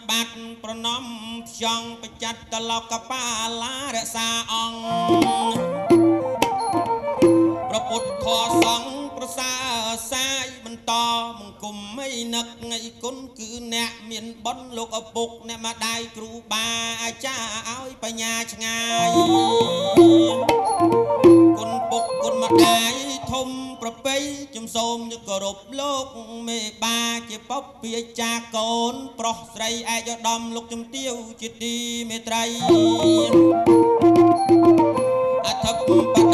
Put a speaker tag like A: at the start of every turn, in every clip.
A: បាត់ប្រណំផ្ចង់បច្ចតលោកបាឡារក្សាអង្គប្រពុតធរសង្ឃប្រសើរសាយបន្តមង្គមអីនឹកអីគុណគឺអ្នកមានបុណ្យលោកឪពុកអ្នកម្ដាយគ្រូបាអាចារ្យឲ្យបញ្ញាឆ្ងាយគុណពុកគុណម្ដាយធំប្រពៃខ្ញុំសូមគោរពលោកមេបាជាពពាចាកូនប្រុសស្រីឯកឧត្តមលោកជំទាវជាទីមេត្រីអធិប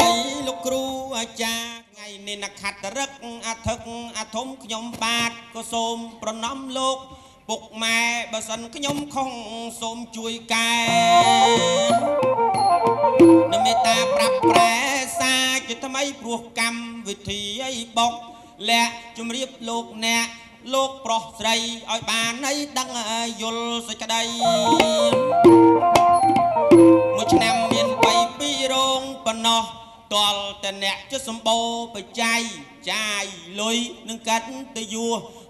A: តីលោកគ្រូអាចារ្យថ្ងៃនេះនខត្តរឹកអធិកអធំខ្ញុំបាទក៏សូមប្រណម្យលោកពុកម៉ែបើសិនខ្ញុំខុសសូមជួយកែនមេត្តាប្រាប់ប្រែសាជាថ្មីព្រោះកម្មវិធីអីបុកលាក់ជំរាបលោកអ្នកលោកប្រុសស្រីឲ្យបានអីដឹងយល់សេចក្តីមួយឆ្នាំមាន3 2រោងប៉ុណ្ណោះតលតែអ្នកជសម្បូរបច្ច័យចាយលុយនឹងកាត់ទៅយោ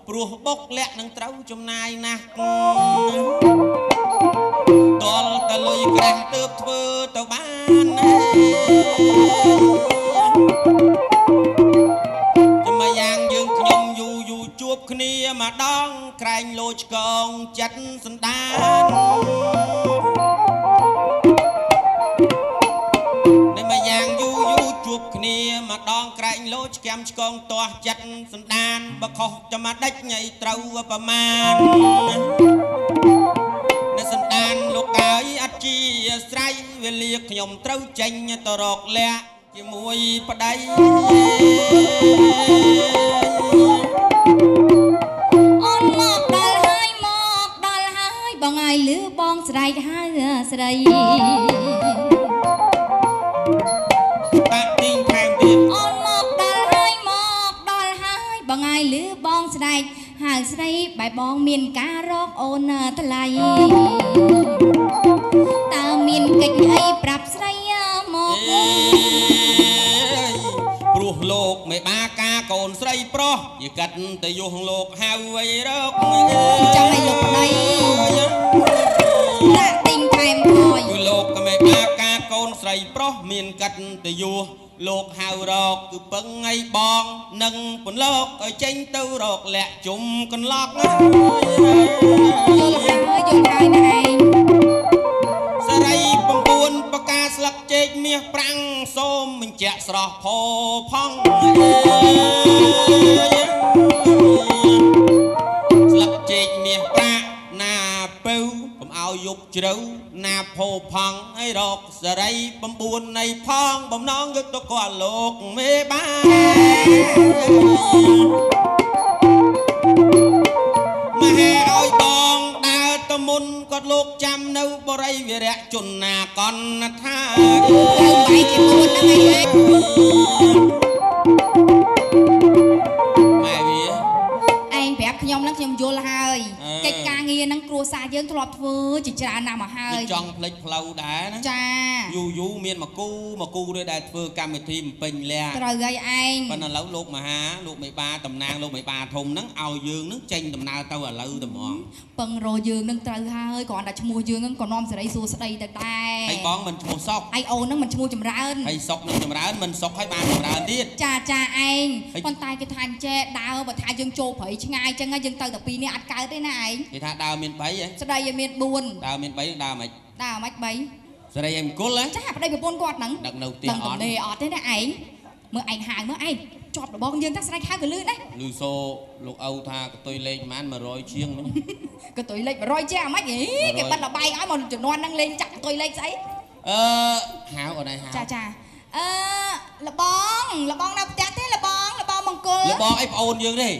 A: ព្រោះបុកលាក់នឹងត្រូវចំណាយណាស់តលតែលុយក្រាស់ទើបធ្វើទៅបានណាចាំយ៉ាងយើងខ្ញុំយូរយូរជួបគ្នាម្ដងក្រែងលោឆ្កងចិត្តសន្តានជួបគ្នាម្ដងក្រែងលោឆ្កាំឆ្កងទាស់ចិត្តសន្តានបើខុសចាំដេចញ៉ៃត្រូវប្រមាណនៅសន្តានលោកអើយអត់ជាស្រ័យវេលាខ្ញុំត្រូវចេញទៅរកលាក់ជាមួយប្តី
B: អូនមកដល់ហើយមកដល់ហើយបងអើយលឺបងស្រែកហៅស្រីអូនមកដល់ហើយមកដល់ហើយបងអើយលឺបងស្រែកហៅស្រីបែបងមានការរកអូនថ្លៃតើមានកិច្ចអីប្រាប់ស្រីមក
A: ព្រោះលោកមេបាការកូនស្រីប្រុសយកាត់ទៅយោលោកហៅអីរក
B: ចាំឲ្យលោកប្តីដាក់ទិញថែមថយ
A: គឺលោកមេបាការកូនស្រីប្រុសមានកាត់ទៅយោលោកហៅរកគឺពឹងឲ្យបងនឹងពន្លកឲ្យចេញទៅរកលាក់ជុំកន្លក់
B: យល់ហើយយល់ហើយណាឯង
A: សរី9បកាស្លឹកចេកមាសប្រាំងសូមបញ្ជាក់ស្រស់ផោផង់ស្លឹកចេកមាសប្រាក់ណាពៅកុំឲ្យយប់ជ្រៅណាផោផង់ឲ្យរកសរី9នៃផងបំណងយកទៅគាត់លោកមេបាមហាឲ្យបងដើរទៅមុនគាត់លោកចាំនៅបរិវិរៈជនណាកនថា
B: បាយជាមុនហ្នឹងឯង
A: ម៉ែវា
B: ឯងប្រាប់ខ្ញុំហ្នឹងខ្ញុំយល់ហើយកិច្ចការងារហ្នឹងគ្រួសារយើងធ្លាប់ធ្វើជាច្រើនណាស់មកហើយ
A: ចង់ផ្លិចផ្លូវដែរណា
B: ចា
A: យូរយូរមានមកគូមកគូด้วยដែលធ្វើកម្មវិធីបំពេញលះ
B: ត្រូវហើយឯង
A: ប៉ុន្តែឥឡូវលោកមហាលោកមេបាតំណាងលោកមេបាធំហ្នឹងឲ្យយើងហ្នឹងចេញដំណើរទៅឥឡូវតែហ្មង
B: ពឹងរយើងហ្នឹងត្រូវហើយគ្រាន់តែឈ្មោះយើងហ្នឹងក៏នាំសេរីសួស្តីទៅដែរ
A: ហើយបងមិនឈ្មោះសុក
B: ហើយអូនហ្នឹងមិនឈ្មោះចម្រើន
A: ហើយសុកនឹងចម្រើនមិនសុកហើយបានចម្រើនទៀត
B: ចាចាឯងប៉ុន្តែគេថាអញ្ចេះដើរបើថាយើងចូលព្រៃឆ្ងាយអញ្ចឹងយើងទៅតែពីរនេះអត់កើតទេណាឯង
A: គេថាដើរមាន3ហ៎
B: ស្ដីឲ្យមាន4
A: ដើរមាន3ដើរមិន
B: ដើរមិន3
A: ស្រីឯងមង្គលហ៎
B: ចាប្តីប្រពន្ធគាត់ហ្នឹង
A: ដឹកនៅផ្ទះអត់
B: ទេអត់ទេណាឯងមើលឯងហៅមើលឯងជាប់របងយើងថាស្រែកហៅក៏លឺដែរ
A: លឺសូលោកឪថាកតុយលេខប៉ុន្មាន100ជាងមិញ
B: កតុយលេខ100ជាងអាម៉េចគេបិទលបែងឲ្យមកជំនាន់ហ្នឹងលេងចាក់កតុយលេខស្អី
A: អឺហៅអូនឯងហៅ
B: ចាចាអឺលបងលបងនៅផ្ទះទេលបងលបងមង្គល
A: លបងអីប្អូនយើងទេ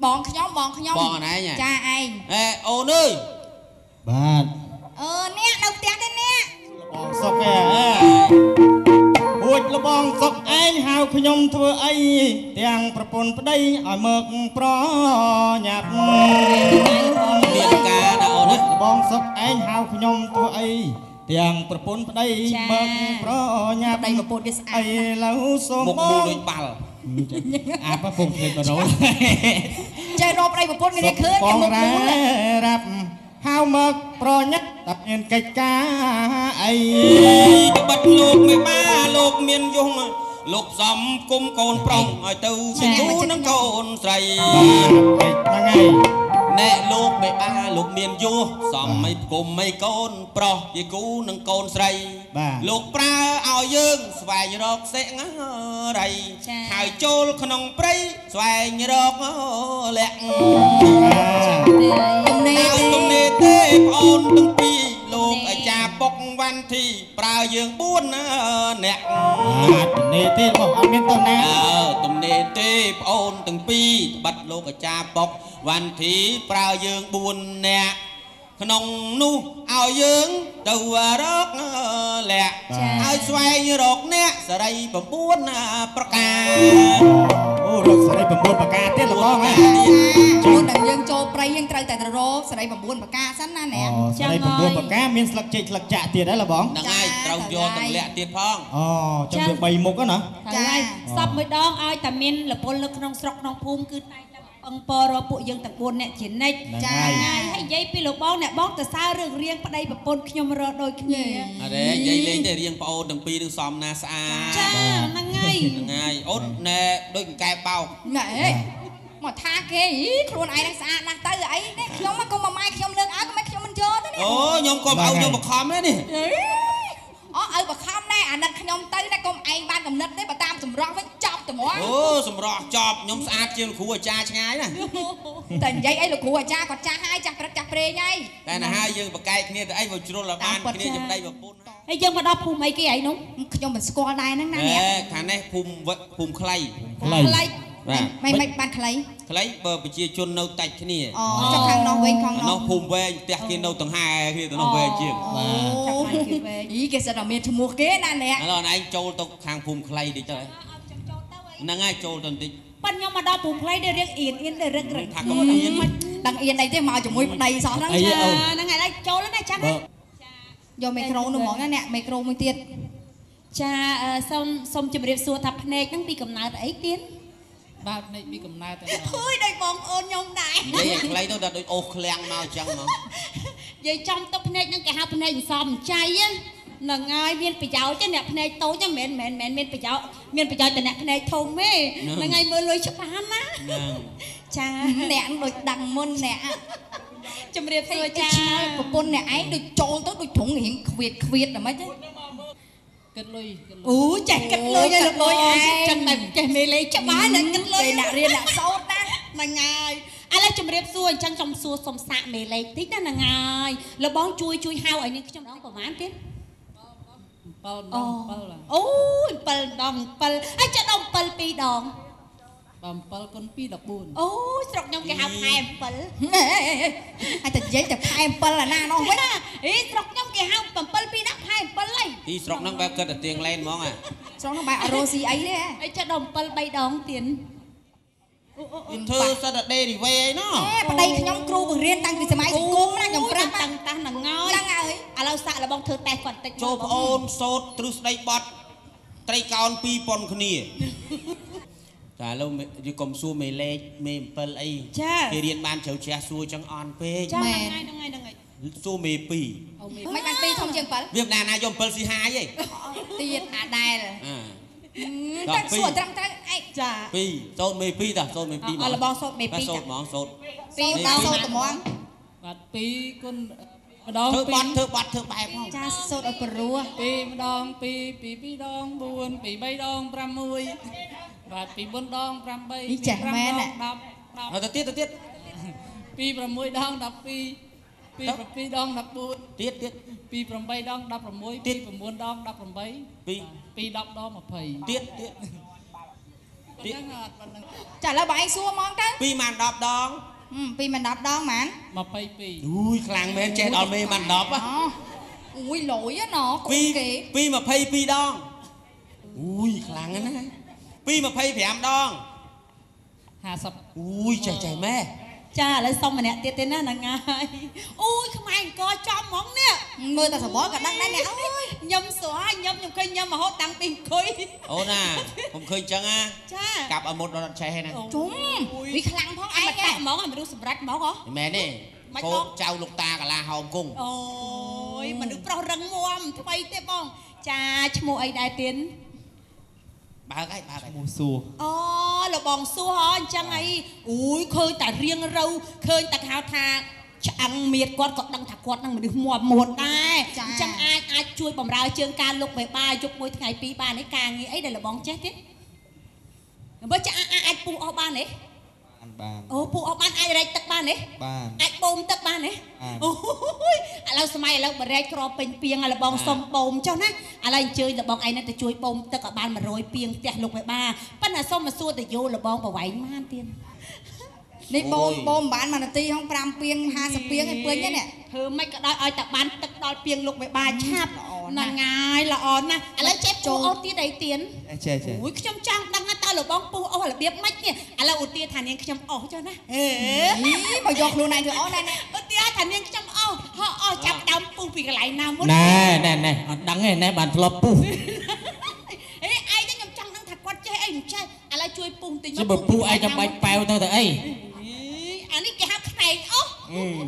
B: បងខ្ញុំបងខ្ញុំ
A: បងអនឯង
B: ចាឯង
A: អេអូនអើយ
C: បាទ
B: អឺអ្នកនៅផ្ទះទេអ្នក
C: លបងសុកឯងរួចលបងសុកឯងហៅខ្ញុំធ្វើអីទាំងប្រពន្ធប្តីឲ្យមើកប្រញាប់
A: មានការណាអូន
C: លបងសុកឯងហៅខ្ញុំធ្វើអីទាំងប្រពន្ធប្តីមើកប្រញាប់
B: ប្តីប្រពន្ធគេស្អាត
C: ឥឡូវសូម
A: មុខមូលដូចបាល់
C: អាបពុំភ្លេចបរោ
B: ចេះរកប្តីប្រពន្ធគេឃើញ
C: គេមុខមូលរាប់ មកប្រញាប់តែមានកិច្ចការអី
A: ត្បិតលោកមេបាលោកមានយង លោកសំគុំកូនប្រុសឲ្យទៅជាគូនឹងកូនស្រី
C: ហ្នឹងហើយ
A: ណែលោកមេបាលោកមានយោសំមិនផ្គុំមិយកូនប្រុសជាគូនឹងកូនស្រី លោកប្រើឲ្យយើងស្វែងរកសិងរី ហើយចូលក្នុងព្រៃស្វែងរកលក្ខ
B: ទំនេរ
A: ទំនេរទេប្អូនទាំងពីរ លោកអាចារ្យពុកវ៉ាន់ធីប្រើយើង4នាក់
C: បាទ ទំនេរទេបង អត់មានតណា
A: អើ ទំនេរទេប្អូនទាំងពីរ ត្បិតលោកអាចារ្យពុកវ៉ាន់ធីប្រើយើង4នាក់ ក្នុងនោះឲ្យយើងទៅរកលក្ខ ឲ្យស្វែងរកអ្នកសេរី9ប្រការ
C: អូ រកសេរី9ប្រការទៀតលោកបងហ៎
B: មុនដែលយើងចូលព្រៃ យើងត្រូវតែរកសេរី9ប្រការសិនណាអ្នក
C: សេរី9ប្រការ មានស្លឹកចេកស្លឹកចាក់ទៀតហ៎លោកបង
A: ហ្នឹងហើយ ត្រូវយកទាំងលាក់ទៀតផង
C: អូ ចាំវា3មុខណា
B: ចា
D: ហើយសពមួយដងឲ្យតែមានលពលនៅក្នុងស្រុកក្នុងភូមិ គឺតែងតែពឹងពរពួកយើងទាំង4អ្នកជានិច្ច
B: ចា
D: ហើយនិយាយពីលោកបងអ្នកបងទៅសើរឿងរៀងប្តីប្រពន្ធខ្ញុំរកដូចគ្នា
A: អរេ និយាយលេងទេ រៀងប្អូនទាំងពីរនឹងសមណាស្អាត
D: ចា ហ្នឹងហើយ
A: ហ្នឹងហើយ អូនណែដូចកង្កែបោក
B: ណែ មកថាគេខ្លួនឯងនឹងស្អាតណាស់ទៅអីនេះ ខ្ញុំមកកុំមកម៉ែខ្ញុំលើកឲ្យកុំឲ្យខ្ញុំមិនយកទៅនេះ
A: អូ ខ្ញុំក៏ឲ្យខ្ញុំបខំដែរនេះ
B: អូ ឲ្យបខំដែរ អាណិតខ្ញុំទៅណា កុំឯងបានកំណត់ទេ បើតាមសម្រស់វិញចប់ត្មង
A: អូ សម្រស់ចប់ ខ្ញុំស្អាតជាងលោកគ្រូអាចារ្យឆ្ងាយណា
B: តែនិយាយអីលោកគ្រូអាចារ្យគាត់ចាស់ហើយ ចាស់ព្រឹកចាស់ព្រេងហើយ
A: តែណាហើយ យើងបកែកគ្នាទៅអី មកជ្រុលឲ្យបានគ្នាចំណៃប្រពន្ធ
D: ហើយយើងមកដល់ភូមិអីគេឯងនោះ
B: ខ្ញុំមិនស្គាល់ដែរហ្នឹងណាអ្នក
A: ខាងនេះភូមិភូមិខ្លី
C: ខ្លី
B: ខ្លី មិនមិនបានខ្លី
A: ខ្លី បើប្រជាជននៅតាច់គ្នា
B: អូ ចុះខាងនោះវិញ ខាង
A: នោះភូមិវែង ផ្ទះគេនៅតង្ហែគ្នាទៅនោះវែងជាង
B: បាទ អីគេសិតតែមានឈ្មោះគេណាអ្នក
A: ឥឡូវឯងចូលទៅខាងភូមិខ្លីតិចទៅ ហ្នឹងហើយ ចូលទៅបន្តិច
D: ប៉ិនខ្ញុំមកដល់ភូមិខ្លីដែលរៀងអៀនអៀនដែលរឹករឹក
A: ថាកុំអៀន
B: ដឹងអៀនអីទេ មកជាមួយប្តីសោះហ្នឹង
D: ហ្នឹងហើយ ចូលណា ចាំ
B: យកមីក្រូនោះហ្មងណាអ្នក មីក្រូមួយទៀត
D: ចា សូមសូមជម្រាបសួរថាភ្នែកហ្នឹងពីកំណើតអីទៀត
E: បាទ ភ្នែកពីកំណើតតែ
D: អើយ ដូចបងប្អូនខ្ញុំដែរ
A: និយាយខ្លីទៅដល់ដូចអូសឃ្លាំងមកអញ្ចឹងមក
D: និយាយចំទៅភ្នែកហ្នឹងគេហៅភ្នែកសំចៃហ្នឹងហើយ មានប្រយោជន៍ទេអ្នកភ្នែកតូច មិនមែនមិនមែនមានប្រយោជន៍ មានប្រយោជន៍តែអ្នកភ្នែកធំទេ ហ្នឹងហើយ មើលលុយច្បាស់ណា ចា
B: អ្នកដូចដឹងមុនអ្នក
D: ជំរាបសួរចា
B: ប្រពន្ធអ្នកឯងដូចចូលទៅដូចត្រង់រៀងខ្វៀតខ្វៀតតែម៉េចទេ
E: គិតលុយ
D: អូ ចេះគិតលុយហើយលោកលុយឯងចឹងតែចេះមេលេច្បាស់ណា គិតលុយ
B: អ្នករៀនអ្នកសូត្រណា
D: ហ្នឹងហើយ ឥឡូវជំរាបសួរ អញ្ចឹងខ្ញុំសួរសុំសាកមេលេខតិចណា ហ្នឹងហើយ លោកបងជួយជួយហៅឲ្យនាងខ្ញុំដងប្រហែលទៀត
E: 7ដង7
D: អូយ7ដង7 ហើយចេះដល់7 2ដង
E: 7គុណ2 14
D: អូ ស្រុកខ្ញុំគេហៅផែ7
B: ហើយតែនិយាយតែផែ7អាណានោះវិញ
D: អីស្រុកខ្ញុំគេហៅ7 2ដាក់ផែ7ហើយ
A: ទីស្រុកហ្នឹងបែបគិតតែទៀងឡែនហ្មងអា
B: ស្រុកហ្នឹងបែបអរ៉ូស៊ីអីទេ
D: អីចេះដល់7 3ដងទៀត
A: ធ្វើសិតតែដេរីវេអីណោះ
B: ប្តីខ្ញុំគ្រូបង្រៀនតាំងពីសម័យសង្គមណា ខ្ញុំប្រាប់
D: តាំងតាំងហ្នឹងហើយ
B: ហ្នឹងហើយ
D: ឥឡូវសាក់របស់ធ្វើតេស្តគាត់តិច
A: ចូលប្អូនសូត្រទ្រឹស្ដីបត់ត្រីកោណ2000គ្នា តែឥឡូវយើងកុំសួរមេលេខមេ7អី គេរៀនបានជ្រៅជ្រះ សួរចឹងអន់ពេក
D: ចា ហ្នឹងហើយហ្នឹងហើយហ្នឹងហើយ
A: សួរមេ2
B: មិនបាន2ធំជាង7
A: វាមិនណាណាយក7ស៊ីហាយទេ
B: ទៀតអាដែលតែសួរត្រឹមត្រូវឯង
D: ចា
A: 2សូត្រមេ2តា សូត្រមេ2
D: អលបងសូត្រមេ2
A: សូត្រហ្មង សូត្រ
B: 2ដល់សូត្រត្មង
E: បាទ 2គុណម្ដង
A: ធ្វើបាត់ធ្វើបាត់ធ្វើបែបហ្មង
B: ចា សូត្រឲ្យព្រោះ
E: 2ម្ដង2 2 2ដង4 2 3ដង6 បាទ 2 4ដង8
B: នេះចេះមែន
E: 10 10
A: ហើយទៅទៀតទៅទៀត
E: 2 6ដង12 2 7ដង14
A: ទៀតទៀត
E: 2 8ដង16 2 9ដង18
A: 2
E: 2 10ដង20
A: ទៀតទៀត
E: ទៀត
B: ចា ឥឡូវបងឯងសួរហ្មងទៅ
A: 2ម៉ាន10ដង
B: 2ម៉ាន10ដងម៉ាន
E: 22
A: អូយ ខ្លាំងមែន ចេះដល់មេម៉ាន10
B: អូយ លយណ៎កូនគេ
A: 2 22ដង អូយ ខ្លាំងណាស់ 2 25ដង
E: 50
A: អូយ ចេះចេះម៉ែ
D: ចា ឥឡូវសុំម្នាក់ទៀតទេណា ហ្នឹងហើយ អូយ ខ្មែរអង្គចំហ្មងនេះ
B: មើលតែសបល់ក៏ដឹងដែរអ្នកអើយ
D: ញឹមស្រួយញឹម ខ្ញុំឃើញញឹមរហូតតាំងពីអង្គុយ
A: អូណា ខ្ញុំឃើញចឹងណា
D: ចា
A: កាប់ឲ្យមុតដល់អត់ចេះណា
B: ជុំវាខ្លាំងផងឯង
D: តែហ្មងឲ្យមនុស្សសម្រេចហ្មងហ៎
A: មែនទេ
D: មិន
A: កូ
D: បង
A: នចៅលោកតាកាឡាហោមគង់
D: អូយមនុស្សប្រុសរឹងមាំថ្មីទេបងចាឈ្មោះអីដែរទៀន
A: បើកហើយបើកហើយ
F: ឈ្មោះសួរ
D: អូលបងសួរហ៎អញ្ចឹងអីអូយឃើញតែរៀងរូវឃើញតែហៅថាឆ្អឹងមៀតគាត់ក៏ដឹងថាគាត់នឹងមនុស្សមាំមួនដែរអញ្ចឹងអាចអាចជួយបំរើជើងការលោកបេបាយប់មួយថ្ងៃពីរបានឯការងារអីដែលលបងចេះទៀតបើចាអាចពុះអស់បានទេ
F: បានបាន
D: អូពុះអស់បានអាចរែកទឹកបានទេ
F: បាន
D: អាចបូមទឹកបានទេ
F: បាន
D: អូយឥឡូវសម័យឥឡូវបរែកក្រពេញពីងលបងសុំបូមចុះណាឥឡូវអញ្ជើញលបងឯងទៅជួយបូមទឹកឲ្យបាន100ពីងផ្ទះលោកបេបាប៉ុន្តែសុំមកសួរទៅយោលបងប្រវែងម៉ានទៀត
B: នេះបូមបូមបាន1នាទីហង5ពីង50ពីងឯពេញហ្នឹងនេះ
D: ធ្វើម៉េចក៏ដោយឲ្យតែបានទឹកដល់ពីងលោកបេបាឆាប់
B: ល្អណាស់
D: ហ្នឹងហើយល្អណាស់ឥឡូវចេះចូលអូទៀតអីទៀន
F: ចេះចេះ
D: អូយខ្ញុំចង់ដឹងថាតើលបងពុះអូសរបៀបម៉េចនេះឥឡូវឧទាថានាងខ្ញុំអូសចុះណាហេ
B: មកយកខ្លួនឯងធ្វើអូសណែ
D: ឧទាថានាងខ្ញុំអូសហក់អូសចាប់ដើមពុះពីកន្លែងណាមុន
E: ណែណែណែអត់ដឹងទេណែបានធ្លាប់ពុះ
D: អេឯងខ្ញុំចង់ដឹងថាគាត់ចេះអីមិនចេះឥឡូវជួយពុះបន្តិច
E: ជិះបើពុះឯងចាំបាច់ប៉ែវទៅទៅអី
D: អានេះគេហៅខ្នែងអូស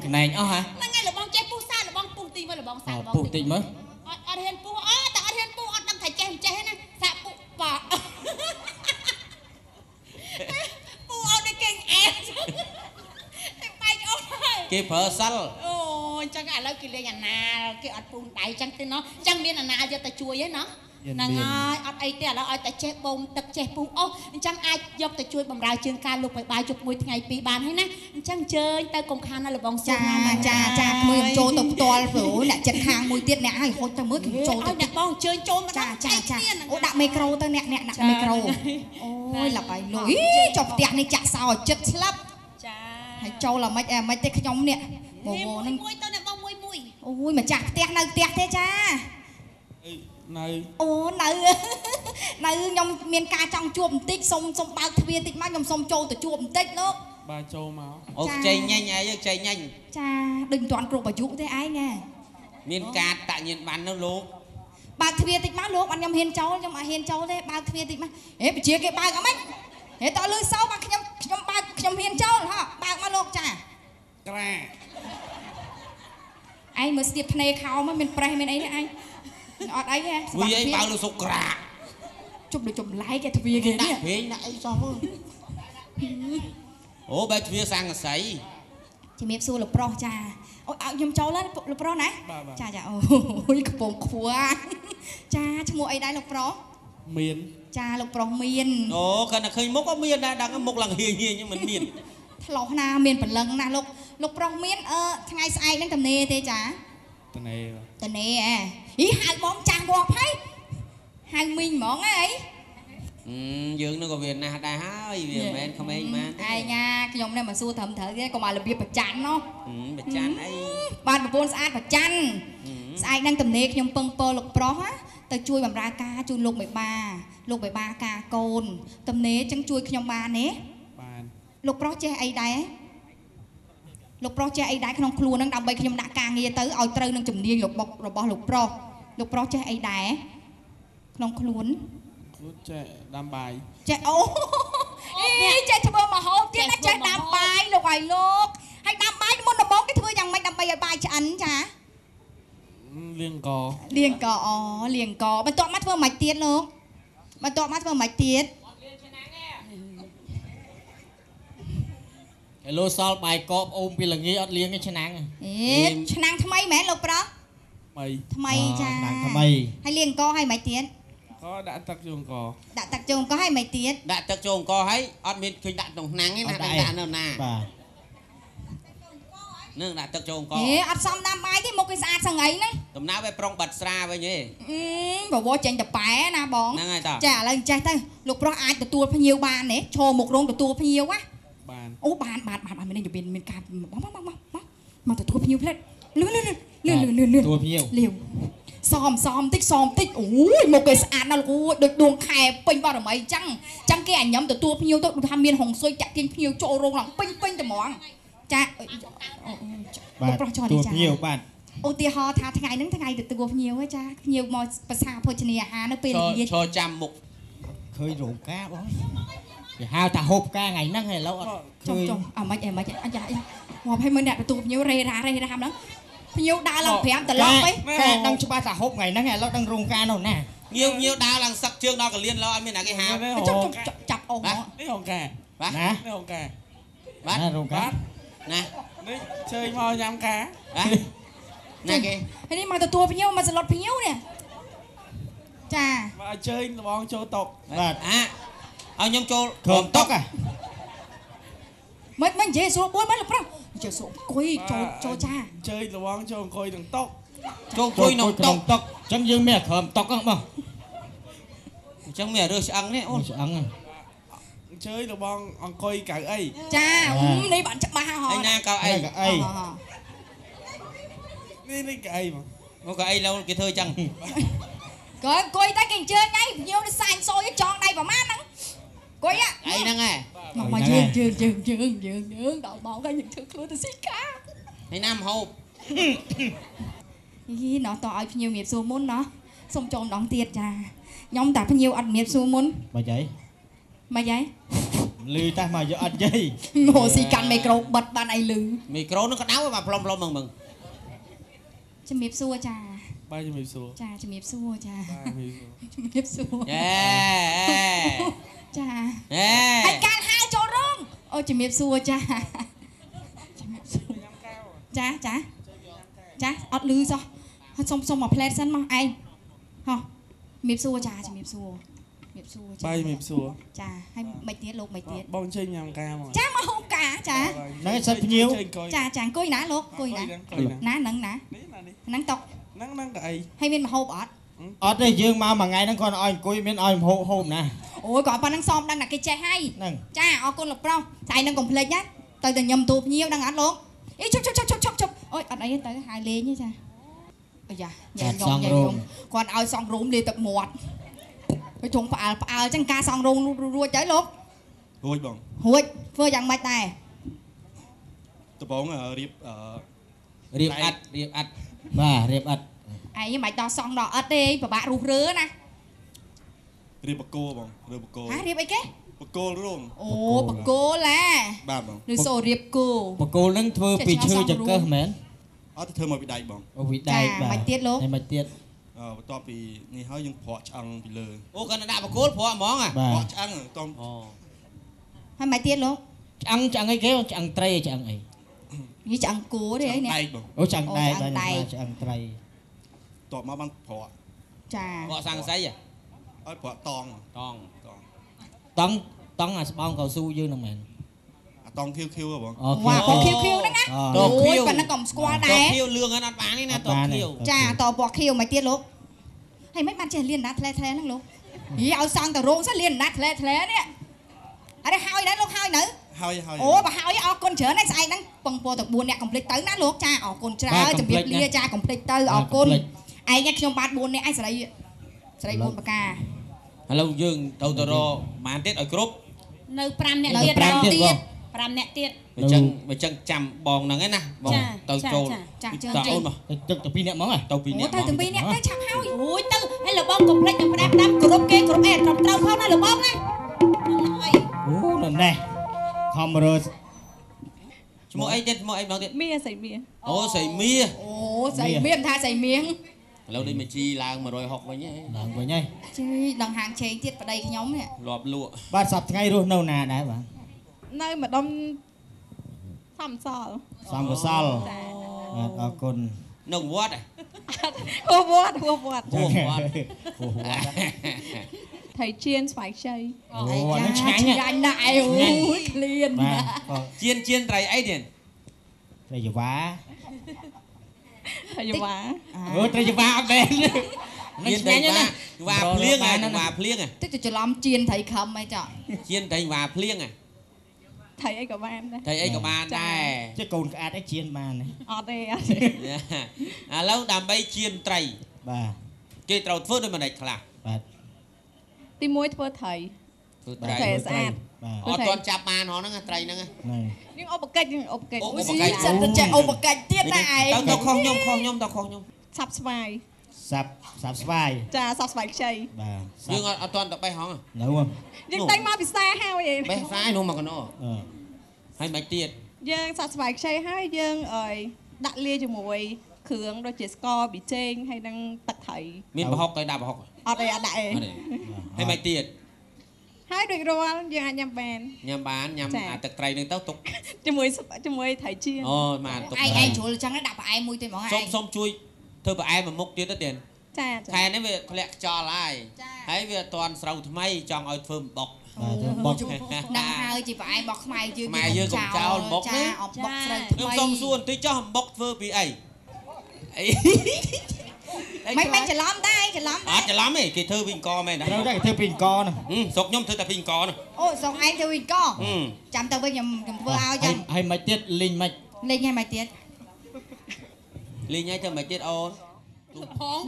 E: ខ្នែងអស់ហ่ะ
D: ហ្នឹងហើយលបងចេះពុះសាលបងពុះតិចមើលលបងសាលបង
E: ពុះតិចមើល
D: អត់អត់ហ៊ានពុះអត់តែអត់ហ៊ានពុះអត់ដឹងថាចេះមិនចេះណាសាកពុះប៉ពុះអត់ដូចគេអែបែកអូសហើយ
A: គេប្រើសិល
D: អូអញ្ចឹងឥឡូវគេលេងអាណាលគេអត់ពុះដៃអញ្ចឹងទេណោះអញ្ចឹងមានអាណាលយកទៅជួយឯណោះហ្នឹងហើយអត់អីទេឥឡូវឲ្យតែចេះបូមទឹកចេះពុះអូសអញ្ចឹងអាចយកទៅជួយបំរើជើងការលោកបបាយជប់មួយថ្ងៃពីរបានហើយណាអញ្ចឹងអញ្ជើញទៅកុំខានណាលបង
B: ចាចាចាក្មួយខ្ញុំចូលទៅផ្ទាល់ព្រោះអ្នកចិត្តខាងមួយទៀតអ្នកឲ្យហុចទៅមើលខ្ញុំចូលទៅ
D: អ្នកបងអញ្ជើញចូលមក
B: ចាចាចាអូដាក់មីក្រូទៅអ្នកអ្នកដាក់មីក្រូអូយឡាប់ហើយលុយចុះផ្ទះនេះចាក់សោឲ្យចិត្តស្លាប់
D: ចា
B: ហើយចូលអាម៉េចអាម៉េចទេខ្ញុំនេះបងបងនឹង
D: មួយទៅអ្នកបងមួយមួយ
B: អូយម្ចាស់ផ្ទះនៅផ្ទះទេចា
F: នៅ
B: អូនៅនៅខ្ញុំមានការចង់ជួបបន្តិចសុំសុំបើកទ្វារតិចមកខ្ញុំសុំចូលទៅជួបបន្តិចលោក
F: បាទចូលមក
A: អូខ្ចីញ៉ាញ់ឯងខ្ចីញ៉ាញ់
B: ចាដូចមិនទាន់គ្រប់អាយុទេឯងណា
A: មានការតញានបាននោះលោក
B: បើកទ្វារតិចមកលោកអត់ខ្ញុំហ៊ានចូលខ្ញុំអត់ហ៊ានចូលទេបើកទ្វារតិចមកហេបជាគេបើកអត់ម៉េចហេតើលឺសោបាទខ្ញុំខ្ញុំបើកខ្ញុំហ៊ានចូលហ៎បើកមកលោកចា
F: ក្រា
B: ឯងមើលស្ទាបភ្នែកខោមកមានប្រេះមានអីទេឯងអត់អីទេ
A: វាអីបើលុសុក្រា
B: ជប់ដូចចម្លែកគេទ្វារគេនេះ
A: ដាក់ពេងដាក់អីសោះមើលអូបែរទ្វារសង្កសី
B: ជំរាបសួរលោកប្រុសចាអូឲ្យខ្ញុំចូលហើយលោកប្រុសណាចាចាអូយកំពងខ្ពស់ចាឈ្មោះអីដែរលោកប្រុស
F: មាន
B: ចាលោកប្រុសមាន
A: អូគាត់តែឃើញមុខក៏មានដែរដឹងមុខឡើងហៀងហៀងមិនមាន
B: ថ្លោះណាមានព្រលឹងណាលោកលោកប្រុសមានអឺថ្ងៃស្អែកហ្នឹងតំណេទេចា
F: តនេ
B: តនេហ៎អីហៅបងចាស់ងាប់ហើយហៅមីងហ្មងហ៎អី
A: យើងនឹងក៏វាណាស់ដែរហើយវាមិនមែនក្មេងបាន
B: ឯងណាខ្ញុំនេះមកសួរត្រឹមត្រូវទេកុំឲ្យរបៀបប្រច័នណោះ
A: ប្រច័នអី
B: បាទប្រពន្ធស្អាតប្រច័នស្អែកហ្នឹងតំណេខ្ញុំពឹងពរលោកប្រុសទៅជួយបម្រើការជូនលោកមេបាលោកមេបាការកូនតំណេចឹងជួយខ្ញុំបានទេ
F: បាន
B: លោកប្រុសចេះអីដែរលោកប្រុសចេះអីដែរក្នុងខ្លួនហ្នឹងដើម្បីខ្ញុំដាក់ការងារទៅឲ្យត្រូវនឹងជំនាញរបស់លោកប្រុសលោកប្រុសចេះអីដែរក្នុងខ្លួន
F: ខ្លួនចេះដាំបាយ
B: ចេះអូអីចេះធ្វើម្ហូបទៀតណាចេះដាំបាយលោកឲ្យលោកហើយដាំបាយមុនដំបូងគេធ្វើយ៉ាងម៉េចដើម្បីឲ្យបាយឆ្អិនចា
F: លាងក
B: លាងកអូលាងកបន្ទាប់មកធ្វើម៉េចទៀតលោកបន្ទាប់មកធ្វើម៉េចទៀត
E: ហេឡូសល់បាយកកអូមពីល្ងាអត់លាងទេឆ្នាំង
B: អេឆ្នាំងថ្មីមែនលោកប្រុស
F: ថ្មី
B: ថ្មីចា
C: ឆ្នាំងថ្មី
B: ហើយលាងកហើយម៉េចទៀត
F: ក៏ដាក់ទឹកចូលអង្គ
B: ដាក់ទឹកចូលអង្គហើយម៉េចទៀត
A: ដាក់ទឹកចូលអង្គហើយអត់មានឃើញដាក់ក្នុងឆ្នាំងទេណាដាក់នៅណា
C: បាទ
A: នឹងដាក់ទឹកចូលអង្គ
B: ហេអត់សមដាំបាយទេមុខគេស្អាតសងៃហ្នឹង
A: ដំណើរវាប្រុងបាត់ស្រាវិញទេ
B: បវរចេញតប៉ែណាបង
A: ហ្នឹងហើយតា
B: ចាឥឡូវចេះទៅលោកប្រុសអាចទទួលភ្ញៀវបានទេឈរមុខរោងទទួលភ្ញៀវណា
F: បាន
B: អូបានបានបានបានមានមានការមកមកមកមកមកទទួលភ្ញៀវផ្លែតលឿនលឿនលឿនលឿនលឿនលឿន
C: ទទួលភ្ញៀវ
B: លាវសមសមតិចសមតិចអូយមកគេស្អាតណាស់លោកអូយដូចដួងខែពេញបរមីអញ្ចឹងអញ្ចឹងគេអាញ៉ាំទទួលភ្ញៀវទៅដូចថាមានហុងស៊ុយចាក់ទាញភ្ញៀវចូលរោងឡើងពេញពេញត្មងចា
C: បាទ
B: ប្រុសចោះ
C: ទទួល
B: នេះចា
C: ភ្ញៀវបាទ
B: ឧទាហរណ៍ថាថ្ងៃហ្នឹងថ្ងៃទទួលភ្ញៀវហ៎ចាភ្ញៀវមកប្រសាភោជនីយអាហារនៅពេលល្ងាច
A: ឈរចាំមុខ
C: ឃើញរោងការបងគេហៅថាហូបការថ្ងៃហ្នឹងហើយឥឡូវអត់
B: ចុះចុះអាម៉េចអាម៉េចអាយ៉ា មកឲ្យមើលអ្នកទទួលភ្ញៀវរេរ៉ារេរ៉ាហ្នឹងភ្ញៀវដើរឡើង5ត្រឡប់វិញ
C: កែដឹងច្បាស់ថាហូបថ្ងៃហ្នឹងឥឡូវដឹងរោងការនោះណា
A: ញៀវញៀវដើរឡើងសឹកជើងដល់កលៀនឡោអត់មានណាគេហៅ
B: ចាប់អូស
F: នេះរោងការ
A: បាទ
C: ណា
F: នេះរោងការ
A: បាទ
C: រោងការ
A: ណា
F: នេះជើញមកញ៉ាំការ
A: បាទណាគេ
B: ហើយនេះមកទទួលភ្ញៀវមកសឡុតភ្ញៀវនេះចា
F: មកជើញលបងចូលតុ
C: បាទ
A: អាឲ្យខ្ញុំចូល
C: ក្រុមតុក
B: មិនមិននិយាយស្រួលបួនមិនលោកប្រុសនិយាយស្រួលអង្គុយចូលចូលចា
F: ជើញលបងចូលអង្គុយក្នុងតុ
A: ចូលអង្គុយក្នុងតុ
C: តុកអញ្ចឹងយើងមានក្រុមតុកហ្នឹងបង
A: អញ្ចឹងមានរឿងឆ្អឹងនេះអូន
C: ឆ្អឹង
F: ជើញលបងអង្គុយកៅអី
B: ចានេះបានច្បាស់ហ៎
A: ឯណាកៅអី
C: កៅអី
F: នេះនេះកៅអីមក
A: មកកៅអីឡូវគេធ្វើអញ្ចឹង
B: ក៏អង្គុយតែគេអញ្ជើញឯងភ្ញៀវនេះសាញ់សូយចងដៃប្រហែលហ្នឹងអង្គុយ
A: អីហ្នឹងឯង
B: មកយើងយើងយើងយើងយើងយើងដល់មកហើយយើងធ្វើខ្លួនទៅស៊ីកា
A: ហើយណាមហូប
B: យីណោះតឲ្យភ្ញៀវមៀបសួរមុនណោះសុំចូលម្ដងទៀតចាខ្ញុំតាភ្ញៀវអត់មៀបសួរមុន
C: មិនអី
B: មិនអី
C: លឺតាមកយកអត់យាយ
B: ងោស៊ីកាន់មីក្រូបិទបានអីលឺ
A: មីក្រូនឹងក្តៅបាទផ្លុំផ្លុំហ្មង
B: ជំរាបសួរចា
F: បាទជំរាបសួរ
B: ចាជំរាបសួរចា
F: ជំរាបសួរ
B: ជំរាបសួរ
A: អេ
B: ចា
A: អេ
B: ហើយកាលហៅចូលរោងអូជំរាបសួរចាជំរាបសួរចាចាចាអត់លឺសោះសុំសុំមកផ្លែតសិនមកឯងហោះជំរាបសួរចាជំរាបសួរជំរាបសួរចា
F: បាទជំរាបសួរ
B: ចាហើយមិនទៀតលោកមិនទៀត
F: បងចេញញ៉ាំការមក
B: ចាមកហូបការចា
C: ហ្នឹងសិតភ្ញៀវ
B: ចាចាអង្គុយណាលោកអង្គុយណាណាហ្នឹងណាហ្នឹងតុក
F: ហ្នឹងហ្នឹងកៅអី
B: ហើយមានមហូបអត់
C: អត់ទេយើងមកមួយថ្ងៃហ្នឹងគាត់ឲ្យអង្គុយមានឲ្យមហូបហូបណា
B: អូយគាត់ប៉ុណ្ណឹងសមដឹងតែគេចេះហើយចាអរគុណលោកប្រុសស្អែកហ្នឹងកុំភ្លេចណាទៅតែញឹមទូភ្ញៀវដឹងអត់លោកអីជប់ជប់ជប់ជប់ជប់អូយអត់អីទៅហៅលេងទេចាអាយ៉ាញ៉ាំញ៉ាំញ៉ាំគាត់ឲ្យសង់រោមលាទឹកមាត់ទៅជុំផ្អើលផ្អើលចឹងការសង់រោងរួចហើយលោក
G: រួចបង
B: រួចធ្វើយ៉ាងម៉េចដែរ
G: ដំបងរៀប
A: រៀបអិតរៀបអិត
C: បាទរៀបអិត
B: ឯងមិនដល់សង់ដល់អិតទេពិបាករੂរើណា
G: រៀបបកគោបងរៀបបកគោ
B: ហារៀបអីគេ
G: បកគោរោង
B: អូបកគោឡា
G: បាទបង
B: ឬសូរៀបគោ
C: បកគោនឹងធ្វើពីឈើចង្កឹះមែន
G: អត់ធ្វើមកពីដែកបង
C: អូពីដែកបាទ
B: មិនទៀតលោក
C: ហើយមិនទៀត
G: បន្ទាប់ពីនេះហើយយើងប្រក់ឆ្អឹងពីលើ
A: អូគាត់ដាក់បកគោប្រក់ហ្មង
G: ប្រក់ឆ្អឹងតោះ
B: ហើយមិនទៀតលោក
C: ឆ្អឹងឆ្អឹងអីគេឆ្អឹងត្រីឆ្អឹងអី
B: នេះឆ្អឹងគោទេអីនេះ
C: អូឆ្អឹងដែកបាទឆ្អឹងត្រី
G: តបមកបានប្រក់
B: ចា
A: ប្រក់សង្កសី
G: ឲ្យប្រក់តង
A: តង
C: តងតងអាស្បោងកៅស៊ូយើងហ្នឹងមែន
G: អាតងខៀវខៀវហ៎បង
B: វ៉ាពណ៌ខៀវខៀវហ្នឹងណាអូយប៉ុណ្ណឹងក៏មិនស្គាល់ដែរ
A: តខៀវលឿងហ្នឹងអត់បានទេណាតខៀវ
B: ចាតពណ៌ខៀវមិនទៀតលោកហើយមិនបានចេះលៀនណាថ្លែថ្លែហ្នឹងលោកយីឲ្យសង់តរោងសិនលៀនណាថ្លែថ្លែនេះអរហើយដែរលោកហើយនៅ
G: ហើយហើយ
B: អូបើហើយអរគុណច្រើនហើយស្អែកហ្នឹងពងពោទៅ4នាក់កុំភ្លេចទៅណាលោកចាអរគុណច្រើនជំរាបលាចាកុំភ្លេចទៅអរគុណឯងខ្ញុំបាទ4នាក់ឯងសេរីសេរី4ប្រការ
A: ឥឡូវយើងត្រូវទៅរកប៉ុន្មានទៀតឲ្យគ្រប់
D: នៅ5នាក់ទៀត5នាក់ទៀត
A: អញ្ចឹងអញ្ចឹងចាំបងហ្នឹងឯណាបងទៅចូល
B: ចាជើង
A: តអូនមក
C: ទឹកទៅ2នាក់ហ្មង
A: ទៅ2នាក់
B: ទៅទាំង2នាក់ទៅឆាប់ហើយ
D: អូយទៅហើយលបងកុំភ្លេចទៅផ្ដាំផ្ដាំគ្រប់គេគ្រប់អីត្រឹមត្រូវផងណាលបងណា
C: អូនៅនេះខំរើ
A: ឈ្មោះអីទៀតឈ្មោះអីម្ដងទៀត
H: មាសៃមា
A: អូសៃមា
B: អូសៃមាមិនថាសៃមា
A: ឥឡូវដូចមកជីឡើង160វិញហ៎
C: ឡើងវិញហើយ
B: ជីដល់ហាងឆេងទៀតប្តីខ្ញុំនេះ
A: លាប់លក់
C: បាទសប្តាហ៍ថ្ងៃរស់នៅណាដែរបាទ
H: នៅម្ដុំសំសល់
C: សំកសលបាទអរគុណ
A: នៅវត្ត
H: ហួវត្តហួវត្ត
A: ហួវត្ត
C: ហួវត្ត
H: ថៃជៀនស្វាយខ្ចី
C: អូអានេះឆ្ងាញ់
B: ឆ្ងាញ់ណាស់ឯអូយឃ្លាន
A: ជៀនជៀនត្រីអីទៀត
C: ត្រីយ៉ាវ៉ា
H: ត្រីយ៉ាវ៉ា
C: អូត្រីយ៉ាវ៉ាអត់មែន
A: នេះឆ្ងាញ់ណាស់វ៉ាភ្លៀងហ៎វ៉ាភ្លៀង
B: តិចទៅច្រឡំជៀនត្រីខំអីចុះ
A: ជៀនត្រីវ៉ាភ្លៀងហ៎
H: ត្រីអីក៏បានដែរ
A: ត្រីអីក៏បានដែរ
C: ចេះកូនក្អាតអីជៀនបានទេ
H: អត់ទេអត់
A: ឥឡូវដើម្បីជៀនត្រី
C: បាទ
A: គេត្រូវធ្វើដូចម្ដេចខ្លះ
C: បាទ
H: ទី1ធ្វើត្រី
A: ធ្វើត្រី
H: ស្អាត
A: អត់ទាន់ចាប់បានហងហ្នឹងត្រីហ្នឹង
H: យើងឧបកិច្ចយើងឧបកិច្ច
B: អូសិតតែចេះឧបកិច្ចទៀតណាឯង
A: ទៅខុសខ្ញុំខុសខ្ញុំទៅខុសខ្ញុំ
H: សាប់ស្វាយ
C: សាប់សាប់ស្វាយ
H: ចាសាប់ស្វាយខ្ចី
C: បាទ
A: យើងអត់ទាន់ទៅបេះហង
C: នៅ
H: យើងតែងមកពិសាហើយ
A: បេះផ្សាយនោះមកកណោហើយមិនទៀត
H: យើងសាក់ស្វាយខ្ចីហើយយើងអើយដាក់លាយជាមួយគ្រឿងដូចជាស្ករប៊ីចេងហើយនឹងទឹកត្រី
A: មានប្រហុកទៅដាក់ប្រហុក
H: អត់អីអត់ដាក់អី
A: ហើយមិនទៀត
H: ហើយដូចរាល់យើងអាចញ៉ាំបាន
A: ញ៉ាំបានញ៉ាំអាទឹកត្រីនឹងទៅទុក
H: ជាមួយជាមួយត្រីចៀន
A: អូបានទុក
B: ឯងឯងជ្រុលចឹងដាក់ផ្អែមមួយទេហ្មងឯង
A: សូមជួយធ្វើផ្អែមមួយមុខទៀតទៅទៀត
H: ចា
A: ខែនេះវាធ្លាក់ខ្យល់ហើយហើយវាអត់ទាន់ស្រូវថ្មីចង់ឲ្យធ្វើអំបុក
C: បុក
B: ហ្នឹងហើយជាផ្អែមរបស់ខ្មែរយើង
A: ខ្មែរយើងកុំចោលអំបុកណា
B: អំបុកស្រូវថ្មី
A: ខ្ញុំសូមសួរបន្តិចចុះអំបុកធ្វើពីអីអី
B: មិនច្រឡំដែរច្រឡំ
A: អត់ច្រឡំទេគេធ្វើពីអង្គមែន
C: ត្រូវតែគេធ្វើពីអង្គហ្នឹង
A: ស្រុកខ្ញុំធ្វើតែពីអង្គហ្នឹង
B: អូស្រុកឯងធ្វើពីអង្គចាំទៅវិញខ្ញុំធ្វើឲ្យចឹង
C: ហើយមិនទៀតលីងមិន
B: លីងហើយមិនទៀត
A: លីងហើយធ្វើមិនទៀតអូន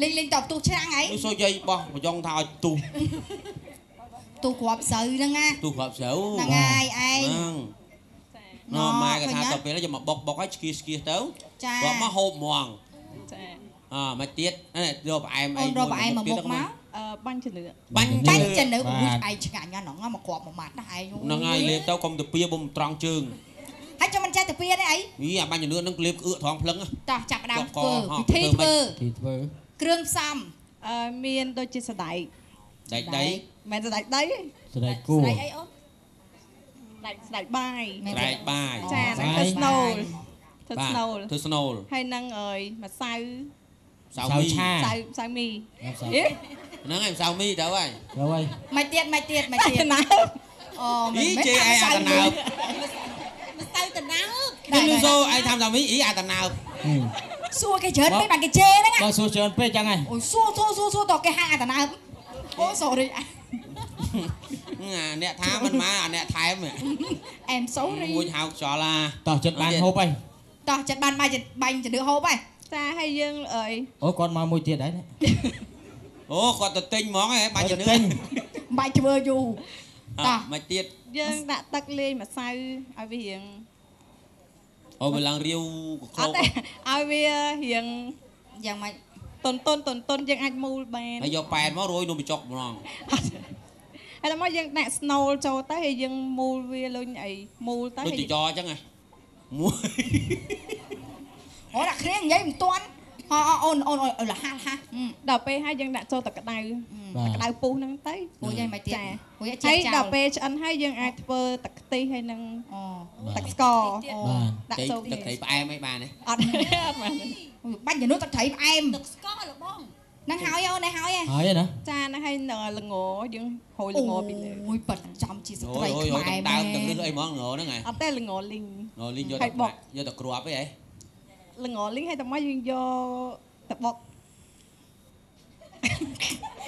B: លីងលីងតបទូឆ្នាំងហី
A: សូយាយបោះប្រយ៉ងថាឲ្យទូ
B: ទូគ្រាប់ស្រូវហ្នឹងណា
A: ទូគ្រាប់ស្រូវ
B: ហ្នឹងហើយឯង
A: ណម៉ែគេថាទៅពេលយកមកបុកបុកឲ្យឆ្កៀសឆ្កៀសទៅគាត់មកហូបហ្មង
H: ចា
A: អមកទៀតយកផ្អែមអី
B: មួយផ្អែមមកមុខមក
H: បាញ់ជំនឿ
A: បាញ់
B: ជំនឿអូយឯងឆ្ងាញ់ណាស់ហ្នឹងមកគ្រាប់មួយម៉ាត់ណាឯង
A: ហ្នឹងហើយលេបទៅកុំទៅពៀបុំត្រង់ជើង
B: ហើយចាំមិនចេះទៅពៀទេអី
A: យីអាបាញ់ជំនឿហ្នឹងលេបក្អឿកត្រង់ភ្លឹង
B: តោះចាប់ដើមធ្វើពិធីធ្វើគ្រឿងផ្សំ
H: មានដូចជាសណ្ដែក
A: ដែកដី
H: មិនសណ្ដែកដី
C: សណ្ដែកគួរ
D: សណ្ដែកអីអូន
H: សណ្ដែកបាយ
A: សណ្ដែកបាយ
H: ចាហ្នឹងធ្វើស្នូលធ្វើស្នូល
A: ធ្វើស្នូល
H: ហើយនឹងអើយម្សៅ
A: សៅមី
H: សៅសៅមី
A: ហ្នឹងហើយម្សៅមីទៅហើយ
C: ទៅហើយ
B: មិនទៀតមិនទៀតមិនទៀត
H: ណា
B: អូមិន
A: ជេឯងអាតណើប
D: ម្សៅតណើប
A: គេលឺសូឯងថាម្សៅមីអីអាតណើប
B: សួរគេច្រើនពេកបានគេជេរហ្នឹង
C: បើសួរច្រើនពេកចឹងហើយ
B: អូសួរសួរសួរសួរតគេហៅអាតណើបអូ sorry
A: អាអ្នកថាមិនមកអាអ្នកថែម
B: I'm sorry
A: មួយហៅខ្យល់អា
C: តោះចិត្តបានហូបហើយ
B: តោះចិត្តបានបាយបាញ់ជំនឿហូបហើយ
H: ចាហើយយើងអើយ
C: អូគាត់មកមួយទៀតហើយ
A: អូគាត់ទៅទិញហ្មងហ៎បាញ់ជំនឿ
B: បាច់ធ្វើយូរ
A: តោះមកទៀត
H: យើងដាក់ទឹកលាយម្សៅឲ្យវារៀង
A: អូវាឡើងរាវក្លោក
H: ឲ្យវារៀង
B: យ៉ាងម៉េច
H: តុនតុនតុនតុនយើងអាចមូលបាន
A: ហើយយកប៉ែនមករយនំបញ្ចុកម្ដង
H: ហើយដល់មកយើងដាក់ស្នូលចូលទៅហើយយើងមូលវាលុញអីមូលទៅ
A: ដូចចចអញ្ចឹងហ៎មួយ
B: អូដាក់គ្នានិយាយមិនទាន់អូនអូនលះលះ
H: ដល់ពេលហើយយើងដាក់ចូលទឹកក្តៅទឹកក្តៅពុះហ្នឹងទៅ
B: ពុះយ៉ាងម៉េចទៀត
H: ពុះជាចោលហើយដល់ពេលឆ្អិនហើយយើងអាចធ្វើទឹកខ្ទិះហើយនឹងទឹកស្ករ
A: ដាក់ចូលទឹកត្រីផ្អែមអីបានទេ
H: អត់អត់បាន
B: បាញ់ជំនួសទឹកត្រីផ្អែម
D: ទឹកស្ករលបង
B: ហ្នឹងហើយអូននេះហើយ
C: ហើយណា
H: ចាហ្នឹងហើយល្ងយើងហូរល្ងពីលើ
B: អូយប៉ិតចំជាស្ត្រីខ្មែរ
A: ដើមទឹករឹសអីហ្មងល្ងហ្នឹងហ៎
H: អត់ទេល្ងលីង
A: លីងយកតែយកតែគ្រាប់អីហ៎
H: ល្ងលីងហើយតែមកយើងយកទៅបុក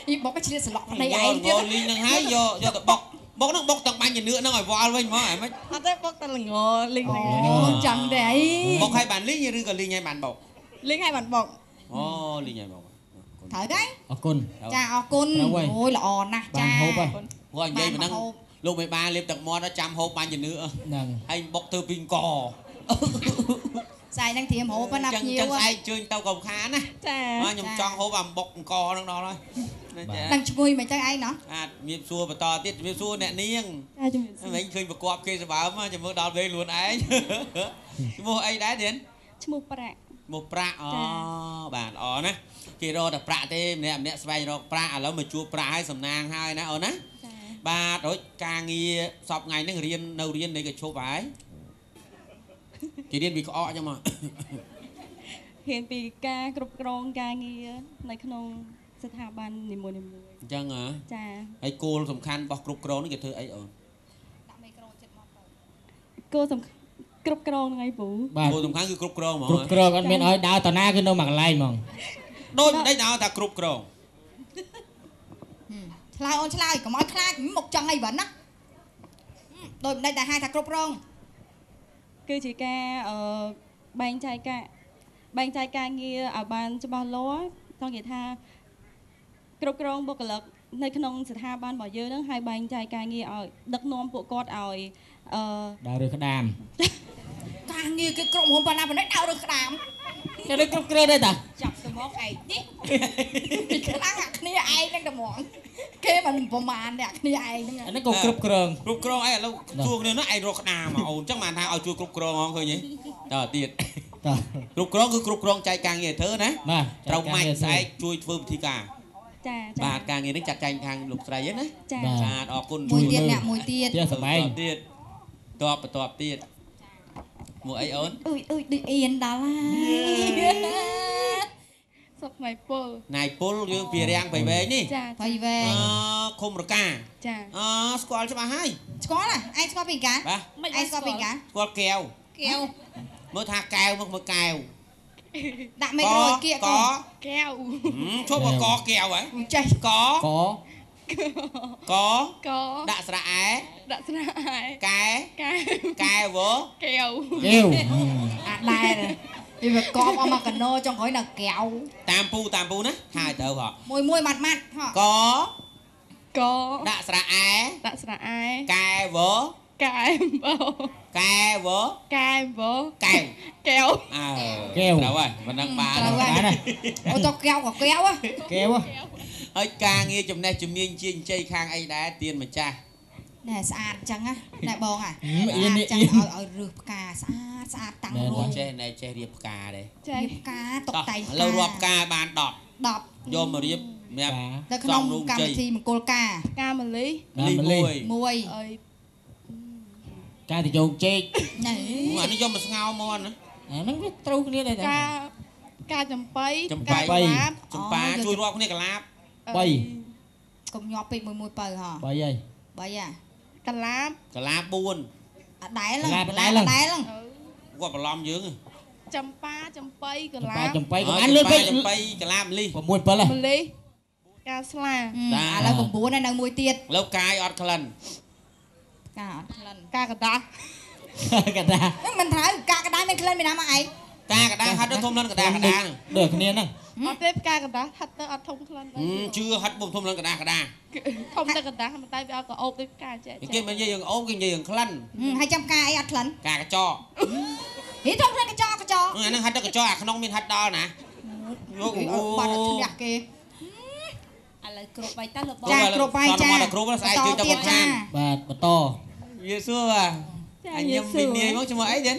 B: អីបុកឆ្លៀតស្លក់ប្តីឯងទៀត
A: លីងហ្នឹងហើយយកយកទៅបុកបុកហ្នឹងបុកទាំងបាញ់ជំនឿហ្នឹងឲ្យវល់វិញហ្មងហ៎មិន
H: អត់ទេបុកតែល្ងលីងហ្នឹង
B: អូចឹងទេអី
A: បុកឲ្យបានលីងឬក៏លីងឲ្យបានបុក
H: លីងឲ្យបានបុក
A: អូលីងឲ្យបុក
B: ត្រូវទេ
C: អរគុណ
B: ចាអរគុណអូយល្អណាស់ចា
C: បានហូបហើយ
A: គាត់និយាយមិនហ្នឹងលោកមេបាលេបទឹកមាត់ចាំហូបបាញ់ជំនឿ
C: ហ្នឹង
A: ហើយបុកធ្វើពីអង្គ
B: ស្អែកហ្នឹងត្រៀមហូបណាភ្ញៀវ
A: ចឹងស្អែកជើញទៅកុំខានណា
H: ចា
A: ខ្ញុំចង់ហូបអាបុកអង្គហ្នឹងដល់ហើយ
B: ដឹងឈ្ងុយមិនចឹងឯងណោះ
A: បាទមានសួរបន្តទៀតជំរាបសួរអ្នកនាង
H: ចាជំរាបសួរ
A: វិញឃើញប្រកបគេសម្បើមចាំមើលដល់ពេលខ្លួនឯងឈ្មោះអីដែរទៀត
D: ឈ្មោះប្រាក់
A: ឈ្មោះប្រាក់អូបាទល្អណាស់គេរកតែប្រាក់ទេម្នាក់ម្នាក់ស្វែងរកប្រាក់ឥឡូវមកជួបប្រាក់ហើយសំណាងហើយណាអូនណាបាទរួចការងារសពថ្ងៃហ្នឹងរៀននៅរៀននៃកឈប់ហើយគេរៀនពីក្អកចឹងមក
D: រៀនពីការគ្រប់គ្រងការងារនៅក្នុងស្ថាប័ននីមួយៗ
A: អញ្ចឹងហ៎
D: ចា
A: ហើយគោលសំខាន់របស់គ្រប់គ្រងនេះគេធ្វើអីអូន
B: ដាក់មីក្រូចិត្តមកទៅ
D: គោលសំគ្រប់គ្រងហ្នឹងឯងពូ
A: គោលសំខាន់គឺគ្រប់គ្រងហ្មង
C: គ្រប់គ្រងអត់មានឲ្យដើរតាណាគឺនៅមួយកន្លែងហ្មង
A: ដូចមិនដេចដល់ថាគ្រប់គ្រង
B: ឆ្លើយអូនឆ្លើយកុំឲ្យខ្លាចមុខចង់អីវ៉ាន់ណាដូចមិនដេចតែហៅថាគ្រប់គ្រង
D: គឺជាការបែងចែកការបែងចែកការងារឲ្យបានច្បាស់លាស់ចង់និយាយថាគ្រប់គ្រងបុគ្គលិកនៅក្នុងស្ថាប័នរបស់យើងហ្នឹងហើយបែងចែកការងារឲ្យដឹកនាំពួកគាត់ឲ្យ
C: ដើររើសក្តាម
B: ការងារគេក្រុមហ៊ុនប៉ុណ្ណាប៉ុណ្ណេះដើររើសក្តាម
C: គេរើសគ្រប់គ្រងដែរតា
D: ចាប់ទៅមកឯងនេះ
B: ខ្លាំងអាគ្នាឯងហ្នឹងតែហ្មង គេមិនប្រមាណអ្នកគ្នាឯងហ្នឹង
C: អានេះក៏គ្រប់គ្រង
A: គ្រប់គ្រងអីឥឡូវសួរគ្នានោះឯងរកក្តារមកអូនអញ្ចឹងបានថាឲ្យជួយគ្រប់គ្រងហងឃើញទេតើទៀត
C: តើ
A: គ្រប់គ្រងគឺគ្រប់គ្រងចែកការងារធ្វើណា
C: បាទ
A: ត្រូវម៉ាច់ស្អែកជួយធ្វើពិធីការ
H: ចា
A: បាទការងារនេះចាត់ចែងខាងលោកស្រីហ្នឹងណា
H: ចា
A: បាទអរគុណ
B: មួយទៀតអ្នកមួយទៀត
C: ទៀតសម័យ
A: ទៀតតបបន្ទាប់ទៀតមួយអីអូន
B: អុយអុយដូចអៀនដល់ហើយ
H: សុកណៃពល
A: ណៃពលយើងពីរាំងបៃវែងនេះ
H: ចា
B: បៃវែង
A: អឃុំរកា
H: ចា
A: អស្គាល់ច្បាស់ហើយ
B: ស្គាល់ហ៎ឯងស្គាល់ពីកា
A: បាទ
B: ឯងស្គាល់ពីកា
A: ស្គាល់កែវ
B: កែវ
A: មើលថាកែវមកមើលកែវ
B: ដាក់មេក្រូគៀក
H: កែវ
A: ឈប់កកែវហ៎
B: ចេះ
A: កកក
H: ក
A: ដាក់ស្រៈអែ
H: ដាក់ស្រៈអែ
A: កែ
H: កែ
A: កែវ
H: កែវ
C: កែវ
B: អាដែរវាកបអស់មកកណោចុងក្រោយដល់កែវ
A: តាមពូតាមពូណាថាឲ្យត្រូវហ៎
B: មួយមួយម៉ាត់ម៉ាត់ហ៎
A: ក
H: ក
A: ដាក់ស្រៈអែ
H: ដាក់ស្រៈអែ
A: កែវ
H: កែវ
A: កែវ
H: កែវ
A: កែវ
H: កែវ
A: អើ
C: កែវ
A: ត្រូវហើយមិនដឹងបាន
B: ត្រូវហើយអូតកែវក៏កែវ
C: កែវ
A: ហើយការងារចំណេះជំនាញជាជ័យខាងអីដែរទៀនម្ចាស់
B: ណែស្អាតចឹងណាណែបងអាចឹងឲ្យឲ្យរើសផ្កាស្អាតស្អាតតាំងរួច
A: ចេះណែចេះរៀបផ្កាទេ
B: ចេះផ្កាតុបតែង
A: ឥឡូវរាប់ផ្កាបាន10 10យកមករៀបសម្រាប់
B: នៅក្នុងកម្មវិធីមង្គលការ
H: ផ្កាម្លិះ
B: មួយ
H: អី
C: កាតយោងចេក
B: ណែ
A: អានេះយកមកស្ងោមកណា
C: អាហ្នឹងវាត្រូវគ្នាដែរ
H: កាកាចំបៃ
A: កាឡាបចំប៉ាជួយរាប់គ្នាកាឡាប
C: 3
B: កុំញាប់ពេកមួយមួយបើហ៎
C: 3ហើយ
B: 3ហ่ะ
H: កាឡាប
A: កាឡាប4
B: អដែលដែរហ្នឹង
A: គាត់បន្លំយើង
H: ចំប៉ាចំបៃកាឡាប
C: ចំបៃក៏បានលឿនពេក
A: ចំបៃកាឡាបម្លិះ
C: 6 7ហើយ
H: ម្លិះកាស្លា
B: ឥឡូវ9ហើយនៅមួយទៀត
A: ឥឡូវកាយអត់ក្លិន
B: កាអត់ក្លិន
H: កាកដា
C: កដា
B: មិនត្រូវកាកដាមានក្លិនមានណាមកឯង
A: កាកដាហិតទៅធំក្លិនកដាកដា
C: ដូចគ្នាហ្នឹង
H: អត់ទេកាកដាហិតទៅអត់ធំក្លិន
A: ជឿហិតពុំធំក្លិនកដាកដា
H: ធំតែកដាតែវាអត់ក៏អូបដូចកាចេះ
A: គេមិននិយាយរឿងអូបគេនិយាយរឿងក្លិន
B: ហើយចាំកាអីអត់ក្លិន
A: កាកញ្ចក់
B: ហីធំក្លិនកញ្ចក់កញ្ចក់
A: អាហ្នឹងហិតទៅកញ្ចក់អាក្នុងមានហិតដល់ណា
B: យកបាត់ឈ្នះគេ
D: ឥឡូវគ្រប់បាយតើលោកបង
B: ចាគ្រប់បាយចា
A: គ្រប់ស្អែកជួយទៅបន្ថែម
C: បាទបន្ត
A: វាសួរបាទអញញឹមពីនាយមកឈ្មោះអីទៀត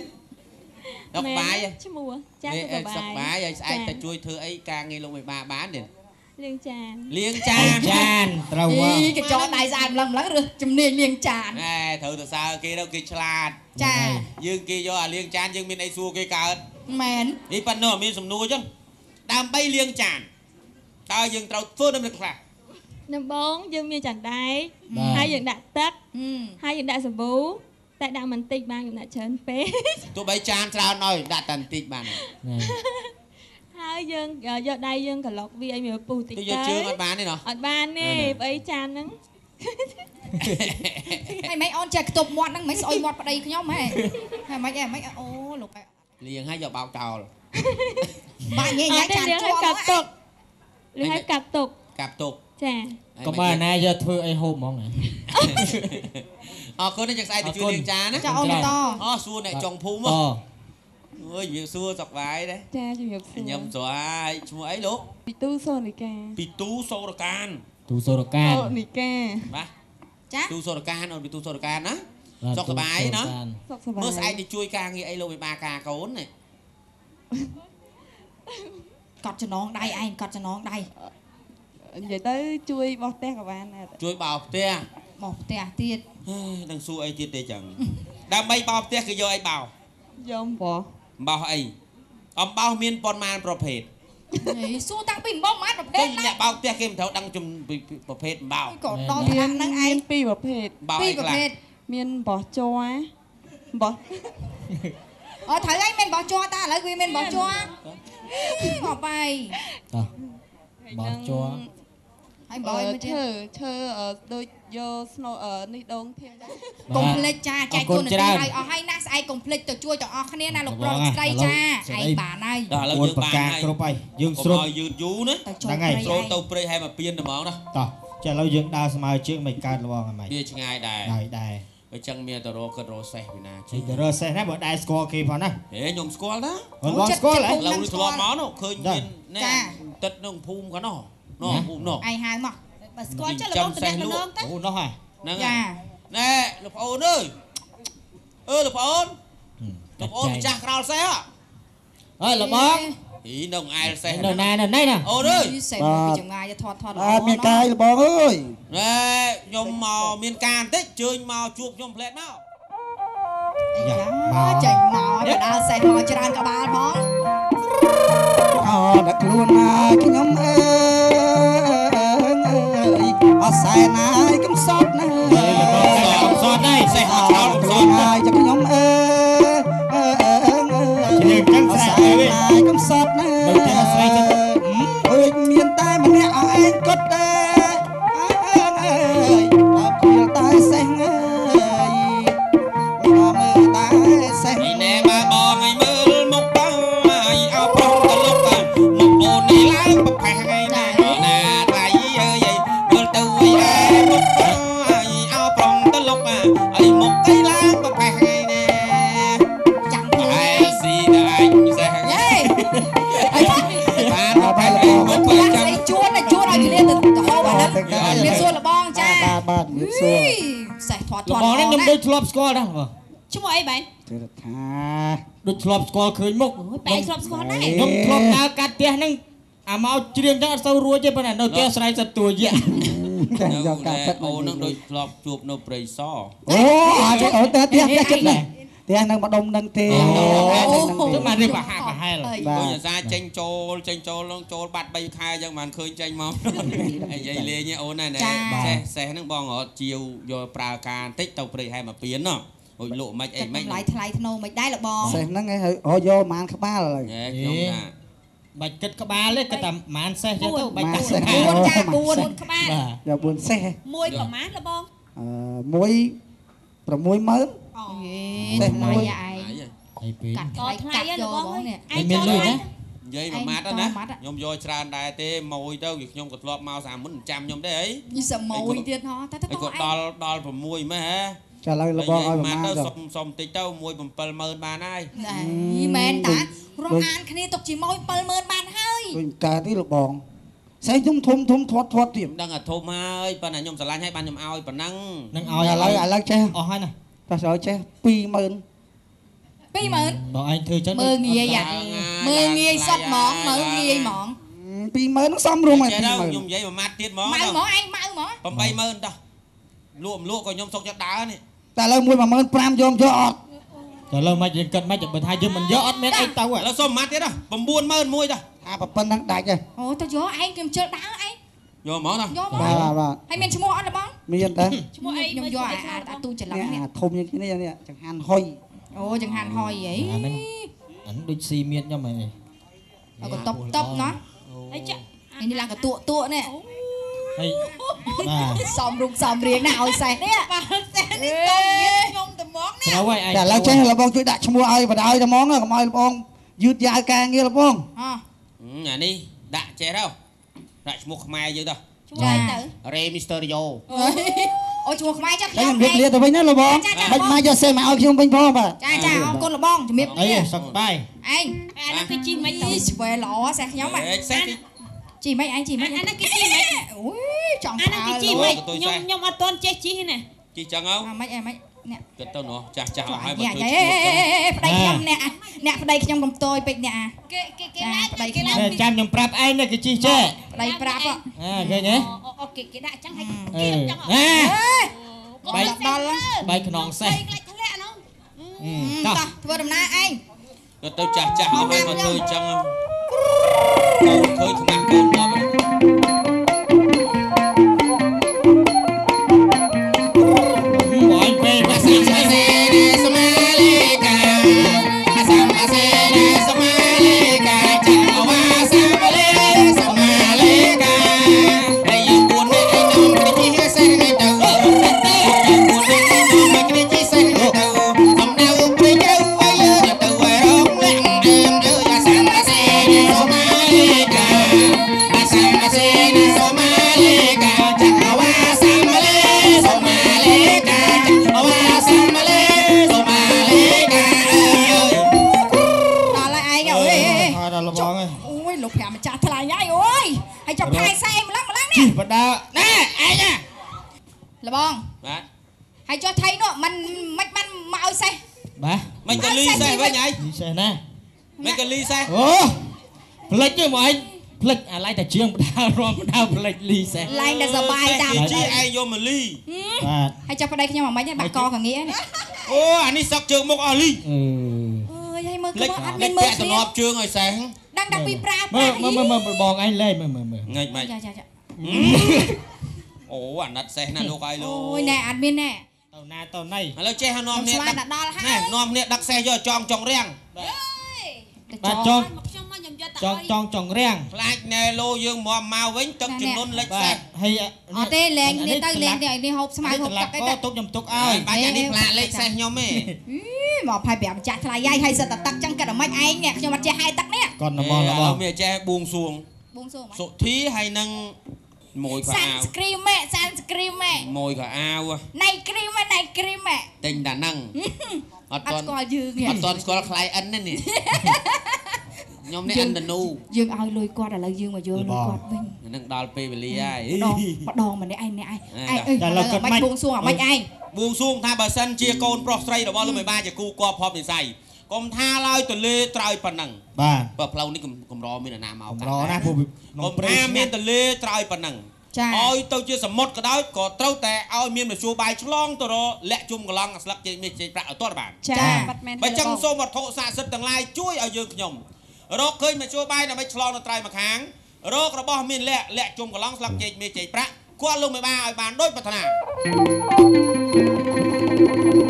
A: សុកបាយ
I: ឈ្មោះចា
A: សុកបាយឲ្យស្អែកទៅជួយធ្វើអីការងារលោកមេបាបានទៀត
I: លាងចាន
A: លាងចាន
C: ចានត្រូវហ៎
B: កញ្ចក់ដៃស្អាតម្លឹងម្លឹងរើសជំនាញលាងចាន
A: ណែត្រូវទៅសើគេទៅគេឆ្លាត
B: ចា
A: យើងគេយកអាលាងចានយើងមានអីសួរគេកើត
B: មែន
A: នេះប៉ណ្ណោះមានសំណួរចឹងដើម្បីលាងចានតើយើងត្រូវធ្វើដំណឹងខ្លះ
I: ដំបងយើងមានចានដែកហើយយើងដាក់ទឹកហើយយើងដាក់សាប៊ូតែដាក់មិនតិចបានខ្ញុំដាក់ច្រើនពេក
A: ទោះបីចានច្រើនឲ្យដាក់តែបន្តិចបាន
I: ហើយយើងយកដៃយើងក្លុកវាឲ្យវាពុះតិច
A: ទៅយកជើងអត់បានទេណោះ
I: អត់បានទេប្អីចានហ្នឹង
B: ហើយមិនអូនចេះខ្ទប់មាត់ហ្នឹងមិនស្អុយមាត់ប្តីខ្ញុំហ៎ហើយមិនអីមិនអូលោក
A: លាងហើយយកបោកចោល
B: បាក់ញ៉ៃញ៉ៃចាន
I: ជាប់កាប់ទុកឬឲ្យកាប់ទុក
A: កាប់ទុក
I: ចា
C: កុំឲ្យណាយកធ្វើអីហូបហ្មង
A: អរគុណចឹងស្អែកទៅជួយលាងចានណា
B: ចាអូនបន្ត
A: អូសួរអ្នកចុងភូមិអើយជំរាបសួរសុខបាយដែរ
H: ចាជំរាបសួរ
A: ញឹមស្រាយឈ្មោះអីលោក
H: ពីទូសូនិកា
A: ពីទូសូរកាន
C: ទូសូរកាន
H: និកា
A: បាទ
B: ចា
A: ទូសូរកានអូនពីទូសូរកានណាសុខសប្បាយណា
H: សុខសប្បាយ
A: មើលស្អែកទៅជួយការងារអីលោកវិបាការកូននេះ
B: កត់ចំណងដៃឯងកត់ចំណងដៃ
H: និយាយទៅជួយបោះផ្ទះក៏បានដែរ
A: ជួយបោះផ្ទះ
B: បោះផ្ទះទៀត
A: នឹងសួរអីទៀតទេចឹងដើម្បីបោះផ្ទះគេយកអីបោះ
H: យកអំបោះ
A: អំបោះអីអំបោះមានប៉ុន្មានប្រភេទ
B: សួរតាំងពីអំបោះប៉ុន្មានប្រភេទ
A: អ្នកបោកផ្ទះគេមិនត្រូវដឹងប្រភេទអំបោះ
B: ក៏ដល់ថ្នាក់ហ្នឹងឯង
H: ពីរប្រភេទ
B: ពីរប្រភេទ
H: មានអំបោះជ័រអំបោះ
B: អូត្រូវហើយមានអំបោះជ័រតាឥឡូវវាមានអំបោះជ័រមកបាយ
C: តោះបោះជ័រ
B: ហើយបើឲ្យ
H: ឈើឈើដូចយកស្នូនេះដងធៀង
B: កុំភ្លេចចាចែកគុណទីឲ្យអស់ហើយណាស្អែកកុំភ្លេចទៅជួយទាំងអស់គ្នាណាលោកប្រុសស្រីចាឯងបានហើយ
A: ដល់ឥឡូវយើងបានហើយ
C: គ្រប់ហើយយើងស្រុត
A: ឲ្យយឺតយូរណា
C: ហ្នឹងហើយ
A: ស្រុតទៅព្រៃហើយមកពៀនតែហ្មងណា
C: តោះចាឥឡូវយើងដើរស្មើជើងមិនកើតលបងហ្នឹង
A: វាឆ្ងាយដែរ
C: ដែរដែរ
A: អញ្ចឹងមានទៅរកគិតរកសេះពីណា
C: ជិះទៅរកសេះណាបើដែរស្គាល់គេផងណា
A: ហេខ្ញុំស្គាល់ណា
C: បងស្គាល់ហ៎
A: ឥឡូវនេះធ្លាប់មកនោះឃើញមានណែទឹកក្នុងភូមិកានោះនោះភូមិនោះ
B: ឯងហៅមក
D: បើស្គាល់ចុះលបងតំណងទៅ
C: អូនោះហើយ
A: ហ្នឹងហើយណែលោកប្អូនអើយអឺលោកប្អូនលោកប្អូនម្ចាស់ក្រោលសេះ
C: អើលបង
A: អីនៅអែលសេះ
C: នៅណានៅនេះណា
A: អូនអើយ
B: សេះមកពីចម្ងាយថតថត
J: អត់មានកាយលបងអើយ
A: ណែខ្ញុំមកមានការបន្តិចជើញមកជួបខ្ញុំផ្លែតមក
B: យ៉ាចេញមកទៅដល់សេះមកច្រើនក្បាលផង
J: អដល់ខ្លួនណាខ្ញុំអើយអត់សែនណាយកំសត់ណា
C: កំសត់ដែរ
A: សេះមកក្រោលកំសត់
J: ហើយចាំខ្ញុំអើ
C: ជឿចឹងស្រែកទៅ
J: ណាយកំសត់ណា
C: នៅតែស្រែកចិត្ត
J: អើយមានតែម្នាក់ឯងគត់ដែរអើយដល់ព្រាលតែសេះអើយមកមើលតែសេះ
A: នេះណែបើបងឲ្យមើលមុខបងឲ្យអោប្រុសទៅលុកមុខអូននេះឡើងប្រផេះថ្ងៃណាណាថ្លៃអើយមើលទៅអីឯមុខបងឲ្យអោប្រុសទៅលុកអីមុខអីឡើងប្រផេះថ្ងៃណា
B: ចាំ
A: ឯស៊ីតែអញសេះ
B: យេ
A: បានប្រផេះអីមុខ
B: ចាំស្អីជួនជួនឲ្យគ្នាទៅទៅហូបអាហ្នឹង មានសួរលបងចា
J: បាទបាទមានសួរ
B: សេះធាត់ធាត់
C: លបងនេះខ្ញុំដូចធ្លាប់ស្គាល់ដែរបង
D: ឈ្មោះអីបែន
J: ទេថា
C: ដូចធ្លាប់ស្គាល់ឃើញមុខ
D: បែនធ្លាប់ស្គាល់ដែរ
C: ខ្ញុំធ្លាប់ដើរកាត់ផ្ទះហ្នឹងអាមកច្រៀងចឹងអត់សូវរួចទេប៉ុន្តែនៅផ្ទះស្រែកសិតទួយៈ
J: តែយកការពិត
A: អូននឹងដូចធ្លាប់ជួបនៅព្រៃស
J: អូអត់អូតែផ្ទះផ្ទះចិត្តដែរផ្ទះនឹងម្ដុំនឹងទេ
C: ទៅមករៀបប្រហាក់ប្រហែល
A: ដូចអាសាចេញចូលចេញចូលនឹងចូលបាត់3ខែអញ្ចឹងបានឃើញចេញមក អីនិយាយលេងអូនណា សេះសេះហ្នឹងបងរត់ជាវយកប្រើការបន្តិចទៅព្រៃហែមកពៀនណោះ អូយលក់មិនអីមិន
B: ថ្លៃថ្លៃធ្នូមិនដែរលបង
J: សេះហ្នឹងឯងហើយយកប្រហែលក្បាលហើយ
A: ខ្ញុំថា
C: បាច់គិតក្បាលទេគិតតែប្រហែលសេះចឹងទៅបាច់
J: សេះ
B: 4ចា4
D: ក្បាល
J: យក4សេះ
D: មួយប្រហែលលបង
J: អឺមួយ60000
B: អូសេះមួយឯង
C: អីពី
B: កាត់ថ្លៃកាត់យកបងនេះ
C: ឯងមានលុយណា
A: និយាយមួយម៉ាត់ណាខ្ញុំយកច្រើនដែរទេម៉ួយទៅខ្ញុំក៏ធ្លាប់មកសាមុនចាំខ្ញុំទេអី
B: នេះសម៉ួយទៀតហ៎តែទៅ
A: ក៏ដល់ដល់6ម៉េះហ៎
J: ចាឥឡូវលបងឲ្យប្រហែល
A: ទៅសុំសុំបន្តិចទៅ1 70000បានហើយ
B: ណែមែនតារកអានគ្នាទុកជាមួយ70000បានហើយ
J: ដូចកើតទេលបងសេះខ្ញុំធំធំធាត់ធាត់ទៀត
A: ដឹងអាធំហើយប៉ុន្តែខ្ញុំស្រឡាញ់ហើយបានខ្ញុំឲ្យប៉ុណ្ណឹង
C: នឹងឲ្យ
J: ឥឡូវឥឡូវចេះ
C: អស់ហើយណា
J: តោះឲ្យចេះ20000
B: 20000
C: បងឯងធ្វើចឹង
B: មើលងាយមើលងាយសុតហ្មងមើលងាយហ្មង
J: 20000ហ្នឹងសំរុំហើយ
A: 20000ខ្ញុំនិយាយមួយម៉ាត់ទៀតហ្មង
B: ម៉ៅហ្មងឯងម៉ៅហ្មង
A: 80000តោះលក់មិនលក់ក៏ខ្ញុំសុកចិត្តដើរនេះ
J: តែឥឡូវមួយ15000យកយកអត់
C: តែឥឡូវមិនយើងគិតមិនបើថាយើងមិនយកអត់មានអីទៅ
A: ឥឡូវសុំមួយម៉ាត់ទៀត90000មួយតោះ
J: អាប៉ុណ្ណឹងដាច់ហ៎
B: អូទៅយកឯងខ្ញុំជិលដើរឯង
A: យកហ្មងណា
B: យក
J: បាទបាទ
B: ហើយមានឈ្មោះអត់លបង
J: មានតា
D: ឈ្មោះអី
B: ខ្ញុំយកអាទូច្រឡំ
J: នេះអាធំជាងគ្នានេះចង្ហាន់ហុយ
B: អូចង្ហាន់ហុយអី
C: អាហ្នឹងអាហ្នឹងដូចស៊ីមៀតខ្ញុំហី
B: ក៏តបតបណោះ
D: អីចា
B: នេះឡើងកតក់តក់នេះ
C: ហើយបាទ
B: សំរូបសំរៀងណាឲ្យសេះនេះ
D: បាទសេះនេះតមានខ្ញុំតែហ្មងនេះ
C: ត្រូវហើយឯង
J: តែឥឡូវចេះលបងជួយដាក់ឈ្មោះឲ្យបដ ாய் តែហ្មងកុំឲ្យលបងយឺតយ៉ាវការងារលបង
A: អានេះដាក់ចេះទៅដាក់ឈ្មោះខ្មែរយើងទៅ
D: ឈ្មោះអីទៅ
A: រេមីស្ទ័រីយ៉ូ
B: អូឈ្មោះខ្មែរចា
J: ខ្ញុំរៀបលាទៅវិញណាលបងមិនមកយកសេះមកឲ្យខ្ញុំវិញផងបាទ
B: ចាចាអរគុណលបងជំរាប
C: អីសុខបាយ
B: ឯង
D: អានេះគេជីមិនទៅ
B: ឆ្វេល្អសេះខ្ញុំ
A: សេះ
B: ជីមិនឯងជីមិន
D: អានេះគេជីមិន
B: អូយចង់
D: អានេះគេជីមិនខ្ញុំខ្ញុំអត់ទាន់ចេះជីណា
A: ជីចឹងហ៎
B: អាមិនអីមិនអ្នក
A: គិតទៅនោះចាស់ចាស់អស់ហើយបើ
B: ធ្វើប្តីខ្ញុំអ្នកអ្នកប្តីខ្ញុំកំតយពេកអ្នក
D: គេគេគេឡើងគេឡើង
C: ចាំខ្ញុំប្រាប់ឯងនេះគេជីចេះ
B: ប្តីប្រាប់
C: អើឃើញទេ
D: អូគេគេដាក់ចឹងហើយគេចឹង
C: អេ
B: បែកដល់
C: បែកខ្នងសេះ
D: បែកធ្លាក់នោះ
B: តោះធ្វើដំណើរឯង
A: គិតទៅចាស់ចាស់អស់ហើយមកធ្វើចឹងកូនឃើញខ្មាស់កូនដល់
C: បងពេល
A: អាសាអាសេសមាលេកាអាសាអាសេសមាលេកាចាវ៉ាសាលេសមាលេកាហើយយើងពួននេះឯងនំគ្នាជីសេះទៅយើងពួននេះនំគ្នាជីសេះទៅសំដៅព្រៃទៅហើយយើងទៅរងលាក់អើមអាសាអាសេសមាលេកាអាសា
B: យលោកប្រាំម្ចាស់ថ្លៃហើយអូយហើយចុះផែសែម្លឹងម្លឹងនេះ
C: ជីបដាណែឯងណា
B: លបង
A: បាទ
B: ហើយចុះថៃនោះមិនមិនបានមកឲ្យសេះ
C: បាទ
A: មិនក៏លីសេះវិញឯង
C: លីសេះណា
A: មិនក៏លីសេះ
C: អូផ្លិចទេមកឯងផ្លិចអាឡៃតែជាងបដារំបដាផ្លិចលីសេះ
B: ឡើងតែសបាយតាម
A: ជីឯងយកមកលី
C: បាទ
B: ហើយចុះប្តីខ្ញុំអាម៉េចបាក់កកងានេះ
A: អូអានេះសឹកជើងមុខអស់លី
B: អើយហើយមើលគឺអត់មានមើល
A: គ្នាសំណប់ជើងឲ្យសេះ
B: ដឹងតែពីប្រា
C: មើលមើលមើលបងឯងលេងមើលមើលមើល
A: ងាច់ម៉េច
B: ចាចាចា
A: អូអាណិតសេះណាលោកឲ្យលោក
B: អូយណែអត់មានណែ
C: ទៅណាទៅណី
A: ឥឡូវចេះនាំគ្នា
B: ដឹកដល់ហើយ
A: នាំគ្នាដឹកសេះយកចងចងរាំង
C: បាទចង
D: ខ្ញុំមកខ្ញុំយក
C: ចងចងចងរាំង
A: ខ្លាចណែលោយើងមកមកវិញទឹកចំនួនលិចសេះ
C: ហើយ
B: អត់ទេលែងនេះទៅលែងនេះឲ្យនេះហូបស្មៅហូបទឹកអីទៅ
C: ទុកខ្ញុំទុកឲ្យ
A: បាច់អានេះផ្លាកលេខសេះខ្ញុំទេ
B: មកផៃ5ចាស់ថ្លៃយាយហើយសិតតែទឹកចឹងគិតអាម៉េចឯងនេះខ្ញុំអត់ចេះហែទឹកនេះ
C: គាត់នមរបស់
A: មានចេះបួងសួង
B: បួងសួង
A: សុធីហើយនឹងមួយខោអាវ
B: សាន់ស្គ្រីមសាន់ស្គ្រីម
A: មួយខោអាវ
B: ណៃគ្រីមណៃគ្រីម
A: ទិញតែហ្នឹងអត់
B: ស្គាល់យើង
A: អត់ទាន់ស្គាល់ client ទេនេះខ្ញុំនេះអិនតនូ
B: យើងឲ្យលុយគាត់ឥឡូវយើងមកយកលុយគាត់វិញ
A: នឹងដល់ពេលវេលាហើយ
B: ម្ដងម្នាក់ឯងអ្នកឯងឯងឥឡូវមិនបួងសួងអាម៉េចឯង
A: បួងសួងថាបើសិនជាកូនប្រុសស្រីរបស់លោកមេបាជាគូគប់ភពនិស័យ កុំថាឡើយទលេត្រើយប៉ុណ្ណឹង
C: បាទ
A: បើផ្លូវនេះកម្រមានអាណាមក
C: កម្រណាពួក
A: កុំថាមានទលេត្រើយប៉ុណ្ណឹងឲ្យទៅជាសមុទ្រក៏ដោយក៏ត្រូវតែឲ្យមានមធ្យោបាយឆ្លងទៅរលាក់ជុំកន្លងស្លឹកចេកមាសចេកប្រាក់ឲ្យទាត់បាន
B: ចា
A: បើចឹងសូមវត្ថុស័ក្តិសិទ្ធិទាំងឡាយជួយឲ្យយើងខ្ញុំរកឃើញមធ្យោបាយដើម្បីឆ្លងទៅត្រៃម្ខាងរករបស់មានលាក់លាក់ជុំកន្លងស្លឹកចេកមាសចេកប្រាក់គាត់លោកមេបាឲ្យបានដូចប្រាថ្នា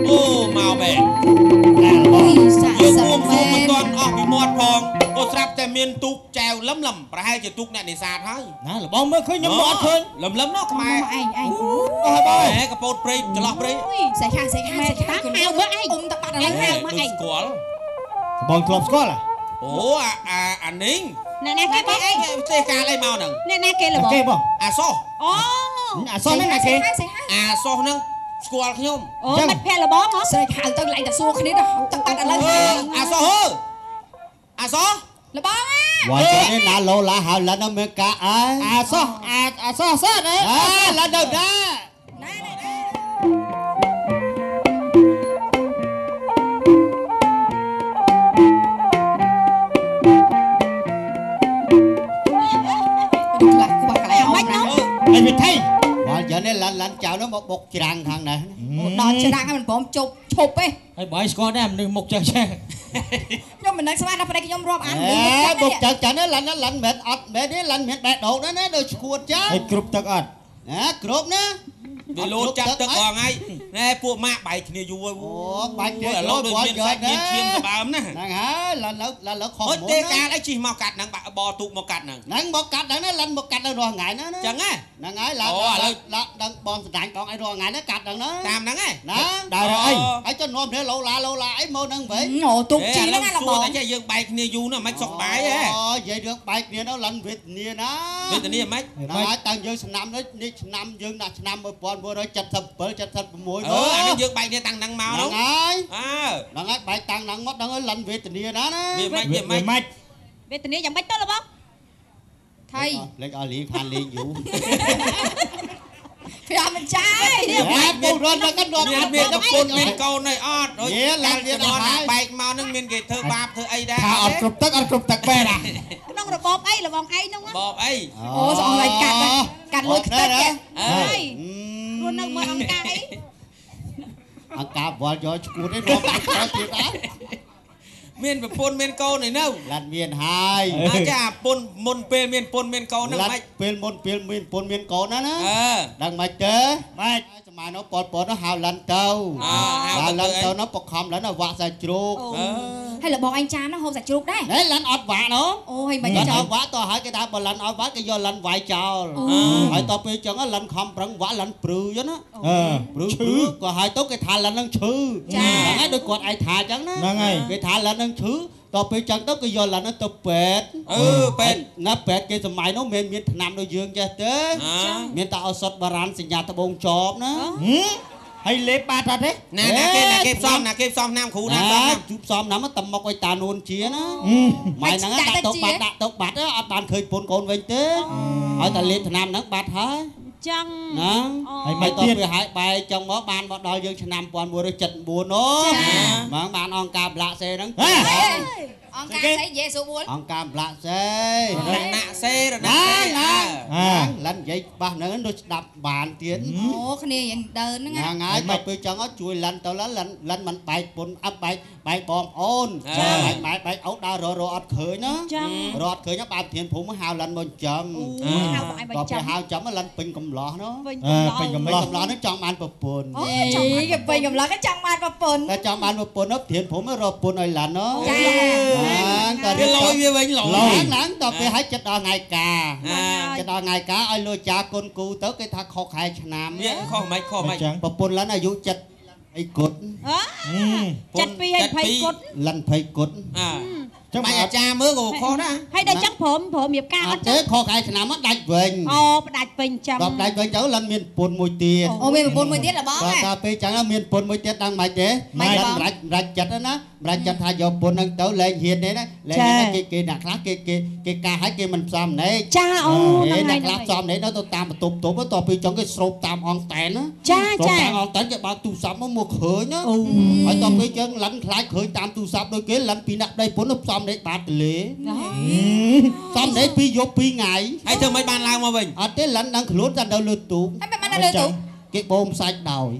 A: អូមកបែយើងបួងសួងមិនទាន់អស់ពីមាត់ផងក៏ស្រាប់តែមានទូកចែវលឹមលឹមប្រហែលជាទូកអ្នកនេសាទហើយ
C: ណាលបងមើលឃើញខ្ញុំអត់ឃើញ
A: លឹមលឹមនោះខ្មែរ
B: ឯងឯង
C: អស់បង
A: ហែកពោតព្រៃចន្លោះព្រៃ
B: សេះខាសេះខាសេះខា
D: ហៅមើលឯង
B: អ៊ំតបាត់ឥឡូវហៅ
D: មើលឯង
A: ស្គាល់
C: បងធ្លាប់ស្គាល់
A: អូអាអាអានេះ
D: អ្នកណាគេបង
A: ឯងទេកាលអីមកហ្នឹង
D: អ្នកណាគេលបង
C: គេបង
A: អាសោះ
D: អូ
C: អាសោះហ្នឹងណាគេ
A: អាសោះហ្នឹងស្គាល់ខ្ញុំ
D: អូមិត្តភក្តិលបងហ៎
B: ស្រែកហៅទៅឡើងតែសួរគ្នាទៅទឹកបាត់ឥឡូវ
A: អាសោះហឺអាសោះ
B: លបងអា
J: វ៉ាចេះណាលោឡាហៅឡានមានកាអើ
C: អាសោះអាអាសោះសោះ
J: អើឡានទៅណា
B: ណា
C: អីវិធី
J: វ៉ាgiờនេះឡានឡានចៅនោះមកបុកច្រាំងខាងនេះ
B: ដល់ច្រាំងហើយមិនព្រមជប់ឈប់ទេ
C: ហើយបើឯងស្គាល់ដែរមនុស្សមុខចេះចេះ
B: ខ្ញុំមិនដឹងស្មានដល់ប្តីខ្ញុំរាប់អាន
J: បុកចឹងចឹងឡានឡានមិនអត់មែនទេឡានមានបេះដូងណាណាដូចឈួតចឹង
C: ហើយគ្រប់ទឹកអត់
J: ណាគ្រប់ណា
A: វាលោតចាប់ទឹករាល់ថ្ងៃណែពួកម៉ាក់បែកគ្នាយូរហើយ
J: អូបែកគ្នា
A: ឥឡូវដូចមានសាច់មានឈាមសបើមណា
J: ហ្នឹងហើយឡានលើឡានលើខុស
A: មុនទេកាលអីជិះមកកាត់ហ្នឹងបាក់បទូកមកកាត់ហ្នឹង
J: ហ្នឹងមកកាត់ហ្នឹងណាឡានមកកាត់ដល់រាល់ថ្ងៃណា
A: ចឹងហ៎
J: ហ្នឹងហើយឡានឡានដឹងបងសណ្ដាញបងអីរាល់ថ្ងៃណាកាត់ហ្នឹងណា
A: តាមហ្នឹងហ៎
J: ណា
C: ដើរអី
J: ហើយចុះនាំគ្នាលោឡាលោឡាអីមកហ្នឹងវិញ
B: អូទូកជីហ្នឹងណាលបង
A: តែចេះយើងបែកគ្នាយូរណាស់មិនសុកបាយហ៎
J: អូនិយាយរឿងបែកគ្នានោះឡានវេទនាណា
A: វេទនាមិន
J: ហ្នឹងហើយតាំងយើងឆ្នាំនេះឆ្នាំយើងដាក់ឆ្នាំ1977 76
A: អឺអានេះយើងបែកគ្នាតាំងហ្នឹងមក
J: ហ្នឹងហើយ
A: អើ
J: ហ្នឹងហើយបែកតាំងហ្នឹងមកដឹងហើយលិនវេទនាណាណា
A: វាមិនវាមិន
D: វេទនាយ៉ាងម៉េចទៅលបង
B: ថៃ
J: លេចឲ្យលីខានលេងយូរ
B: ប្រាំមិនចាយ
J: ពូរត់មកកាន់
A: មានមានប្រពន្ធមានកូនអីអត់
J: ដូចឡានទៀត
A: អត់បែកមកនឹងមានគេធ្វើបាបធ្វើអីដែរ
C: ថាអត់គ្រប់ទឹកអត់គ្រប់ទឹកបែរណា
D: ក្នុងរបបអីលបងឯងហ្នឹង
A: របបអី
B: អូស្អងឲ្យកាត់កាត់លុយខ្ទេច
D: អើយរស់នៅមើលអង្គការអី
J: អង្គការវល់យកឈួតឯងរាប់ទៀតអត់
A: មានប្រពន្ធមានកូនឯនៅ
J: ឡានមានហើយ
A: អាចាប្រពន្ធមុនពេលមានប្រពន្ធមានកូនហ្នឹងមិន
J: ពេលមុនពេលមានប្រពន្ធមានកូនណាណា ដឹងមិនទេ
C: ម៉េច
J: សម័យនោះប៉ុលពតនោះហៅឡានទៅហៅឡានទៅនោះបខំឡានវាក់សាច់ជ្រូក
B: ហើយលបងឯងចាននោះហូបសាច់ជ្រូកដែរ
J: ណែឡានអត់វាក់នោះ
B: អូហើយមិន
J: ចាអត់វាក់តហើយគេថាបើឡានអត់វាក់គេយកឡានវាយចោលហើយតពេលចឹងឡានខំប្រឹងវាក់ឡានព្រឺចឹងណា ព្រឺព្រឺក៏ហើយទៅគេថាឡាននឹងឈឺ ហ្នឹងហើយដូចគាត់ឯងថាចឹងណា
C: ហ្នឹងហើយ
J: គេថាឡាននឹងឈឺតពេលចឹងទៅគេយកឡាននោះទៅពេទ្យ
A: អឺពេទ្យ
J: ណាពេទ្យគេសម័យនោះមានមានថ្នាំដូចយើងចេះទេ មានតែឱសថបារាណសញ្ញាត្បូងចបណា
C: ហើយលេបបាត់អត់ទេ
A: ណាគេផ្សំណាគេផ្សំឆ្នាំគ្រូណាផ្សំ
K: ជូផ្សំណាំតមុកឲ្យតានួនជាណាម៉ែហ្នឹងដាក់តុកបាត់ដាក់តុកបាត់អត់បានឃើញពូនកូនវិញទេឲ្យតែលេបឆ្នាំហ្នឹងបាត់ហើយ
D: ចឹង
K: ណាហើយមិនទៀតវាហើយបែកចឹងមកបានមកដល់យើងឆ្នាំ1174អូហ្មងបានអង្គការប្លាក់សេហ្នឹង
B: អង្គការស្អីនិយាយស្រួល
K: អង្គការប្លាក់សេ
A: រណៈសេរណៈ
K: ណាលិននិយាយបាសហ្នឹងដូចស្ដាប់បានទៀត
B: អូគ្នាយ៉ាងដើនហ្នឹង
K: ហ្នឹងហើយដល់ពេលចឹងជួយលិនទៅលិនលិនមិនបែកពុនអត់បែកបែកបងប្អូនបែកម៉ែបែកអូដើររអត់ឃើញណារអត់ឃើញបានធានភូមិហៅលិនមកចាំដល់ពេលហៅចាំលិនពេញកំឡោះនោះពេញកំឡោះហ្នឹងចង់បានប្រពន្ធ
B: អូគេពេញកំឡោះគេចង់បានប្រពន្ធ
K: តែចង់បានប្រពន្ធនោះធានភូមិរកប្រពន្ធឲ្យលិននោះ
B: ចា
K: តែ
A: វាលយវាវិញលយ
K: ហ្នឹងដល់ពេលឲ្យចិត្តដល់ថ្ងៃការចិត្តដល់ថ្ងៃការឲ្យលោកចាគុណគូទៅគេថាខុសខែឆ្នាំ
A: វាខុសមិនខុសមិន
K: ប្រពន្ធលិនអាយុចិត្តអីគុត
D: ចិត្ត2ហើយ20គុត
K: លិន20គុត
A: ចឹងបាច់អាចារ្យមើលក៏ខុសដែរ
D: ហើយដល់ចឹងព្រមរៀបការអត់
K: ទេខុសខែឆ្នាំមកដាច់វិញ
D: អូផ្ដាច់វិញចឹង
K: ដល់ផ្ដាច់វិញទៅលិនមានប្រពន្ធមួយទៀត
B: អូមានប្រពន្ធមួយទៀតល្បង
K: ដល់ពេលចឹងមានប្រពន្ធមួយទៀតដឹងមិនទេលិនម្រាច់ចិត្តណាម្រាច់ចិត្តថាយកប្រពន្ធហ្នឹងទៅលែងហ៊ានទេណាលែងហ៊ានគេគេអ្នកខ្លះគេគេគេការឲ្យគេមិនផ្សំណេក
D: ចាអូហ្នឹង
K: ហើយអ្នកខ្លះផ្សំណេកទៅតាមបន្ទប់ទប់ទៅពេលចឹងគេស្រូបតាមអង្តែនណា
D: ចាចា
K: តាមអង្តែនគេបើកទូរស័ព្ទមកឃើញណាហើយដល់ពេលចឹងលិនខ្លាចឃើញតាមទូរស័ព្ទដូចគេលិនពីអ្នកប្តីប្រពន្ធផ្សំនេះបាតទលេផ្សំនេះពីយប់ពីថ្ងៃ
A: ហើយធ្វើមិនបានឡើងមកវិញ
K: អត់ទេលិនដឹងខ្លួនតែនៅលើទូក
B: ហើយមិនបាននៅលើទូក
K: គេបូមសាច់ដោយ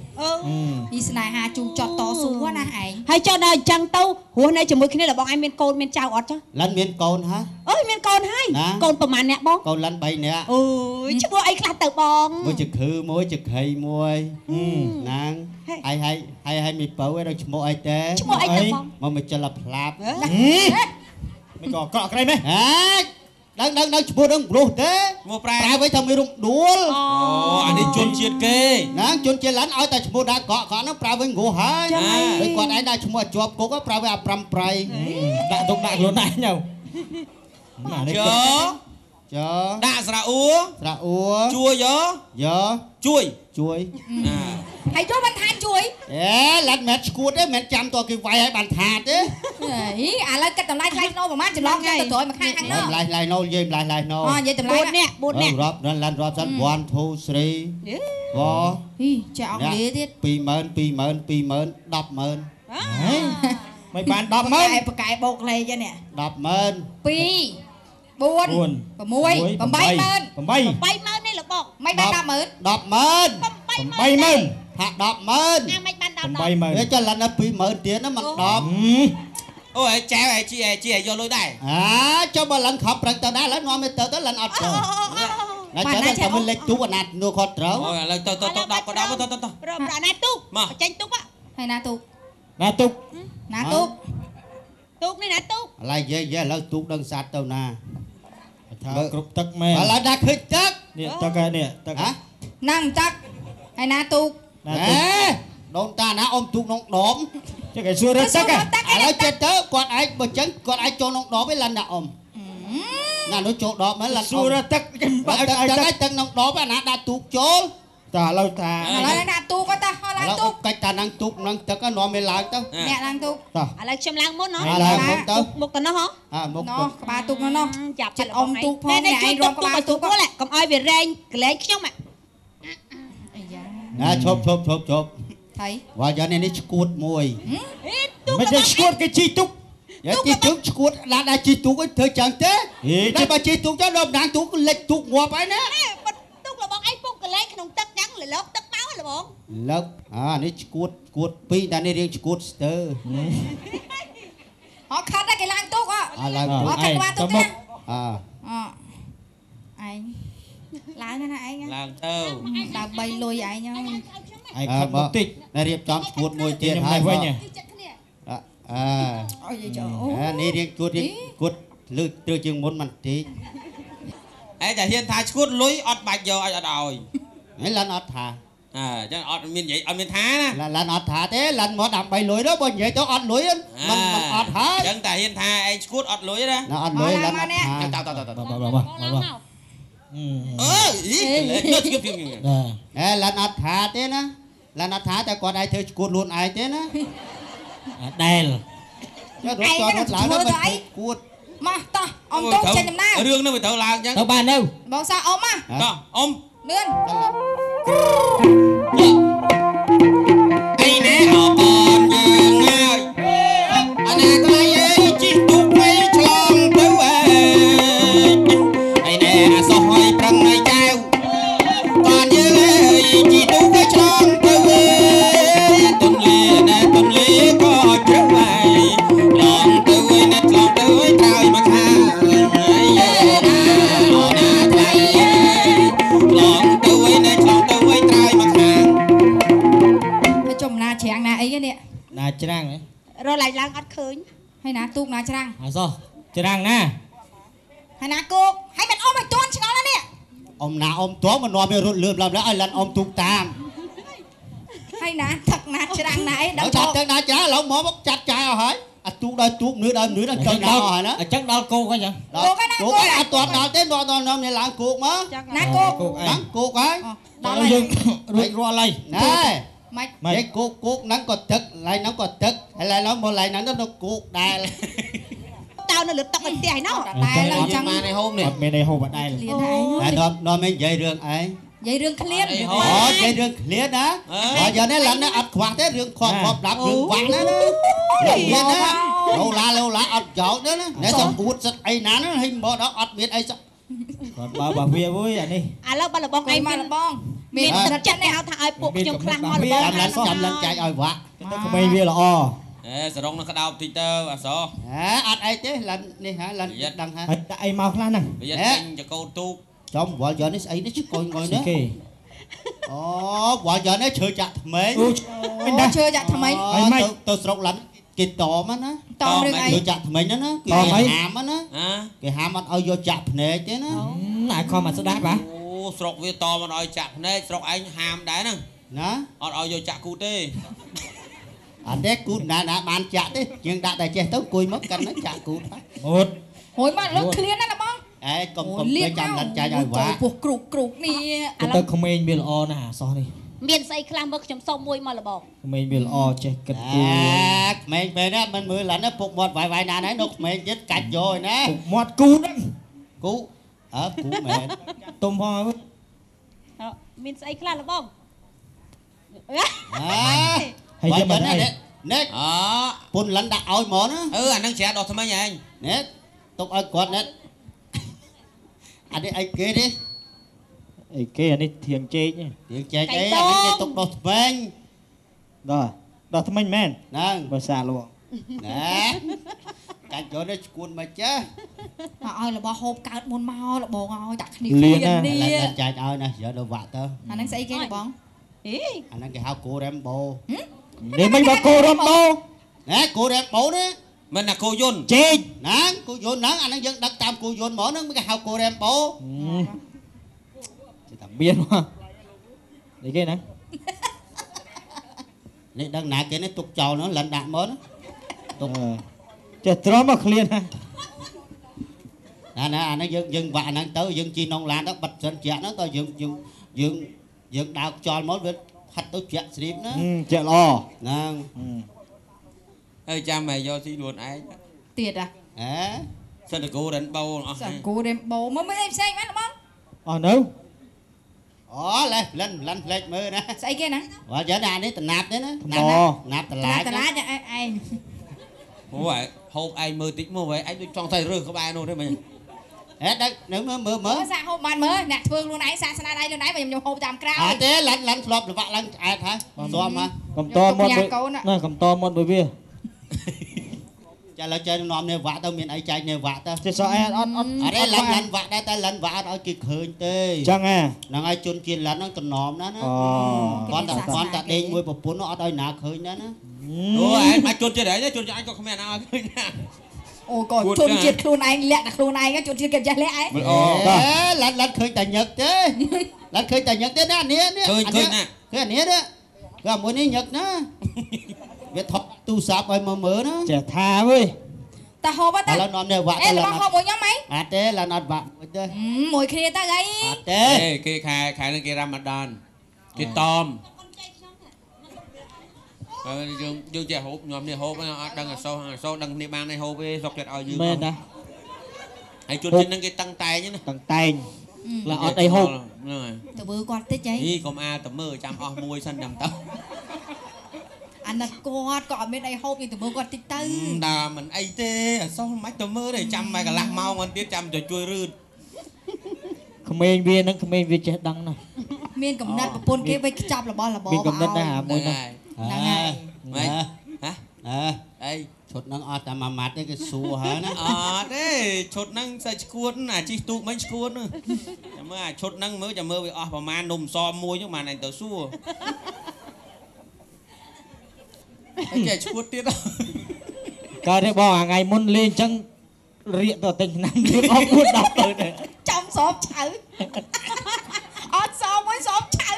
B: អីស្នេហាជូចត់តស៊ូណាឯង
D: ហើយចុះដល់អញ្ចឹងទៅរស់នៅជាមួយគ្នារបស់ឯងមានកូនមានចៅអត់ចុះ
K: លិនមានកូនហ៎
D: អើយមានកូនហើយកូនប្រហែលអ្នកបង
K: កូនលិន3នាក់
D: អូយឈ្មោះអីខ្លះទៅបង
K: មួយជាខឺមួយជាខៃមួយណាងហើយហើយហើយហើយមីពៅឯងដល់ឈ្មោះអីទេ
D: ឈ្មោះអីទៅបង
K: មកមកចិលផ្លាប់
C: មិនក៏កក់ក្រៃមែន
K: ហេដឹងដឹងដឹងឈ្មោះដឹងព្រោះទេ
A: ឈ្មោះប្រែ
K: វិញថាមានរំដួល
A: អូអានេះជនជាតិគេ
K: ណាជនជាតិឡានឲ្យតែឈ្មោះដាក់កក់កក់ហ្នឹងប្រើវិញគ្រោះហើយដូចគាត់ឯងដាក់ឈ្មោះជាប់គុកប្រើវិញអា5ប្រៃ
C: ដាក់ទុកដាក់ខ្លួនឯងទៅ
A: ណានេះចដាក់ស្រៈអ៊ូ
K: ស្រៈអ៊ូ
A: ជួយយោជួយ
K: ជួយ
B: ហើយចូលបានថាជួយ
K: អេឡាត់មិនឈួតទេមិនចាំតគេវាយឲ្យបានថាទេ
B: ហីឥឡូវគិតតម្លៃថ្លៃស្នូប្រហែលច្រឡំទៅក្រោយមកខាងខាងនោះ
K: តម្លៃថ្លៃណូនិយាយតម្លៃថ្លៃណូ
B: អូនិយាយតម្លៃ
D: 4នាក់4នាក់
K: រាប់ឡានរាប់សិន1 2 3 4
B: ហីចេះអង់គ្លេសទៀត
K: 20000 20000 20000 100,000
C: មិនបាន100,000
B: បកែបោកលេខនេះ
K: 100,000
B: 2 4 6 80000
D: 80000នេះលោកបង
B: មិនបាន100,000
K: 100,000 80000ថា100,000
D: អាមិនបាន100,000
K: 80000ចុះលិនដល់20000ទៀតណាមិន10
A: អូយចែវឯជីឯជីឲ្យយកលុយដែរ
K: អាចុះបើលិនខំប្រឹងទៅដែរឥឡូវនាំទៅទៅលិនអត់ទៅណាចាំតែមិនលេចទូកអាណានោះគាត់ត្រូវ
A: អូឥឡូវទៅទៅទៅ10ក៏10ទៅទៅទៅ
D: ប្រអាណាទូកចេញទូក
B: ហើយណាទូក
C: ណាទូក
B: ណាទូក
D: ទូកនេះណាទូក
K: ឥឡូវយាយឥឡូវទូកដឹងសัตว์ទៅណា
C: ថាគ្រប់ទឹកមែន
K: ឥឡូវដាក់ឃើញទឹក
C: នេះទឹកហើយនេះទឹក
B: ហ្នឹងទឹកហើយណាទូក
K: ណាទូកដូនតាណាអ៊ំទូកក្នុងដប
C: ចេះគេសួររត់ទឹក
K: ឥឡូវចិត្តទៅគាត់ឯងបើចឹងគាត់ឯងចូលក្នុងដបឯងលិនណាអ៊ំណានោះចូលដបមែនលិន
C: សួររត់ទឹក
K: បើទឹកទឹកក្នុងដបអាណាដាក់ទូកចូល
C: តាឥឡូវថា
B: ឥឡូវដាក់ទូកទៅឥឡូវទូក
K: កិច្ចតានឹងទូកនឹងទឹកនាំវាឡើងទៅ
B: អ្នកឡើងទូក
D: ឥឡូវខ្ញុំឡើងមុនហ៎
K: ឡើងមុនទៅ
D: មុខទៅនោះហ៎
K: មុខ
B: នោះក្បាលទូកនោះ
D: ចាប់
B: ចិត្តអ៊ំទូកផងអ្នកឯងរំក្បាលទូក
D: កុំឲ្យវារែងកលែងខ្ញុំ
B: អាយ៉ា
K: ណាឈប់ឈប់ឈប់ឈប់
B: ហើយ
K: វ៉ាយ៉ាងនេះឈួតមួយ
C: មិនទេឈួតគេជីទូក
K: ជីទូកឈួតដាក់ជីទូកឲ្យធ្វើចឹងទេតែបើជីទូកទៅដល់ម្ដងទូកលិចទូកងាប់ហើយណា
D: ទូករបស់ឯងពុកកលែងក្នុងទឹកចឹងលលកទឹកមកលបង
K: លឹកអានេះឈួតឈួតពីរតែនេះរៀងឈួតស្ទើ
B: អត់ខាត់ដែរគេឡើងទូកអ
K: ត់ឡើងទូក
B: អត់ខាត់ក្បាលទូកទេ
K: អ
B: ឯងឡើងណាឯង
A: ឡើងទៅ
B: ដើម្បីលុយឯងហើយ
C: ឯងខិតបន្តិច
K: រៀបចំឈួតមួយទៀតហើយវិញអើនេះរៀងឈួតរៀងគួតលើត្រូវជាងមុនបន្តិច
A: ឯងតែហ៊ានថាឈួតលុយអត់បាច់យកឲ្យអត់ឲ្យ
K: ហេលិនអត់ថា
A: អញ្ចឹងអត់មាននិយាយអត់មានថាណា
K: លិនអត់ថាទេលិនមកដើម្បីលុយទៅបើនិយាយទៅអត់លុយមិនអត់ហើយ
A: អញ្ចឹងតែហ៊ានថាឯងឈួតអត់លុយណា
K: អត់លុយលិនអត់ថា
A: តតតតអើយអីទៅជៀបជៀប
K: អេលិនអត់ថាទេណា ឡានអត់ថាតែគាត់ឯងធ្វើឈួតលួនឯងទេណា
C: ដែល
K: រត់ចោលរត់ឡើងទៅឈួត
B: មកតោះអ៊ំទូចេញដំណើរ
A: រឿងនោះវាត្រូវឡើងចឹង
C: ទៅបាននៅ
B: បងសាអ៊ំមក
A: តោះអ៊ំ
B: លឿន
A: អីណែអបនយើងហើយអាណាថ្លៃអីជីទូកបីឆ្លងទៅអីអីណែអាសោះឲ្យប្រឹងឲ្យចៅតនយើងអីជីទូកបីឆ្លងទៅអីទុនលីណែទុនលីក៏ជ្រៅហើយឆ្លងទៅអីណែឆ្លងទៅអីត្រើយមកខាងអីណាណាថ្លៃឆ្លងទៅអីណែឆ្លងទៅអីត្រើយមកខាង
B: ទៅចំណាច្រាំងណាអីនេះ
C: ណាច្រាំងហ៎
D: រកឡើងអត់ឃើញ
B: ហើយណាទូកណាច្រាំង
C: អសោះច្រាំងណា
B: ហើយណាគោកហើយមិនអ៊ំឲ្យតន់ឆ្ងល់ណានេះ
K: អ៊ំណាអ៊ំតន់មិននាំវារត់លឿនឡើងឲ្យឡានអ៊ំទូកតាម
B: ហើយណាទឹកណាច្រាំងណាអីដល់
K: ទឹកណាច្រាំងឡើយមកចាត់ចាយអស់ហើយអាទូកដល់ទូកនឿដល់នឿដល់ចុចដល់អស់ហើយណា
C: អញ្ចឹងដល់គោកហើយចឹង
B: គោកហើយណា
K: គោកហើយអត់ទាន់ដល់ទេដល់នាំនេះឡើងគោកមក
B: ណាគោក
K: ឡើងគោកហើយ
C: ដល់យើងរួចរាល់ហើយ
K: ណែម៉េចគោកគោកហ្នឹងក៏ទឹកឡៃហ្នឹងក៏ទឹកហើយឡៃហ្នឹងមកឡៃហ្នឹងទៅគោកដែរ
D: តើនៅលើតុកឲ្យផ្ទះឯណោះ
B: តែឡើងចឹង
A: បានឯហូបនេះ
C: អត់មានឯហូបអត់ដែរ
K: តែនាំឯងនិយាយរឿងឯង
B: និយាយរឿងឃ្លាន
K: អូនិយាយរឿងឃ្លានណាបើយ៉ាងនេះឡើងនេះអត់ខ្វះទេរឿងខកខកប្រាប់រឿងវាក់ណាណាណាលោឡាលោឡាអត់ចោលទេណាណែសំអួតសិតអីណាណាហិមកដល់អត់មានអីសោះ
C: គាត់បើវាមួយអានេះ
D: ឥឡូវបើលបងឯងមកលបងមានទឹកចិត្តនេះហៅថាឲ្យពួកខ្ញុំខ្លះមកលបង
K: ចាំឡើងចែកឲ្យវាក់
C: ទៅក្មេងវាល្អ
A: អេសរងនឹងក្តោបតិចទៅអស
K: ហេអត់អីទេឡើងនេះហាឡើងដឹងហា
C: ហើយដាក់អីមកខ្លះហ្នឹង
A: វាចេញចកោទូក
K: ចំវល់យកនេះស្អីនេះឆ្កុយងុយនេះអូវល់យកនេះឈើចាក់ថ្មី
B: អូឈើចាក់ថ្មី
K: ទៅស្រុកឡាន់គេតមណា
B: តមរឿងអី
K: ឈើចាក់ថ្មីហ្នឹងណាគេហាមណាគេហាមអត់ឲ្យយកចាក់ភ្នែកទេណា
C: អាខំមកស្ដាប់បាទ
A: អូស្រុកវាតមអត់ឲ្យចាក់ភ្នែកស្រុកឯងហាមដែរហ្នឹង
K: ណា
A: អត់ឲ្យយកចាក់គូទេ
K: អត់ទេគូណាណាបានចាក់ទេយើងដាក់តែចេះទៅអង្គុយមកកាន់ហ្នឹងចាក់គូ
C: មុត
B: ហួយមកលើឃ្លានណាបង
K: អេកុំកុំទៅចាំឡាន់ចាញ់ឲ្យវ៉ា
B: ពោះគ្រូកគ្រូកនេះ
C: ទៅក្មេងវាល្អណាស់អាសោះនេះ
D: មានស្អីខ្លះមើលខ្ញុំសុំមួយមកលបង
C: ក្មេងវាល្អចេះគិតគូ
K: ក្មេងពេលនេះមិនមើលឡាន់ពុកមាត់វាយវាយណាស់ហើយនៅក្មេងទៀតកាច់យកឯណា
C: ពុកមាត់គូហ្នឹង
K: គូអើគូមែន
C: ទុំផងហើយ
D: មានស្អីខ្លះលបង
C: ហើយយកមក
K: នេះនេះអពុនឡាន់ដាក់ឲ្យហ្មងណា
A: អឺអាហ្នឹងច្រាដោះថ្មីឯង
K: នេះទុកឲ្យគាត់នេះអានេះអីគេនេះ
C: អីគេអានេះធៀងចេក
K: ធៀងចេកអីអានេះគេទុកដោះថ្មិញ
C: ដោះថ្មិញមែន
K: ហ្នឹង
C: បើសាលបង
K: ណែកាច់យកនេះឈួនមកចា
B: មកឲ្យរបស់ហូបកើតមុនមកលបងឲ្យដាក់គ្នានេះ
K: ចែកឲ្យណាយកទៅវាក់ទៅ
B: អាហ្នឹងស្អីគេលបងអី
K: អាហ្នឹងគេហៅគោរ៉េមបូ
C: នេះមិនបើគោរ៉េមបូ
K: ណែគោរ៉េមបូនេះ
A: មិនណាគោយន្ត
C: ចេក
K: ណាគោយន្តហ្នឹងអាហ្នឹងយើងដឹកតាមគោយន្តហ្មងហ្នឹងគេហៅគោរ៉េមបូ
C: ចេះតែមានមកនេះគេណា
K: នេះដឹងណាគេនេះទុកចោលហ្នឹងលិនដាក់មកទុក
C: ចេះទ្រាំមកឃ្លានណា
K: ណាអាហ្នឹងយើងវាក់អាហ្នឹងទៅយើងជិះនងឡានទៅបិទសិនជាក់ហ្នឹងទៅយើងយើងយើងយើងដើរខ្យល់មកវាផាត់ទៅជាក់ស្រីបណា
C: ជាក់ល្អ
K: ហ្នឹង
A: ហើយចាំឲ្យយកស៊ីខ្លួនឯង
B: ទៀតហ៎
K: ហ៎
A: សិនតគោរ៉េនបូអស់
B: សិនគោរ៉េនបូមកមើលអីផ្សេងបានបង
C: អស់នៅ
K: អូលេះលិនលិនផ្លេចមើលណា
B: ស្អីគេណា
K: បើយ៉ាងណានេះតំណាប់ទេណាណាប់តឡាច
B: តឡាចឯង
A: អូយហូបឯងមើលតិចមកឯងដូចចង់តែរើសក្បែរនោះទេមិញ
K: ហេដឹកនៅមើលមើលមើល
B: សាកហូបបានមើលអ្នកធ្វើខ្លួនឯងសាកស្នាដៃខ្លួនឯងខ្ញុំហូបតាមក្រៅ
K: អត់ទេលិនលិនធ្លាប់លវាក់ឡើងឆ្អែតហើយស៊ាំហ៎
C: កំតមាត់ណាកំតមាត់មួយវា
K: ចាឥឡូវចេះនាំនេះវាក់ទៅមានអីចែកនេះវាក់ទៅ
C: ចេះសោះអត់អត់អត់
K: អត់ទេលិនលិនវាក់ដែរតែលិនវាក់អត់ឲ្យគេឃើញទេ
C: ចឹងហ៎
K: ហ្នឹងហើយជនជាតិលិនហ្នឹងតំណមណាណាគាត់តែដេកមួយប្រពន្ធអត់ឲ្យណាឃើញណាណា
A: អូឯងមកជនជាតិអីជនជាតិអញក៏គ្មានណាឲ្យឃើញណា
B: អូក៏ជនជាតិខ្លួនឯងលាក់តែខ្លួនឯងជនជាតិគេចេះលាក់ឯង
K: អូលិនលិនឃើញតែញឹកទេលិនឃើញតែញឹកទេណានេះនេះ
A: ឃើញឃើញណា
K: ឃើញនេះនេះគឺមួយនេះញឹកណាវាថតទូរស័ព្ទឲ្យមកមើលណា
C: ចេះថាវើយ
B: តាហូបតា
K: ឥឡូវនាំនេះវាក់
B: ទៅឡូវហូបមួយខ្ញុំអី
K: អត់ទេឡើយអត់វាក់មួយទេ
B: មួយគ្នាទៅអី
K: អត់ទេ
A: គេខែខែនឹងគេរ៉ាម៉ាដានគេតម យើងចេះហូបញ៉ាំនេះហូបអត់ដឹងអសោអសោដឹងគ្នាបានឯហូបទេសុកចិត្តឲ្យយើង
L: មែនណា
A: ហើយជួនជាតិនឹងគេតឹងតែងណា
L: តឹងតែងឡាអត់អីហូប
A: ហ្នឹងហើយ
B: ទៅមើលគាត់តិចហី
A: នេះកុំអាទៅមើលចាំអស់មួយសិនចាំទៅ
B: អាណិតគាត់ក៏អត់មានអីហូបយើងទៅមើលគាត់តិចទៅ
A: ដាមិនអីទេអសោះមិនទៅមើលទេចាំមកកន្លះម៉ោងទៀតចាំទៅជួយរឺត
L: ក្មេងវានឹងក្មេងវាចេះដឹងណាស់
B: មានកំណត់ប្រពន្ធគេវិញខ្ចប់របស់របរ
L: មានកំណត់ដែរអាមួយហ្នឹង
B: ហ្នឹងហើយ
A: ម៉េចហ៎អី
K: ឈុតហ្នឹងអត់តែមួយម៉ាត់ទេគេសួរហើយណា
A: អត់ទេឈុតហ្នឹងសាច់ឈួតអាជីទូកមិញឈួតចាំមើលអាឈុតហ្នឹងមើលចាំមើលវាអស់ប្រមាណនំសមួយហ្នឹងបានអញទៅសួរហើយចេះឈួតទៀត
L: កើតទេបងអាថ្ងៃមុនលេងអញ្ចឹងរៀកទៅទិញឆ្នាំលឿនអស់4 10ទៅទេ
B: ចំសបឆៅអត់សមួយសបឆៅ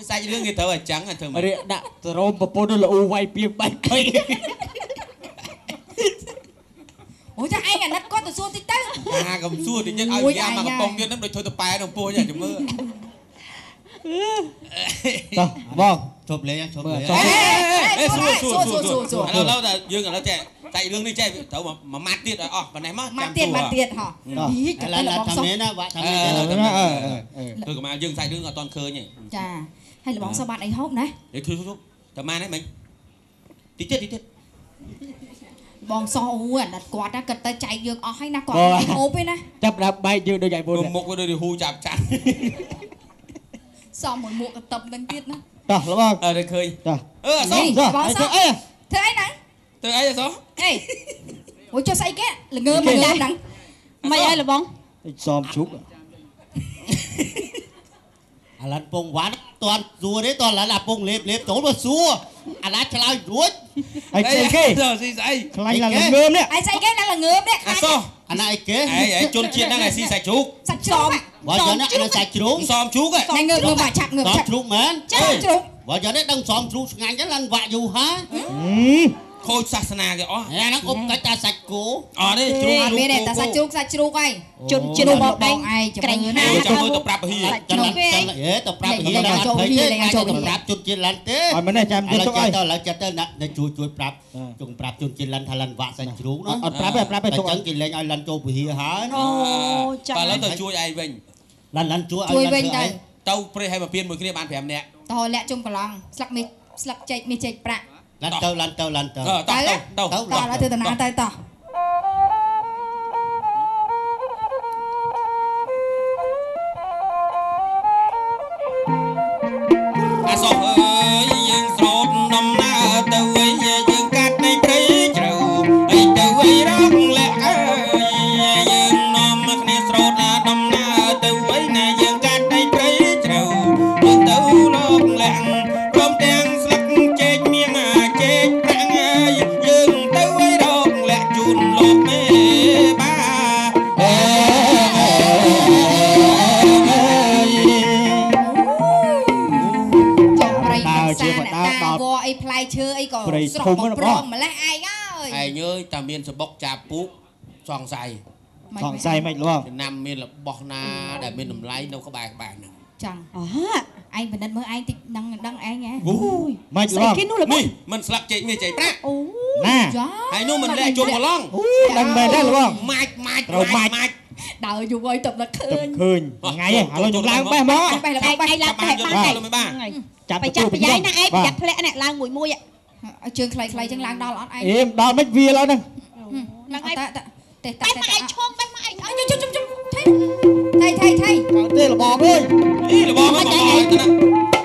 A: សាច់រឿងគេត្រូវអញ្ចឹងធ្វើ
L: មករៀកដាក់សរោមប្រពន្ធលូវាយពីបែកភ័យ
B: អូចាឯងអាណិតគាត់ទៅសួរតិចទៅ
A: អាកុំសួរតិចទៀតឲ្យយ៉ាមកកំប៉ុងទៀតហ្នឹងដូចធ្វើទៅប៉ែក្នុងពោះចាំមើល
L: តោះបង
K: ជប់លេងជប់លេង
A: សួរសួរសួរសួរឥឡូវតែយើងឥឡូវចេះតែរឿងនេះចេះត្រូវមួយម៉ាត់ទៀតឲ្យអស់ប៉ុណ្ណេះមក
B: ចាំទៀតម៉ាត់ទៀតហ៎
K: ឥឡូវថាមានណាវាក់ថាមានតែ
A: គឺកម្ពុជាយើងសាច់រឿងអត់ទាន់ឃើញទេ
B: ចាហើយលបងសោះបាត់អីហូបណា
A: ធ្វើធ្វើតែម៉ានហ្នឹងមិញតិចទៀតតិចទៀតបង
B: សោះអូអាណិតគាត់ណាគិតទៅចែកយើងអស់ហើយណាគាត់ហូបទេណា
L: ចាប់ដល់បែកយើងដូចឯមុន
A: មុខវាដូចហ៊ូចាប់ចាន់
B: សមមួយមួកកតឹបនឹងទៀតណា
L: តោះលបង
A: អើឃើញ
L: តោះ
A: អឺអសោះ
B: បងសោះធ្វើអីហ្នឹង
A: ធ្វើអីអសោះ
B: អេអូចុះស្អីគេល្ងើមកហ្នឹង
D: មិនអីលបង
L: សមជុក
K: អាឡាន់ពងវ៉ាន់តន់សួរទេតន់ឡាន់អាពងលេបលេបចូលមកសួរអាឡាន់ឆ្លើយរួច
L: ហើយស្អីគេ
A: ស៊ីស្អី
L: ខ្លាញ់ឡាល្ងើមនេះ
B: ហើយស្អីគេឡាល្ងើមនេះ
A: អាសោះ
K: អាណាអីគេ
A: អីជនជាតិហ្នឹងឯងស៊ីសាច់ជ្រូក
B: សាច់ជ្រូក
K: បើយ៉ាងណាអាសាច់ជ្រូក
A: សមជ្រូក
B: ហ្នឹងងើបងើបបាក់ឆាប់ងើប
K: ឆាប់ជ្រូកមែន
B: ចាជ្រូក
K: បើយ៉ាងនេះដឹងសមជ្រូកឆ្ងាញ់ចឹងឡើងវាក់យូរហើយ
A: ខូចសាសនាគេអស់
K: អាហ្នឹងអុបកាច់តាសាច់គោ
A: អត់ទេជ្រូក
B: អត់មានទេតាសាច់ជ្រូកសាច់ជ្រូកហើយ
D: ជនជាតិរបស់ឯងក្រែងណា
A: ចាំមើលទៅប្រាប់ពហិ
K: ចាំហេទៅប្រាប់ពហិឡើងអត់ភ័យទេទៅប្រាប់ជនជាតិឡាន់ទេ
L: អត់មែនទេចាំទៅទុកឲ្យ
K: ទៅឥឡូវចិត្តទៅណាជួយជួយប្រាប់ចង់ប្រាប់ជនជាតិឡាន់ថាឡាន់វាក់សាច់ជ្រូកណា
L: អត់ប្រាប់ទេប្រាប់ទេទុក
K: អញ្ចឹងគេលែងឲ្យឡាន់ចូលពហិហើយ
D: អូចាំ
A: បាទឥឡូវទៅជួយឯងវិញ
K: ឡាន់ឡាន់ជួយឲ្យ
B: វិញទៅ
A: ទៅព្រេះឲ្យមកពៀនមួយគ្នាបាន5នាក់
B: តលាក់ជុំកន្លងស្លឹកមាសស្លឹកចេកមាសចេកប្រាក់
K: ឡាន់ទៅឡាន់ទៅឡាន់ទៅ
A: ទៅទៅ
B: តោះឥឡូវធ្វើដំណើរទៅតោះ
A: អាសោះអើយយើងស្រោតដំណើរទៅវិញយើងកាត់នៃព្រៃជ្រៅអីទៅអីរកលាក់អើយយើងនាំគ្នាស្រោតដំណើរទៅវិញណាយើងកាត់នៃព្រៃជ្រៅយើងទៅលោកលាក់ព្រមទាំងស្លឹកចេកមៀងចេកប្រាក់យើងទៅឲ្យរកលាក់ជូនលោកមេបា
B: ជាបណ្ដើដល់វអីផ្លែឈើអីក៏ស្រស់បំប្រងម្លេះឯងអើយ
A: ឯងអើយតាមានសបុកចាប់ពូកសង្ស័យ
L: សង្ស័យមិនលង
A: ឆ្នាំមានរបស់ណាដែលមានតម្លៃនៅក្បែរក្បែរហ្នឹង
B: ចឹងអូឯងពិនិត្យមើលឯងតិចដឹងដឹងឯងហ៎
A: អូយ
L: មិនលង
A: នេះមិនស្លាប់ចេកនេះចេកប្រាក់
B: អូ
L: ណា
A: ហើយនោះមិនលែកជុំកន្លង
L: អូដឹងមែនទេលង
A: ម៉ាច់ម៉ាច់ម៉ាច់
B: ដើរយូរហើយទៅដល់ឃើញ
L: ឃើញថ្ងៃឥឡូវខ្ញុំឡើងបេះមក
B: បេះឡើងបេះ
D: ឡើងបេះបាន
L: ចាប់
D: ទៅចាប់ប្រយ័យណាឯងប្រយ័ត្នធ្លាក់នេះឡើងមួយមួយ
B: ឲ្យជើងខ្លីៗចឹងឡើងដល់អត់ឯង
L: អេដល់មិនវាឡើយហ្នឹង
B: ហ្នឹងឯងទេ
D: តែមកឯងឈងបេះមកឯង
B: ជុំជុំជុំថៃថៃថៃថៃ
L: កើតទេលបងអើយ
A: នេះលបងមកបងទៅណា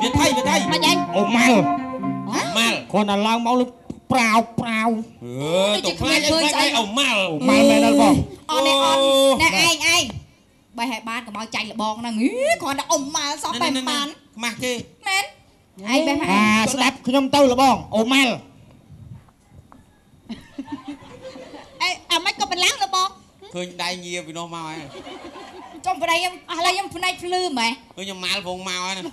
A: វាថៃវាថៃ
D: មិនឯង
L: អូម៉ាល់
A: ម៉ាល់
L: គ្រាន់តែឡើងមកលើប្រាវប្រាវ
A: អឺទៅខ្លាចឃើញស្អីអូម៉ាល់
L: ម៉ាល់មែនដល់បង
B: អត់នេះអត់ណែឯងឯងបេះឲ្យបានកុំឲ្យចាញ់លបងហ្នឹងគ្រាន់តែអ៊ំម៉ាល់សោះបេះបាន
A: ខ្មាស់គេ
B: មែនឯងបេះមក
L: អាស្ដាប់ខ្ញុំទៅលបងអូម៉ាល់
D: អេអាម៉េចក៏បន្លាំងលបង
A: ឃើញដៃញាពីនោះមកហើយ
B: ចុំប្តីខ្ញុំអស់ឡើយខ្ញុំផ្នែកភ្លឺម៉េះ
A: ឃើញខ្ញុំម៉ាល់ផងមកហើយណា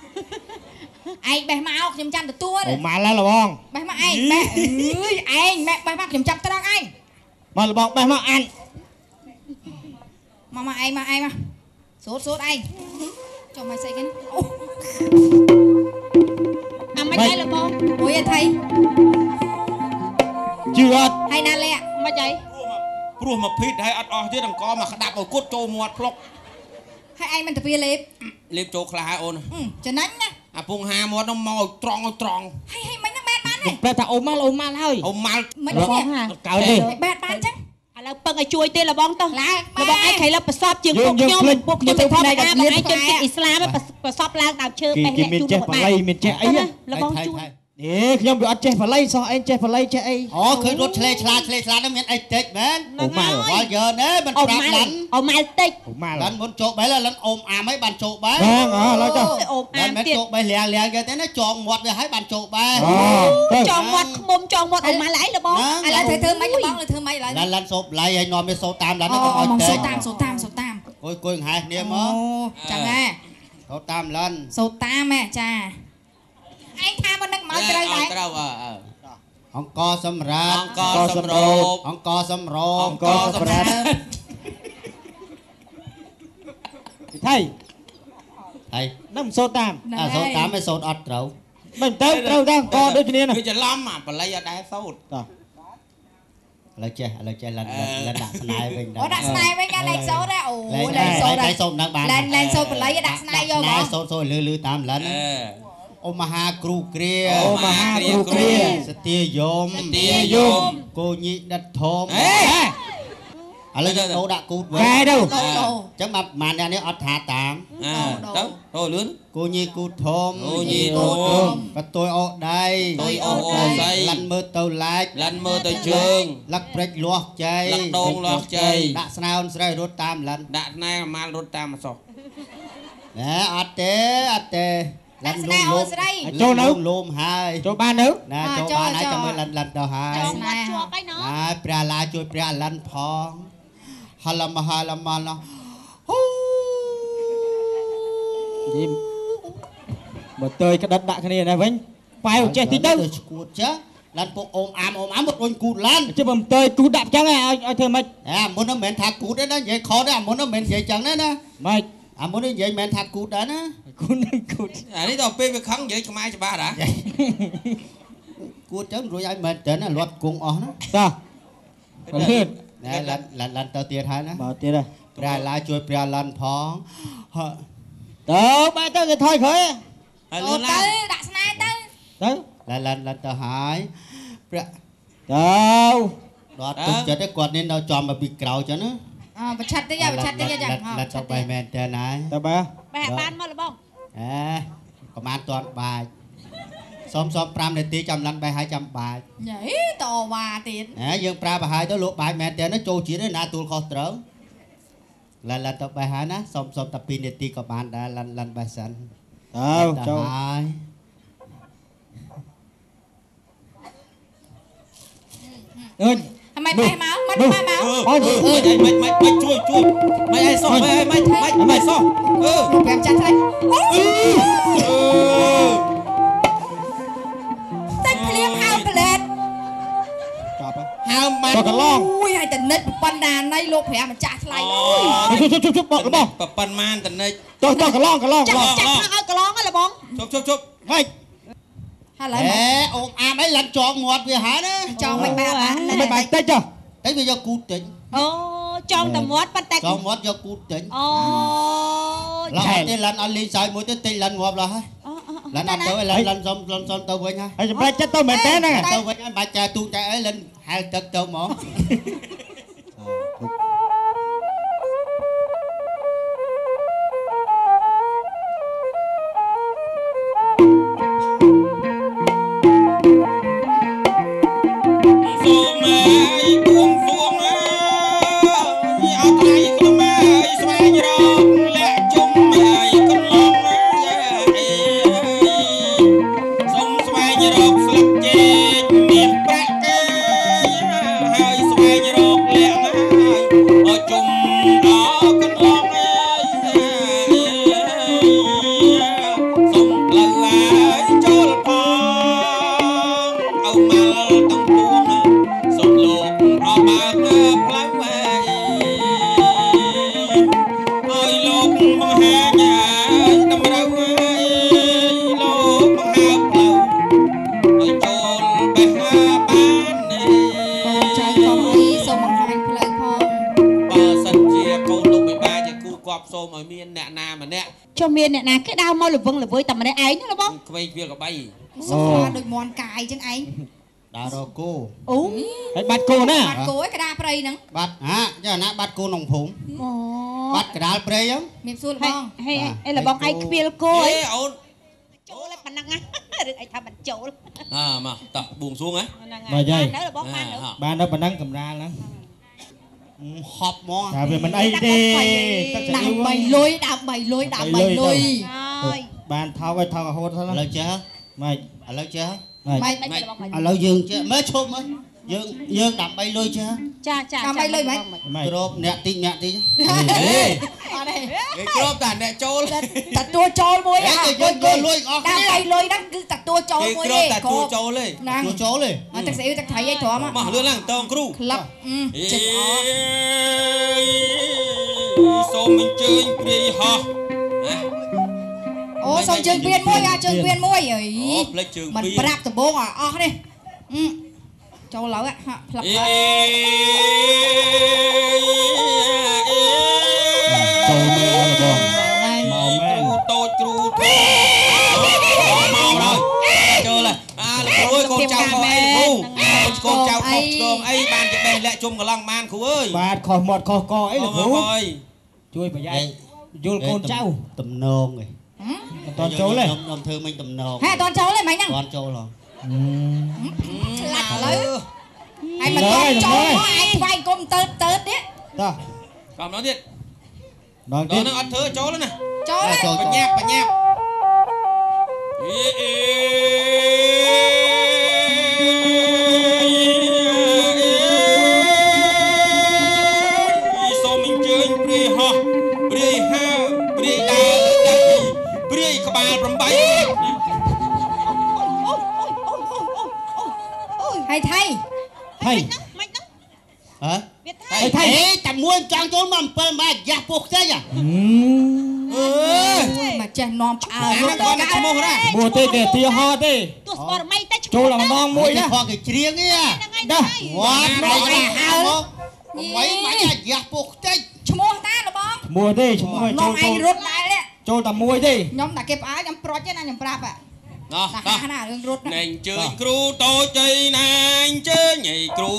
B: ឯងបេះមកខ្ញុំចាំទទួល
L: អូម៉ាល់ហើយលបង
B: បេះមកឯងបេះអើយឯងម៉ែបេះមកខ្ញុំចាំត្រង់ឯង
L: មកលបងបេះមកអាន
B: មកមកឯងមកឯងមកសូត្រសូត្រឯងចុះមកស្អីគេអូ
D: អាម៉េច មិនហើយលបង
B: អូយអថៃ
L: ជឿអត់
B: ហើយណាលាក់
D: មិនអី
A: ព្រោះមកភីតហើយអត់អស់ទៀតអង្គមកក្តាប់ឲ្យគត់ចូលមាត់ផ្លុក
B: ហើយឯងមិនទៅវាលេប
A: លេបចូលខ្លះហើយអូន
B: ចំណេញណា
A: អាពងហាមាត់នោះមកឲ្យត្រង់ឲ្យត្រង់
B: ហើយហើយមិនហ្នឹងបែតបានទេ
L: ប្រែថាអូម៉ាល់អូម៉ាល់ហើយ
A: អូម៉ាល់
B: មិនទេ
L: កើតទេ
B: បែតបានចឹង
D: ឥឡូវពឹងឲ្យជួយទេលបងទៅ
B: ឡើង
D: លបងឯងខៃលើប្រសពជាងពួកខ្ញុំពួកខ្ញុំទៅធម្មតាបងឯងជនជាតិអ៊ីស្លាមប្រសពឡើងដើមឈើបេះ
L: គេមានចេះបល័យមានចេះអី
D: លបងជួយ
L: នេះខ្ញុំវាអត់ចេះបល័យសោះឯងចេះបល័យចេះអី
K: អូឃើញរត់ឆ្លេឆ្លាឆ្លេឆ្លាហ្នឹងមានអីតិចមែន
L: អូម៉ាល់
K: វល់យើណែមិនប្រាប់ឡាន់
D: អូម៉ាល់តិច
L: អូម៉ាល់
K: ឡាន់មុនចូលបេះឡាន់អូមអាមហើយបានចូលបេះ
L: ហ្នឹងអើឡើយចុះ
D: អូមអាមទៀត
K: មិនចូលបេះលៀងលៀងគេទេណាចងមាត់វាហើយបានចូលបេះ
D: ចងមាត់ខ្មុំចងមាត់អូម៉ាល់អីលបង
B: ឥឡូវធ្វើម៉េចលបងធ្វើម៉េចឥឡូវ
K: ឡាន់ឡាន់សូបឡៃហើយនាំវាសូតាមឡាន់កុំឲ្យ
B: តិចសូតាមសូតាមសូតាម
K: គួយហែគ្នាមក
B: ចឹងហ៎
K: សូតាមឡាន់
B: សូតាមហ៎ចាឯងថាមកនឹកមកត្រូវដែរ
A: ត្រូវអើ
K: អង្គសម្រាប់
A: អង្គសម្រូប
K: អង្គសម្រូប
L: អង្គសម្រាប់ថៃ
K: ថៃ
L: នឹងសូត្រតាម
K: អាសូត្រតាមឯសូត្រអត់ត្រូវ
L: មិនទៅត្រូវដែរអង្គដូចគ្នាណា
A: គឺច្រឡំអាបល័យអត់ដែរសូត្រ
L: តោះ
K: ឥឡូវចេះឥឡូវចេះលិនលិនដាក់ស្នេហ៍វិញ
B: អូដាក់ស្នេហ៍វិញកាលែងសូត្រអូលែងសូត្រ
K: លែងសូត្រនឹងបាន
B: លែងសូត្របល័យដាក់ស្នេហ៍យកមក
K: សូត្រសូត្រលឺលឺតាមលិនអូមហាគ្រូគ្រា
L: អូមហាគ្រូគ្រា
K: សទាយម
A: សទាយម
K: គោញីដិតធំឥឡូវយើងដូរដាក់គូតវិញ
L: កែទៅ
K: អញ្ចឹងបាទប្រហែលអ្នកនេះអត់ថាតាម
A: ទៅទៅលឿន
K: គោញីគូតធំ
A: គោញីធំ
K: បតុយអូដៃ
A: តុយអូដៃ
K: លិនមើលទៅឡែក
A: លិនមើលទៅជើង
K: លឹកព្រិចលាស់ចៃ
A: លឹកដងលាស់ចៃ
K: ដាក់ស្នើនស្រីរត់តាមលិន
A: ដាក់ស្នែអាម៉ាល់រត់តាមអសោះ
K: ណែអត់ទេអត់ទេ
B: លិនលូម
L: ចូលនៅ
K: លូមហើយ
L: ចូលបាននៅ
K: ណាចូលបានហើយចាំមើលលិនលិនទៅហើយ
D: ចងមាត់ជាប់ហើយណោះ
K: ណាព្រះឡាជួយព្រះលិនផងហលមហលមលហ៊ូ
L: យីបើតើក្តិតដាក់គ្នាណាវិញប៉ែវចេះតិចទៅ
K: ឈួតចាឡានពុកអូមអាមអូមអាមមករុញគូតឡាន
L: ជិះបើតើគូតដាក់ចឹងឲ្យឲ្យធ្វើម៉េច
K: អាមុននោះមិនមែនថាគូតទេណានិយាយខុសទេអាមុននោះមិនមែននិយាយចឹងទេណា
L: ម៉េច
K: អាមុននេះនិយាយមិនថាគូតដែរណា
L: គូតនឹងគូត
A: អានេះដល់ពេលវាខឹងនិយាយខ្មែរច្បាស់តា
K: គូតចឹងរួចឲ្យមែនតើណាលាត់គង់អស់ណា
L: តោះលឿន
K: ណែឡានឡានទៅទៀតហើយណា
L: មកទៀតហើយ
K: ព្រះឡាជួយព្រះឡានផង
L: ទៅបែរទៅគេថយក្រោយ
A: ហើយលឿនឡា
B: នទៅដាក់ស្នេហ៍ទៅ
L: ទៅ
K: ឡានឡានទៅហើយព្រះ
L: ទៅ
K: ដល់ទុកចិត្តឯគាត់នេះនៅចំមកពីក្រោយចឹងណា
B: អើបច្ឆិតតិចបច្ឆិតតិចចា
K: ឡាត់ទៅបែមែនតើណា
L: ទៅបែ
D: បែបានមកលបង
K: អេប្រហែលតាន់បាច់សុំសុំ5នាទីចាំឡាន់បែហើយចាំបាច់
B: ញ៉ៃតវ៉ាទៀត
K: ហ៎យើងប្រើប្រហើយទៅលោកបាច់មែនតើណាចូលជាតិណាទូលខុសត្រូវឡាន់ឡាន់ទៅបែហើយណាសុំសុំតែ2នាទីក៏បានដែរឡាន់ឡាន់បែសិន
L: ទៅចូល
K: ហើយ
L: អើយ
B: មិនបែមកមិនបែមក
A: អូយមិនមិនមិនជួយជួយមិនអីសោះមិនមិនមិនមិនសោះអឺ
B: 5ចាស់ថ្លៃអូតែភ្លាមហើមផ្លែត
L: ចាប់
A: ហើមបាន
L: កន្លង
B: អូយហើយតនិចប៉ុណ្ណាណៃលោក5ម្ចាស់ថ្លៃអូ
L: យជប់ជប់ជប់បោះ
A: ប៉ុន្មានតនិច
L: ចុះចុះកន្លងកន្លង
D: ចាក់ឲ្យកន្លងហ៎លបង
A: ជប់ជប់ជប់
L: ហេ
B: ហើយឡើយ
K: អេអូមអាមអីឡាន់ចងមាត់វាហើយណា
B: ចងមិនបាន
L: មិនបានតិចចុះ
K: តិចវាយកគូតតិច
D: អូចងតែមាត់ប៉ុន្តែ
K: ចងមាត់យកគូតតិច
D: អូ
K: ឡាន់ទេឡាន់អត់លេងសើចមួយទេតិចឡាន់ងាប់ឡើយហើយឡាន់អត់ទៅឡាន់ឡាន់សុំឡាន់សុំទៅវិញហើយ
L: ហើយចម្លែកចិត្តទៅមែនទេហ្នឹង
K: ទៅវិញហើយបាច់ចែទូចែអីឡាន់ហែលទឹកទៅហ្មង
A: បង្ហាញតម្រូវឲ្យលោកបង្ហើបផ្លូវ សូមឲ្យមានអ្នកណាម្នាក់
D: ចុះមានអ្នកណាគេដើរមកល្វឹងល្វើយតែម្នាក់ឯងណាបង
A: ក្មេងវាកបី
B: សុខដូចមន់កាយចឹងឯង
K: ដើររកគោ
D: អូ
C: ហើយបាត់គោណា
B: បាត់គោឯកដាព្រៃហ្នឹង
K: បាត់ហាចាណាបាត់គោក្នុងភូមិអូបាត់កដាលព្រៃហ្នឹង
B: មានសួរលបង
D: ហេអីលបងឯងខ្វៀលគោអី
A: អូន
D: ចូលឯប៉ុណ្ណឹងណារឿងអីថាមិនចូល
A: អើមកតោះបួងសួងហ៎
C: បាទយាយ
D: នៅលបងបាននៅ
C: បាននៅប៉ុណ្ណឹងកម្រាលហ្នឹង
K: ហប់ហ្មង
C: តែវាមិនអីទេទឹក
B: ដើម្បីលុយដើម្បីលុយដើម្បីលុយ
D: ហើយ
C: បានថោកឲ្យថោករហូតទៅឥ
K: ឡូវចេះ
C: ម៉េច
K: ឥឡូវចេះ
B: ម៉េច
K: ឥឡូវយើងចេះមើលឈប់មើលយើងដើម្បីលុយចេះ
D: ចាចា
B: ដើម្បីលុយម៉េច
K: គ្របអ្នកតិចអ្នកតិច
A: ហេ
B: អត់ទេ
A: គេគ្របតែអ្នកចូល
B: ទទួលចូលមួយ
K: អាយើងចូលលុយអស់
B: ដើម្បីលុយហ្នឹងគឺទទួលចូលមួយទេ
A: គេគ្របតែទទួលចូលទេ
K: ទទួលចូលទេ
B: ទឹកស្អ៊ីវទឹកត្រីអីទ្រាំ
A: មកលឿនឡើងតងគ្រូ
B: ក្លឹបចិត្តអ
A: ស់សូមអញ្ជើញព្រាយហោះណា
B: អូសូមជើងពៀនមួយអាជើងពៀនមួយអី
A: អូផ្លេចជើងពៀន
B: មិនប្រាប់ដំបងឲ្យអស់នេះចូលឡើយហាក់ផ្លឹកហើយ
C: ចូលមែនបង
A: មកមែនគ្រូតូចគ្រូធំមកហើយចូលហើយអាលោកគ្រូអើយកូនចៅខុសអីគ្រូកូនចៅខុសឆ្គងអីបានជាបេះលាក់ជុំកន្លងបានគ្រូអើយ
C: បាទខុសមាត់ខុសកអីលោកគ្រូជួយប្រយ័ត្នយល់កូនចៅ
K: តំណងឯង
C: អត់តចូលទេ
K: ខ្ញុំធ្វើមិញតំណង
B: ហេអត់តចូលទេមិញហ្នឹង
K: អត់ចូលហ៎
B: ឆ្លាក់ឥឡូវហើយមិនតចូលមកឯងថ្វាយគុំទៅទៅទៀត
C: តោះ
A: កំដល់ទៀត
C: ដល់ទៀត
A: នឹងអត់ធ្វើចូលណា
B: ចូល
A: បញ្ញាប់បញ្ញាប់អេអេសូមអញ្ជើញព្រាយហោះព្រាយហើព្រាយដើរដៃព្រាយក្បាល8
B: ហើយថៃ
C: ថៃ
D: មិនហ្នឹង
K: ហ៎ថៃថៃតែមួយចង់ចូលមក7ម៉ែយ៉ាស់ពោះខ្ទេច
C: អើ
B: មកចេះនាំឆ្អើ
A: រត់ដល់ឈ្មោះណា
C: មួយទេគេទីហោទេ
D: ទោះស្បរមីតែ
C: ចូលតែម្ដងមួយណា
K: ខគេច្រៀងទេ
C: ណា
K: វត្តឯងហៅមក8ម៉ែយ៉ាស់ពោះខ្ទេច
B: ឈ្មោះតាលបង
C: ឈ្មោះទេឈ្មោះ
B: ចូលឯងរត់ដែរ
C: ចូលតែមួយទេ
B: ខ្ញុំតែគេផ្អើខ្ញុំប្រុចទេណាខ្ញុំប្រាប់
A: ណោះ
B: តោះណារឿងរត់
A: ណែអញ្ជើញគ្រូតូចអីណាអញ្ជើញអីគ្រូ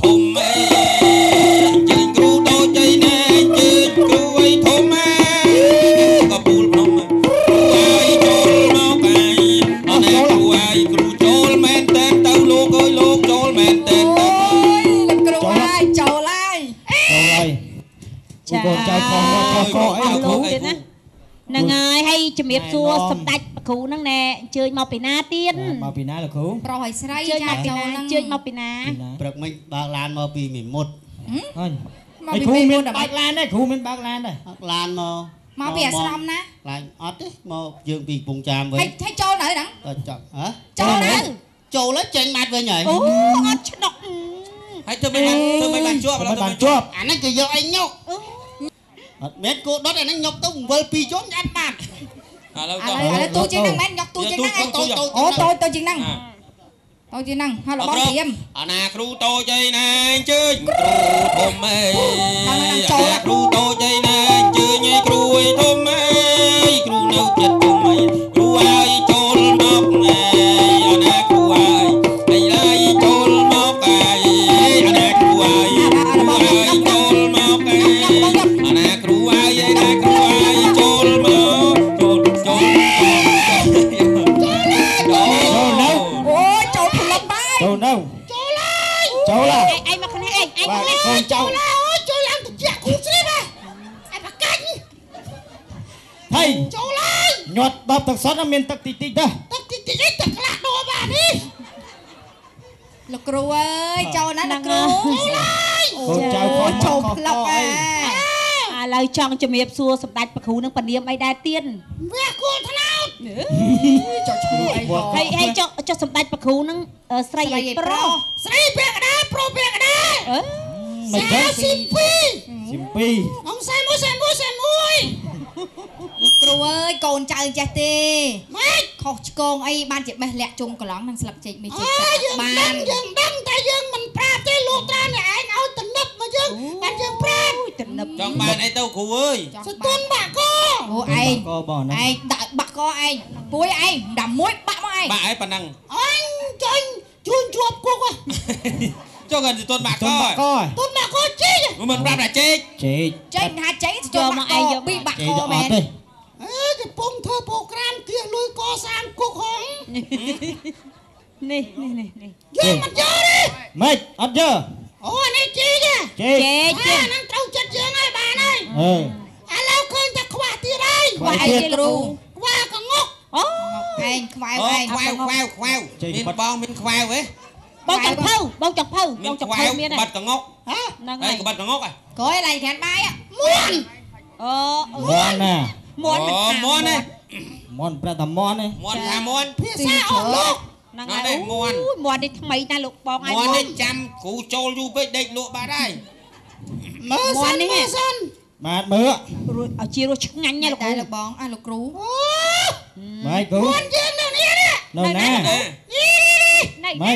A: ធំអីអញ្ជើញគ្រូតូចអីណាអញ្ជើញគ្រូអីធំអីក៏ពូលភ្នំគ្រូអើយចូលមកកាយអត់ណែគ្រូអើយគ្រូចូលមែនតើទៅលោកអើយលោកចូលមែនតើទៅ
B: លោកគ្រូអើយចូលហើយ
C: ចូលហើយ
D: ចា
C: កូនចៅខុសខុសកអីលោកគ្រូ
D: ទៀតណាហ្នឹងហើយហើយជំរាបសួរសម្ដេចគ្រូហ្នឹងណែអញ្ជើញមកពីណាទៀត
C: មកពីណាលោកគ្រូ
B: ប្រុសឲ្យស្រីចាចូលហ្នឹង
D: អញ្ជើញមកពីណា
K: ព្រឹកមិញបើកឡានមកពីមេមត់
C: អញហើយគ្រូមានបើកឡានដែរគ្រូមានបើកឡានដែរ
K: បើកឡានមក
B: មកពីអាស្រមណា
K: ឡានអត់ទេមកយើងពីកំពង់ចាមវិញ
B: ហើយចូលនៅហ្នឹង
K: តចាប់ហ៎
B: ចូលនៅ
K: ចូលហើយចេញបាត់វិញហើយ
D: អូអត់ឆ្នុក
A: ហើយធ្វើមិនបានធ្វើមិនបានជាប់
C: បានជាប់
K: អាហ្នឹងគេយកអីញុកអត់មែនគោដុតអាហ្នឹងញុកទៅ7 2ជុំអត់បាត់
A: ឥឡូវត
B: ឥឡូវទូជាងហ្នឹងមែនញ៉ុកទូជាងហ្នឹងអូតូចទៅជាងហ្នឹងតូចជាងហ្នឹងហើយរបស់ត្រៀម
A: អាណាគ្រូតូចអីណាអញ្ជើញគ្រូធំអីគ្រូតូចអីណាអញ្ជើញអីគ្រូអីធំអីគ្រូនៅចិត្តធំអីគ្រូអើយចូលមកអីអាណាគ្រូអើយអីឡើយចូលមកអីអាណាគ្រូអើយគ្រូអើយចូលមកអីអាណាគ្រូអើយអាណាគ្រូអើយចូលមកចូលចូល
C: ចូលនៅ
B: អូចូលផ្លឹបហើយ
C: ចូលនៅ
K: ចូលហើយ
C: ចូលហើយ
D: ឯងមកខាងនេះឯងឯងមក
C: កូនចៅ
K: អូចូលឡើងទៅជាគ្រូស្រីបាទឯប្រកាច់
C: ហេ
K: ចូលហើយ
C: ញាត់ដបទឹកសុទ្ធមានទឹកតិចតិចដែរ
K: ទឹកតិចតិចឯងទឹកខ្លះដូរបាទនេះ
B: លោកគ្រូអើយចូលណាលោកគ្រូ
K: ចូលហើយក
C: ូនចៅខំ
B: ចូលផ្លឹបហើយ
D: ឥឡូវចង់ជំរាបសួរសម្ដេចព្រះគ្រូនឹងពនាមអីដែរទៀត
K: វះគោលថ្នោត
B: ចុះឈ្មោះអី
D: ហើយហើយចុះចុះសម្ដេចព្រះគ្រូនឹងស្រីអីប្រុស
K: ស្រីពាក់កណ្ដាលប្រុសពាក់កណ្ដាល
D: អឺ
C: មិនចឹង
K: ស៊ីពី
C: ស៊ីពី
K: អង្គ41 41
B: លោកគ្រូអើយកូនចៅចេះទេ
K: ម៉េច
B: ខុសឆ្គងអីបានជាបេះលាក់ជុំកន្លងនឹងស្លាប់ចេកមេចេក
K: បានយើងដឹងតែយើងមិនប្រាប់ទេលោកត្រាអ្នកឯងឲ្យទំនឹបមកយើង
M: បានយើងប្រាប់
D: ទំនឹប
A: ចង់បានអីទៅគ្រូអើយ
M: សតុនបាក់ក
B: អូឯងឯងដាក់បាក់កឯងពួយឯងដាក់មួយបាក់មកឯង
A: បាក់ឯងប៉ុណ្ណឹង
M: អញចាញ់ជួនជួបគុក
A: ចុះគាត់ទុនបាក់ក
M: ទុនបាក់កចេក
A: មិនប្រាប់ថាចេក
L: ចេក
B: ចេកថាចេក ចូលមកឯងយកពីបាក់កមែន
M: អេកំពុងធ្វើប្រូក្រាមគៀលុយកសាងគុកហង
D: នេះនេះនេះនេះ
M: យើងមិនយកទេ
L: ម៉េចអត់យក
M: អូអានេះចេក
L: ចេក
M: អាហ្នឹងត្រូវចិត្តយើងហើយ បានហើយ
L: អឺ
M: ឥឡូវឃើញតែខ្វះទៀតហើយ
B: ខ្វះអីទៀតគ្រូ
M: ខ្វះកងុក
D: អូ
B: ឯងខ្វែវឯង
A: ខ្វែវខ្វែវខ្វែវមានបងមានខ្វែវហ៎
D: បងចង់ភៅ បងចង់ភៅ បងចង់ភៅមាន
A: បាត់កងុក
M: ហ៎
D: ហ្នឹងហើយ
A: បាត់កងុកហ៎
B: ក្រោយឡៃក្រានបាយ
M: មួន
D: អូ
L: មួនណា
D: មួន
A: មួនណា
L: មួនប្រែតែមួនទេ
A: មួនថាមួន
M: ភាសាអស់លោក
D: ហ្នឹងហើយ មួនមួននេះថ្មីណាស់លោកបង
A: ឯងមួននេះចាំគ្រូចូលយូរពេកដេកលក់បាត់ហើយ
M: មើលសិនមើលសិន
L: បាទមើល
D: រួចឲ្យជារសឆ្ងាញ់ណាលោក
B: តែលោកបងអះលោកគ្រូ
L: ម៉េចគ្រូ
M: មួនយើងនៅនេះ
L: នៅណា
D: នេះ
M: នេះ
D: ណា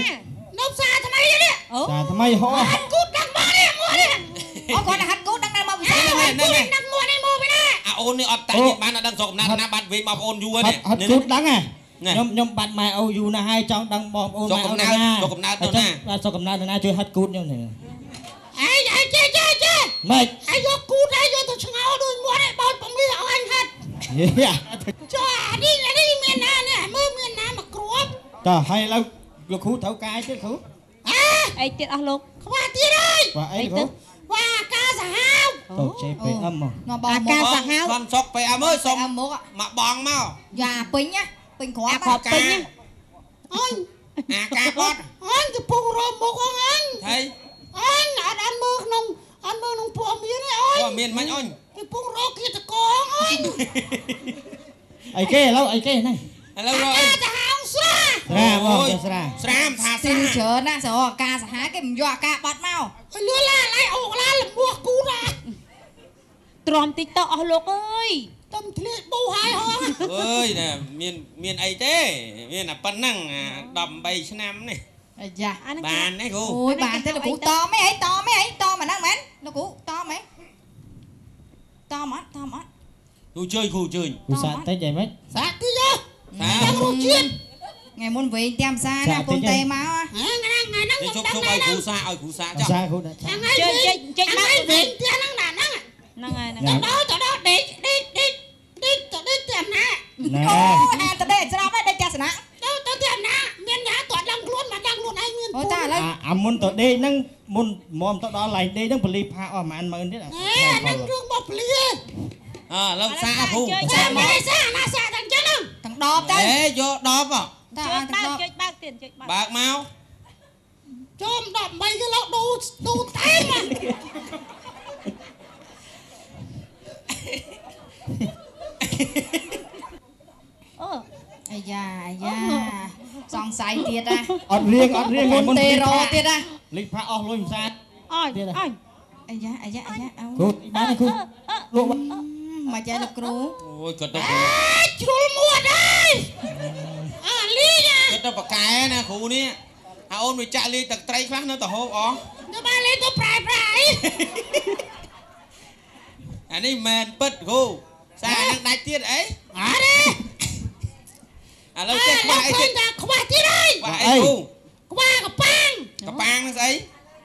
M: នៅផ្សារថ្មីនេះ
L: ផ្សារថ្មីហោះ
M: ហាត់គូតដឹងមកនេះមួននេះ
B: អូគាត់ហាត់គូតដឹងដល់មកពិសេស
A: នេះនេះ
M: ដឹងមួននេះមកពីណា
A: អាអូននេះអត់តាច់បានអត់ដឹងស្រុកកំណើតណាបាត់វិញមកបងអូនយូរនេះ
L: ហាត់គូតដឹងហ៎ ខ្ញុំបាត់ម៉ែអូយូរណាស់ហើយ ចង់ដឹងបងប្អូនម៉ែអូនណា
A: ស្រុកកំណើតនៅណា
L: បាទស្រុកកំណើតនៅណា ជួយហាត់គូតខ្ញុំនេះ
M: ឯងឯងចេះចេះចេះ
L: ម៉េច
M: ឯងយកគូតឯងយកទៅឆ្ងោដូចមួនឯងបោចពំលីឲ្យអញហាត់ចុះអានេះអានេះមានណានេះមើលមានណាមកគ្រាប់
L: តោះហើយឥឡូវលោកគ្រូត្រូវកាយទៀតគ្រូ
D: អីទៀតអស់លោក
M: ខ្វះទៀតហើយ
L: ខ្វះអីគ្រូ
M: ខ្វះអាការសាហាវ
L: ទៅ JPM មក
D: អាការសាហាវ
A: សុនសុក PM អើយសុំមកបងមក
B: យ៉ាពេញណាពេញគ្រាប់
D: គ្រាប់ពេញ
M: អញ
A: អាការបត់
M: អញកំពុងរមមុខអញ
A: ហើយ
M: អញអត់អត់មើលក្នុងអត់មើលក្នុងព័ត៌មានទេអញ
A: ព័ត៌មានមិនអញ
M: កំពុងរកគៀតកងអញ
L: អីគេឥឡូវអីគេហ្នឹង
A: ឥឡូវរកអី
M: សាហាវស្រា
L: ស្រាបងស្រា
A: ស្រាមថាស្រា
B: ច្រើនណាស់ស្រអាការសាហាវគេមិនយកអាការបត់មក
M: ឲ្យលឿនឡាឡៃអូកឡាលមោះគូណា
D: ទ្រាំតិចទៅអស់លោកអើយ
M: តំធ្លាយប៊ូហើយហង
A: អើយណែមានមានអីទេ មានតែប៉ុណ្ណឹង 18ឆ្នាំនេះ
B: អាយ៉ា
A: បានទេគ្រូ
B: អូយបានទេលោកគ្រូ តមអីតមអីតមអាហ្នឹងមែនលោកគ្រូ តមអីតមអត់តមអត់
A: គ្រូជើញគ្រូជើញ
L: គ្រូសាតិចអីម៉េច
M: សាតិចហ៎ សារសជាតិ
B: ថ្ងៃមុនវិញតាមសាណាពុនទេមក
M: ថ្ងៃហ្នឹងថ្ងៃហ្នឹង
A: ជប់ជប់ឲ្យគ្រូសាឲ្យគ្រូសាចុះ
L: សាគ្រូដាក់
M: ថ្ងៃជិះជិះមកវិញផ្ទះហ្នឹងណាហ្នឹង
D: ហ្នឹងហើយហ្នឹង
M: ទៅដល់ទៅដល់ដេកដេកដេកដេកទៅដេកផ្ទះណា
L: ណែ
B: អូអាទៅដេកច្រប់ហើយដេកផ្ទះសំណាក់
M: ទៅទៅផ្ទះណាមានណាតដឹងខ្លួនមកដឹងខ្លួនឯងមាន
B: អូតាឥឡូវ
L: អាមុនទៅដេកហ្នឹងមុនមុំទៅដល់ឡែងដេកហ្នឹងបលីផាអស់ប្រហែលម៉ឺនទៀត
M: អាហ្នឹងរឿងរបស់ពលី
A: អើឡូវសាគ្រូ
M: សាមកសាណាសាទាំងចឹងហ្នឹង
B: ទាំងដបទៅ
A: អេយកដប
B: តា
D: ទាំងដប ចុចបើកទៀតចុចបើក
A: បើកមក
M: ចូល18គីឡូឌូឌូតែម
D: អូ
B: អាយ៉ាអាយ៉ាសង្ស័យទៀតណា
L: អត់រៀងអត់រៀង
B: មុនទេរទៀតណា
L: លិចផាអស់លុយមិនសា
D: អើយអើយ
B: អាយ៉ាអាយ៉ាអាយ៉ា
L: គ្រូបានគ្រូលក់
B: មកចែលោកគ្រូ
A: អូយគាត់ទៅ
M: ជ្រុលមួតហើយអាលី
A: គាត់ទៅបកែណាគ្រូនេះ អាអូនវាចាក់លាយទឹកត្រីខ្លះនៅទៅហូបអស់
M: នៅបានលេងទៅប្រែប្រែ
A: អានេះមែនពិតគ្រូសានឹងដាច់ទៀតអី
M: អត់ទេ
A: ឥឡូវចេះខ្វះអីទៀត
M: ខ្វះទៀតហើយ
A: ខ្វះអីគ្រូ
M: ខ្វះកប៉ាង
A: កប៉ាងហ្នឹងស្អី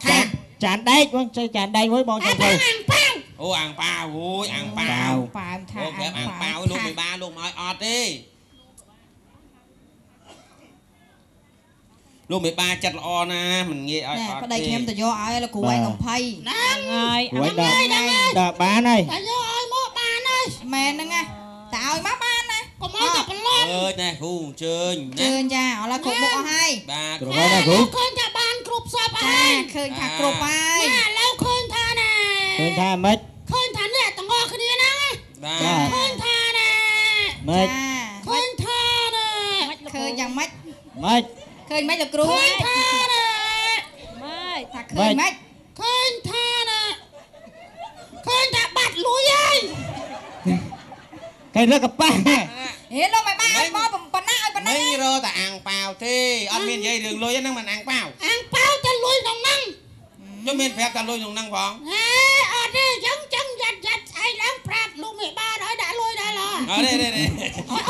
A: ខា
L: ចានដែកបងចេះចានដែកមួយបងចាំទៅ
M: អាងប៉ាវ
A: អូអាងប៉ាវអូយអាងប៉ាវ
B: ប៉ាវថា
A: អូប្រាប់អាងប៉ាវលោកមេបាលោកមកឲ្យអត់ទេ លោកមេបាចិត្តល្អណាស់មិនងាយឲ្យអត់ទេ
B: ប្តីខ្ញុំទៅយកឲ្យលោកគ្រូឯងកំភៃ
M: ហ្នឹង
D: ហើយ
L: ហ្នឹងហើយដល់បានហើយ
M: តែយកឲ្យមកបានហើយ
B: មែនហ្នឹងណាតែឲ្យមកបានណា
M: កុំឲ្យតែប្រឡំ
A: អើយណែគ្រូអញ្ជើញ
B: ជើញចាឥឡូវគ្រប់មុខអស់ហើយ
A: បាទ
L: គ្រប់ហើយណាគ្រូ
M: ឃើញថាបានគ្រប់សពហើយ
B: ឃើញថាគ្រប់ហើយ
M: ណាឥឡូវឃើញថាណែ
L: ឃើញថាម៉េច
M: ឃើញថាអ្នកទាំងអស់គ្នាហ្នឹង
A: បាទ
M: ឃើញថាណែ
L: ម៉េច
M: ឃើញថាណែ
B: ឃើញយ៉ាងម៉េច
L: ម៉េច
B: ឃើញម៉េចលោកគ្រូ
M: ឃើញថាណែ
D: ម៉េច
B: ថាឃើញម៉េច
M: ឃើញថាណែឃើញថាបាត់លុយហើយ
L: គេរើកប៉ះ
B: ហេលោកមិនបានឲ្យមកប៉ុណ្ណាឲ្យប៉ុណ្ណា
A: មិនរកតែអាំងប៉ាវទេអត់មាននិយាយរឿងលុយហ្នឹងមិនអាំងប៉ាវ
M: អាំងប៉ាវតែលុយក្នុងហ្នឹង
A: ខ្ញុំមានប្រាប់តែលុយក្នុងហ្នឹងផង
M: អេអត់ទេ ចឹងចឹងយ៉ាត់យ៉ាត់ស្អែកឡើងប្រាប់លោកមេបាឲ្យដាក់លុយដែរឡ
A: អត់ទេទេ
M: អត់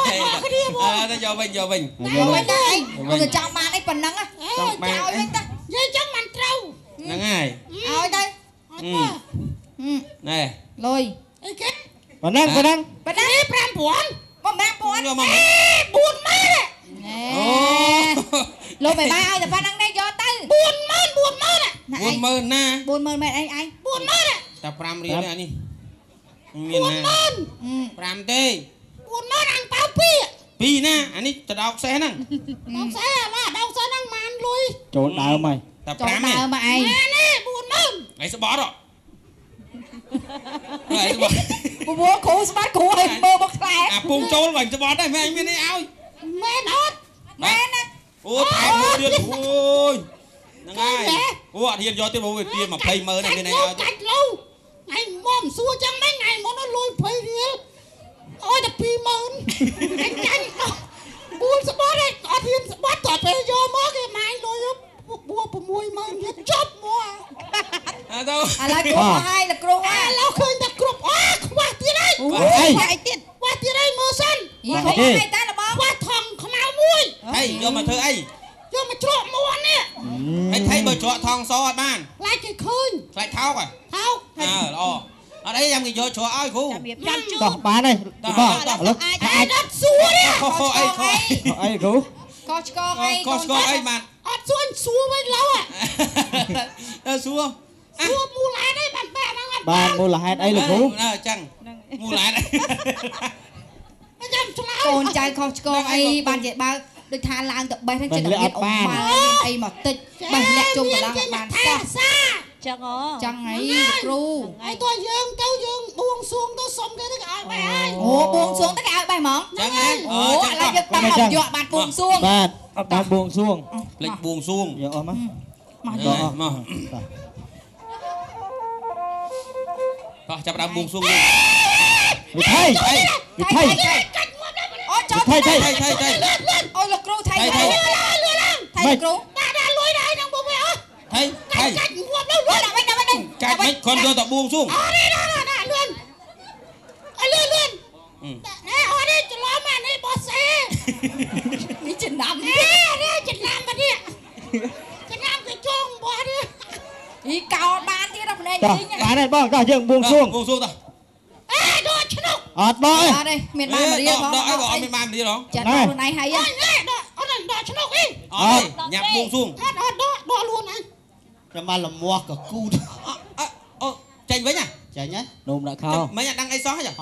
M: គ្នាហ្មង
A: អត់ទៅ យកវិញយកវិញ
B: យកវិញទៅ អីទៅចង់បានអីប៉ុណ្ណឹង
A: ចង់បាន
M: ឲ្យវិញទៅ និយាយចឹងមិនត្រូវ
A: ហ្នឹងហើយ
B: ឲ្យទៅ
M: អត់ទេ
A: ណែ
B: លុយ
M: អីគេ
L: ប៉ុណ្ណឹងប៉ុណ្ណឹង
B: ប៉ុណ្ណឹង
M: 5000
B: មក5000
A: យកមក
M: 40000
B: ណែលោកមេបាឲ្យតែប៉ុណ្ណឹងទេ យកទៅ
M: 40000 40000
A: 40000ណា
B: 40000មែនអីឯង
M: 40000
A: តែ5រៀលនេះ អានេះមានណា5ទេ
M: 40000 អាំងប៉ាវ2
A: 2ណា អានេះតដោកសេះហ្នឹង
M: ដោកសេះ អាឡាដោកសេះហ្នឹងម៉ានលុយ
L: ចូលដើមហើយ
A: តែ5ទេ
B: ដើមមកឯង
M: នេះ40000
A: ឯងស្បត់ហ៎ ឯងស្បត់
B: ព្រោះគ្រូស្បាត់ គ្រូឲ្យមើលមកខ្លែ
A: អាពងចូលបាញ់ស្បត់ដែរ មែនមានអីឲ្យ
M: មែនអត់
B: មែនណា
A: អូថែមមួយទៀត អូយហ្នឹងហើយ អូអត់ហ៊ានយកទៀត ព្រោះវាទា200,000 នេះមានអីឲ្យ
M: កាច់លូថ្ងៃមុនសួរចឹងមិន ថ្ងៃមុនលុយ20រៀលអើយតែ20000 អញចាញ់បួនស្បត់ឯងអត់ហ៊ានស្បត់ តើពេលយកមកគេម៉ាញលុយបួ60000ទៀត ចប់មក
A: ទៅ
B: ឥឡូវគ្រូហើយ លោកគ្រូ
M: ឥឡូវឃើញតែគ្រប់ អូខ្វះទៀតហើយ
L: ខ្វះអី
M: ទៀតខ្វះទៀតហើយ មើលសិន
B: ខ្វះអីតាលបង
M: ខ្វះថងខ្មៅមួយ
A: ហើយយកមកធ្វើអី
M: យកមកជ្រក់មាន់នេះ
A: ហើយថៃបើជ្រក់ថងសអត់បាន
M: ខ្លាចគេឃើញ
A: ខ្លាចថោកហ៎
M: ថោក
A: អើល្អ អត់អី យ៉ាងគេយកជ្រក់ឲ្យគ្រូ
D: ចាំជូន
L: តោះបានហើយបង ឥឡូវ
M: អាចអត់សួរទេ
A: ខុសអីខុស
L: អីគ្រូ
B: កោឆ្កងអី
A: កោឆ្កងអីបាន
M: អត់សួរ សួរវិញឡូវ
A: សួរ
M: សួរមូលហេតុអីបានបែកហ្នឹង អត់
L: បាន មូលហេតុអីលោកគ្រូ
A: អញ្ចឹងមូលហេតុ
M: ចាំឆ្លើយ
B: កូនចៅខុសឆ្គងអីបានជាបើដូចថាឡើងទៅបេះហ្នឹង ចិត្តមានអមមានអីមកតិច បេះលាក់ជុំកន្លងបានសោះ
M: សា
D: ចឹងអូ
B: ចឹងអីគ្រូ
M: ហើយតើយើងទៅយើងបួងសួងទៅសុំគេទៅ គេឲ្យបេះហើយ
B: អូបួងសួងទៅគេឲ្យបេះហ្មង
A: ចឹងហ៎
B: អូឥឡូវយើងតាមមកយកបានបួងសួង
L: បាទ អត់បានបួងសួង
A: ភ្លេចបួងសួង
L: យកអស់មក
B: មក
A: យកមក តោះចាប់ដើមបួងសួងយើង
L: វិថីវិថី
B: អូចូល
L: ថៃថៃ
A: ថៃថៃថៃ
B: អូលោកគ្រូថៃថៃថៃគ្រូ
M: ដាក់ដាក់លុយដាក់ហ្នឹងបងវិញអស់
A: ថៃថៃ
M: កាច់ងាប់ទៅលុយ
B: ដាក់វិញដាក់វិញ
A: កាច់មិនគ្រាន់យកតែបួងសួង
M: អត់ទេ ដាក់ដាក់លឿន ឲ្យលឿនលឿន ណែអត់ទេ ច្រឡំអានេះបោះសេ
B: នេះចំណាំ
M: នេះចំណាំ បានេះចំណាំគេចងបោះនេះ
B: អីកោបានទៀតដល់ភ្នែក
L: ជីងបានហើយបង តោះយើងបួងសួង
A: បួងសួងតោះ
M: អេដកឆ្នុក
L: អត់បង
B: អត់ទេ មានបានរៀលផង
A: ដកអីបង អត់មានបានរៀលហង
B: ចាត់ខ្លួនឯងហើយ
M: អត់ដក អត់ដកឆ្នុកអី
A: អត់ញ៉ាំបួងសួង
M: អត់អត់ដកដកលួនអញ
K: ចាំបានលមាស់កគូត
A: អូចេញវិញហ៎
K: ចេញហ៎
L: នោមដាក់ខោ
A: មិនអត់ដឹងអីសោះហ៎
K: អត់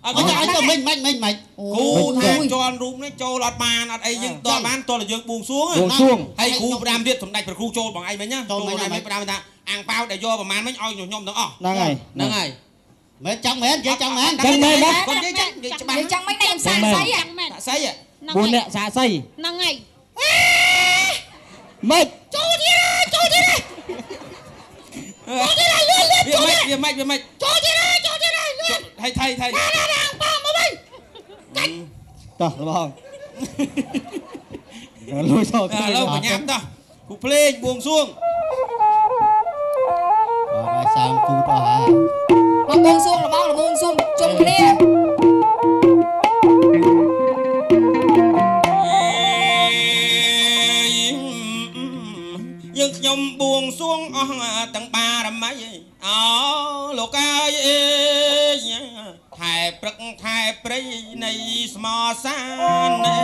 K: អត់អត់មិនមិនមិនមិន
A: គ្រូថាជន់រូបនេះចូលអត់បាន អត់អី យើងតបានតើយើងបួងសួង
L: បួងសួង
A: ហើយគ្រូផ្ដាំទៀត សម្ដេចព្រះគ្រូចូលបងឯងវិញណា ចូលបងឯងវិញផ្ដាំថាអាងប៉ាវដែលយកប្រហែលមិញឲ្យខ្ញុំទាំងអស់
L: ហ្នឹងហើយ
A: ហ្នឹងហើយ
K: មែនចង់មែន និយាយចង់មែន
L: ចឹងមែនណា
A: គាត់និយាយចឹង និយាយច្បាស់
B: និយាយចឹងមិន ខ្ញុំសាកសី
A: សាកសី
L: 4នាក់សាកសី
D: ហ្នឹងហើយ
L: ម៉េច
M: ចូលទៀតចូលទៀតចូលទៀតលឿនលឿន
A: វាម៉េចវាម៉េចវាម៉េច
M: ចូលទៀតចូលទៀតលឿន
A: ថៃថៃថៃ
M: ណាណាអាងប៉ាមកវិញ
A: កាច់
L: តោះបងលួយសោ
A: ឥឡូវបញ្ញាតោះគូភ្លេងបួងសួង
K: បាទហើយសាមគូតអស់ហើយ
B: មកបួងសួងលបងលបួងសួងជុំគ្នា
A: យើងខ្ញុំបួងសួងអស់ទាំងបារមី អោលោកអើយអេថែព្រឹកថែព្រៃនៃស្មសាន
L: តែ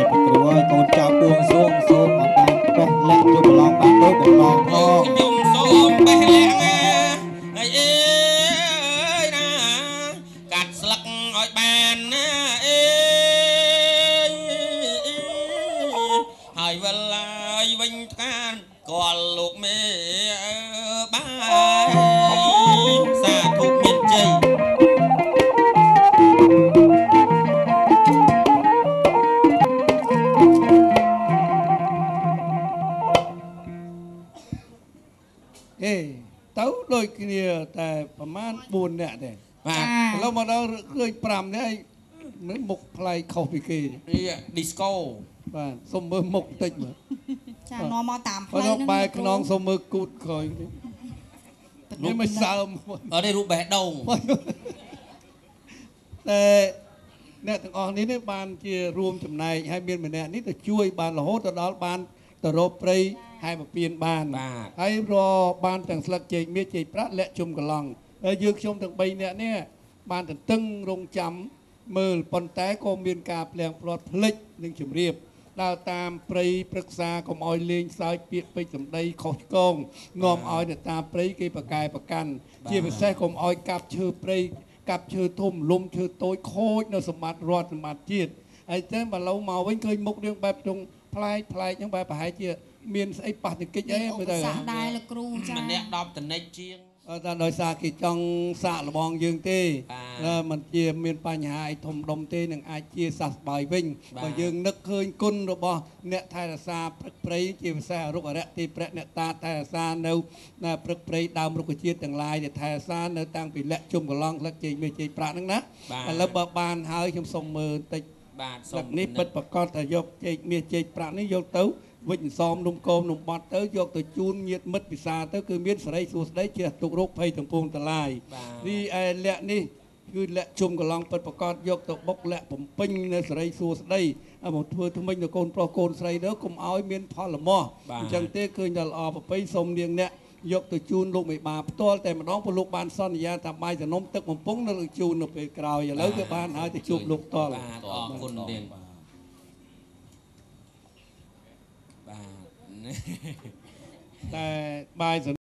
L: ប្រគ្រូឲ្យកូនចៅបួងសួង សូមឲ្យបានបេះលាក់ជួបប្រឡងបានដូចបំណងផង
A: ខ្ញុំសូមបេះលាក់ហើយអេណាកាត់ស្លឹកឲ្យបានណាអេហើយវិលហើយវិញថ្កានកលលោកមេបាយសាធុមានជ័យ
N: អេទៅដូចគ្នាតែប្រហែល4នាក់ទេ
A: បាទ
N: ឥឡូវមកដល់ឃើញ5នាក់ មើលមុខប្លែកខុសពីគេ
A: នេះឌីស្កូ
N: បាទសុំមើលមុខតិចមើល
B: ចានាំមកតាមផ្លូវហ្នឹង
N: បែរខ្នងសុំមើលគូតក្រោយនេះមិនសើម
A: អត់ទេរូបបេះដូង
N: តែអ្នកទាំងអស់នេះបានជារួមចំណែកហើយមានម្នាក់នេះទៅជួយបានរហូតទៅដល់បានទៅរកព្រៃហែមពៀនបានហើយរបានទាំងស្លឹកចេកមាសចេកប្រាក់លាក់ជុំកន្លងហើយយើងខ្ញុំទាំង3នាក់នេះបានទន្ទឹងរង់ចាំមើលប៉ុន្តែក៏មានការភ្លៀងផ្លាត់ភ្លេចនឹងជម្រាបដើរតាមព្រៃព្រឹក្សាកុំឲ្យលេងសើចពាក្យពេចន៍សម្ដីខុសឆ្គងនាំឲ្យទៅតាមព្រៃគេប្រកែប្រកាន់ជាពិសេសកុំឲ្យកាប់ឈើព្រៃកាប់ឈើធំលំឈើតូចខូចនៅសម្បត្តិរដ្ឋសម្បត្តិជាតិហើយតែបើឡូវមកវិញឃើញមុខរឿងបែបត្រង់ប្លែកប្លែកហ្នឹងបែបប្រហែលជាមានស្អីប៉ះទង្គិចអីមើលទៅ
B: ដែរលោកគ្រូចា
A: ម្នាក់10តនិចជាង
N: តែដោយសារគេចង់សាកល្បងយើងទេមិនជាមានបញ្ហាអីធំដុំទេនឹងអាចជាសះស្បើយវិញបើយើងនឹកឃើញគុណរបស់អ្នកថែរក្សាព្រឹកព្រៃជាពិសេសរុក្ខអរិយទេព្រះអ្នកតាថែរក្សានៅព្រឹកព្រៃដើមរុក្ខជាតិទាំងឡាយដែលថែរក្សានៅតាំងពីលាក់ជុំកន្លងស្លឹកចេកមាសចេកប្រាក់ហ្នឹងណាឥឡូវបើបានហើយខ្ញុំសុំមើលបន្តិច
A: បាទ
N: ស្លឹកនេះពិតប្រកបថាយកចេកមាសចេកប្រាក់នេះយកទៅវិច្ចសមនំគមនំបត់ទៅយកទៅជូនញាតិមិត្តពិសាទៅគឺមានសេរីសួស្តីជ្រះទុករោគភ័យទាំងពួងទាំងឡាយនេះឯលក្ខនេះគឺលក្ខជុំកន្លងពិតប្រកបយកទៅបុកលក្ខបំពេញនៅសេរីសួស្តីមកធ្វើថ្មិញទៅកូនប្រុសកូនស្រីទៅកុំឲ្យមានផលលមាស់អញ្ចឹងទេឃើញតែល្អប្រពៃសូមនាងអ្នកយកទៅជូនលោកមេបាផ្ទាល់តែម្ដងព្រោះលោកបានសន្យាថាបាយសនំទឹកបំពង់នៅជូននៅពេលក្រោយឥឡូវគឺបានហើយទៅជួបលោកផ្ទាល់
A: បាទអរគុណនាងបាទ
N: តែបាយ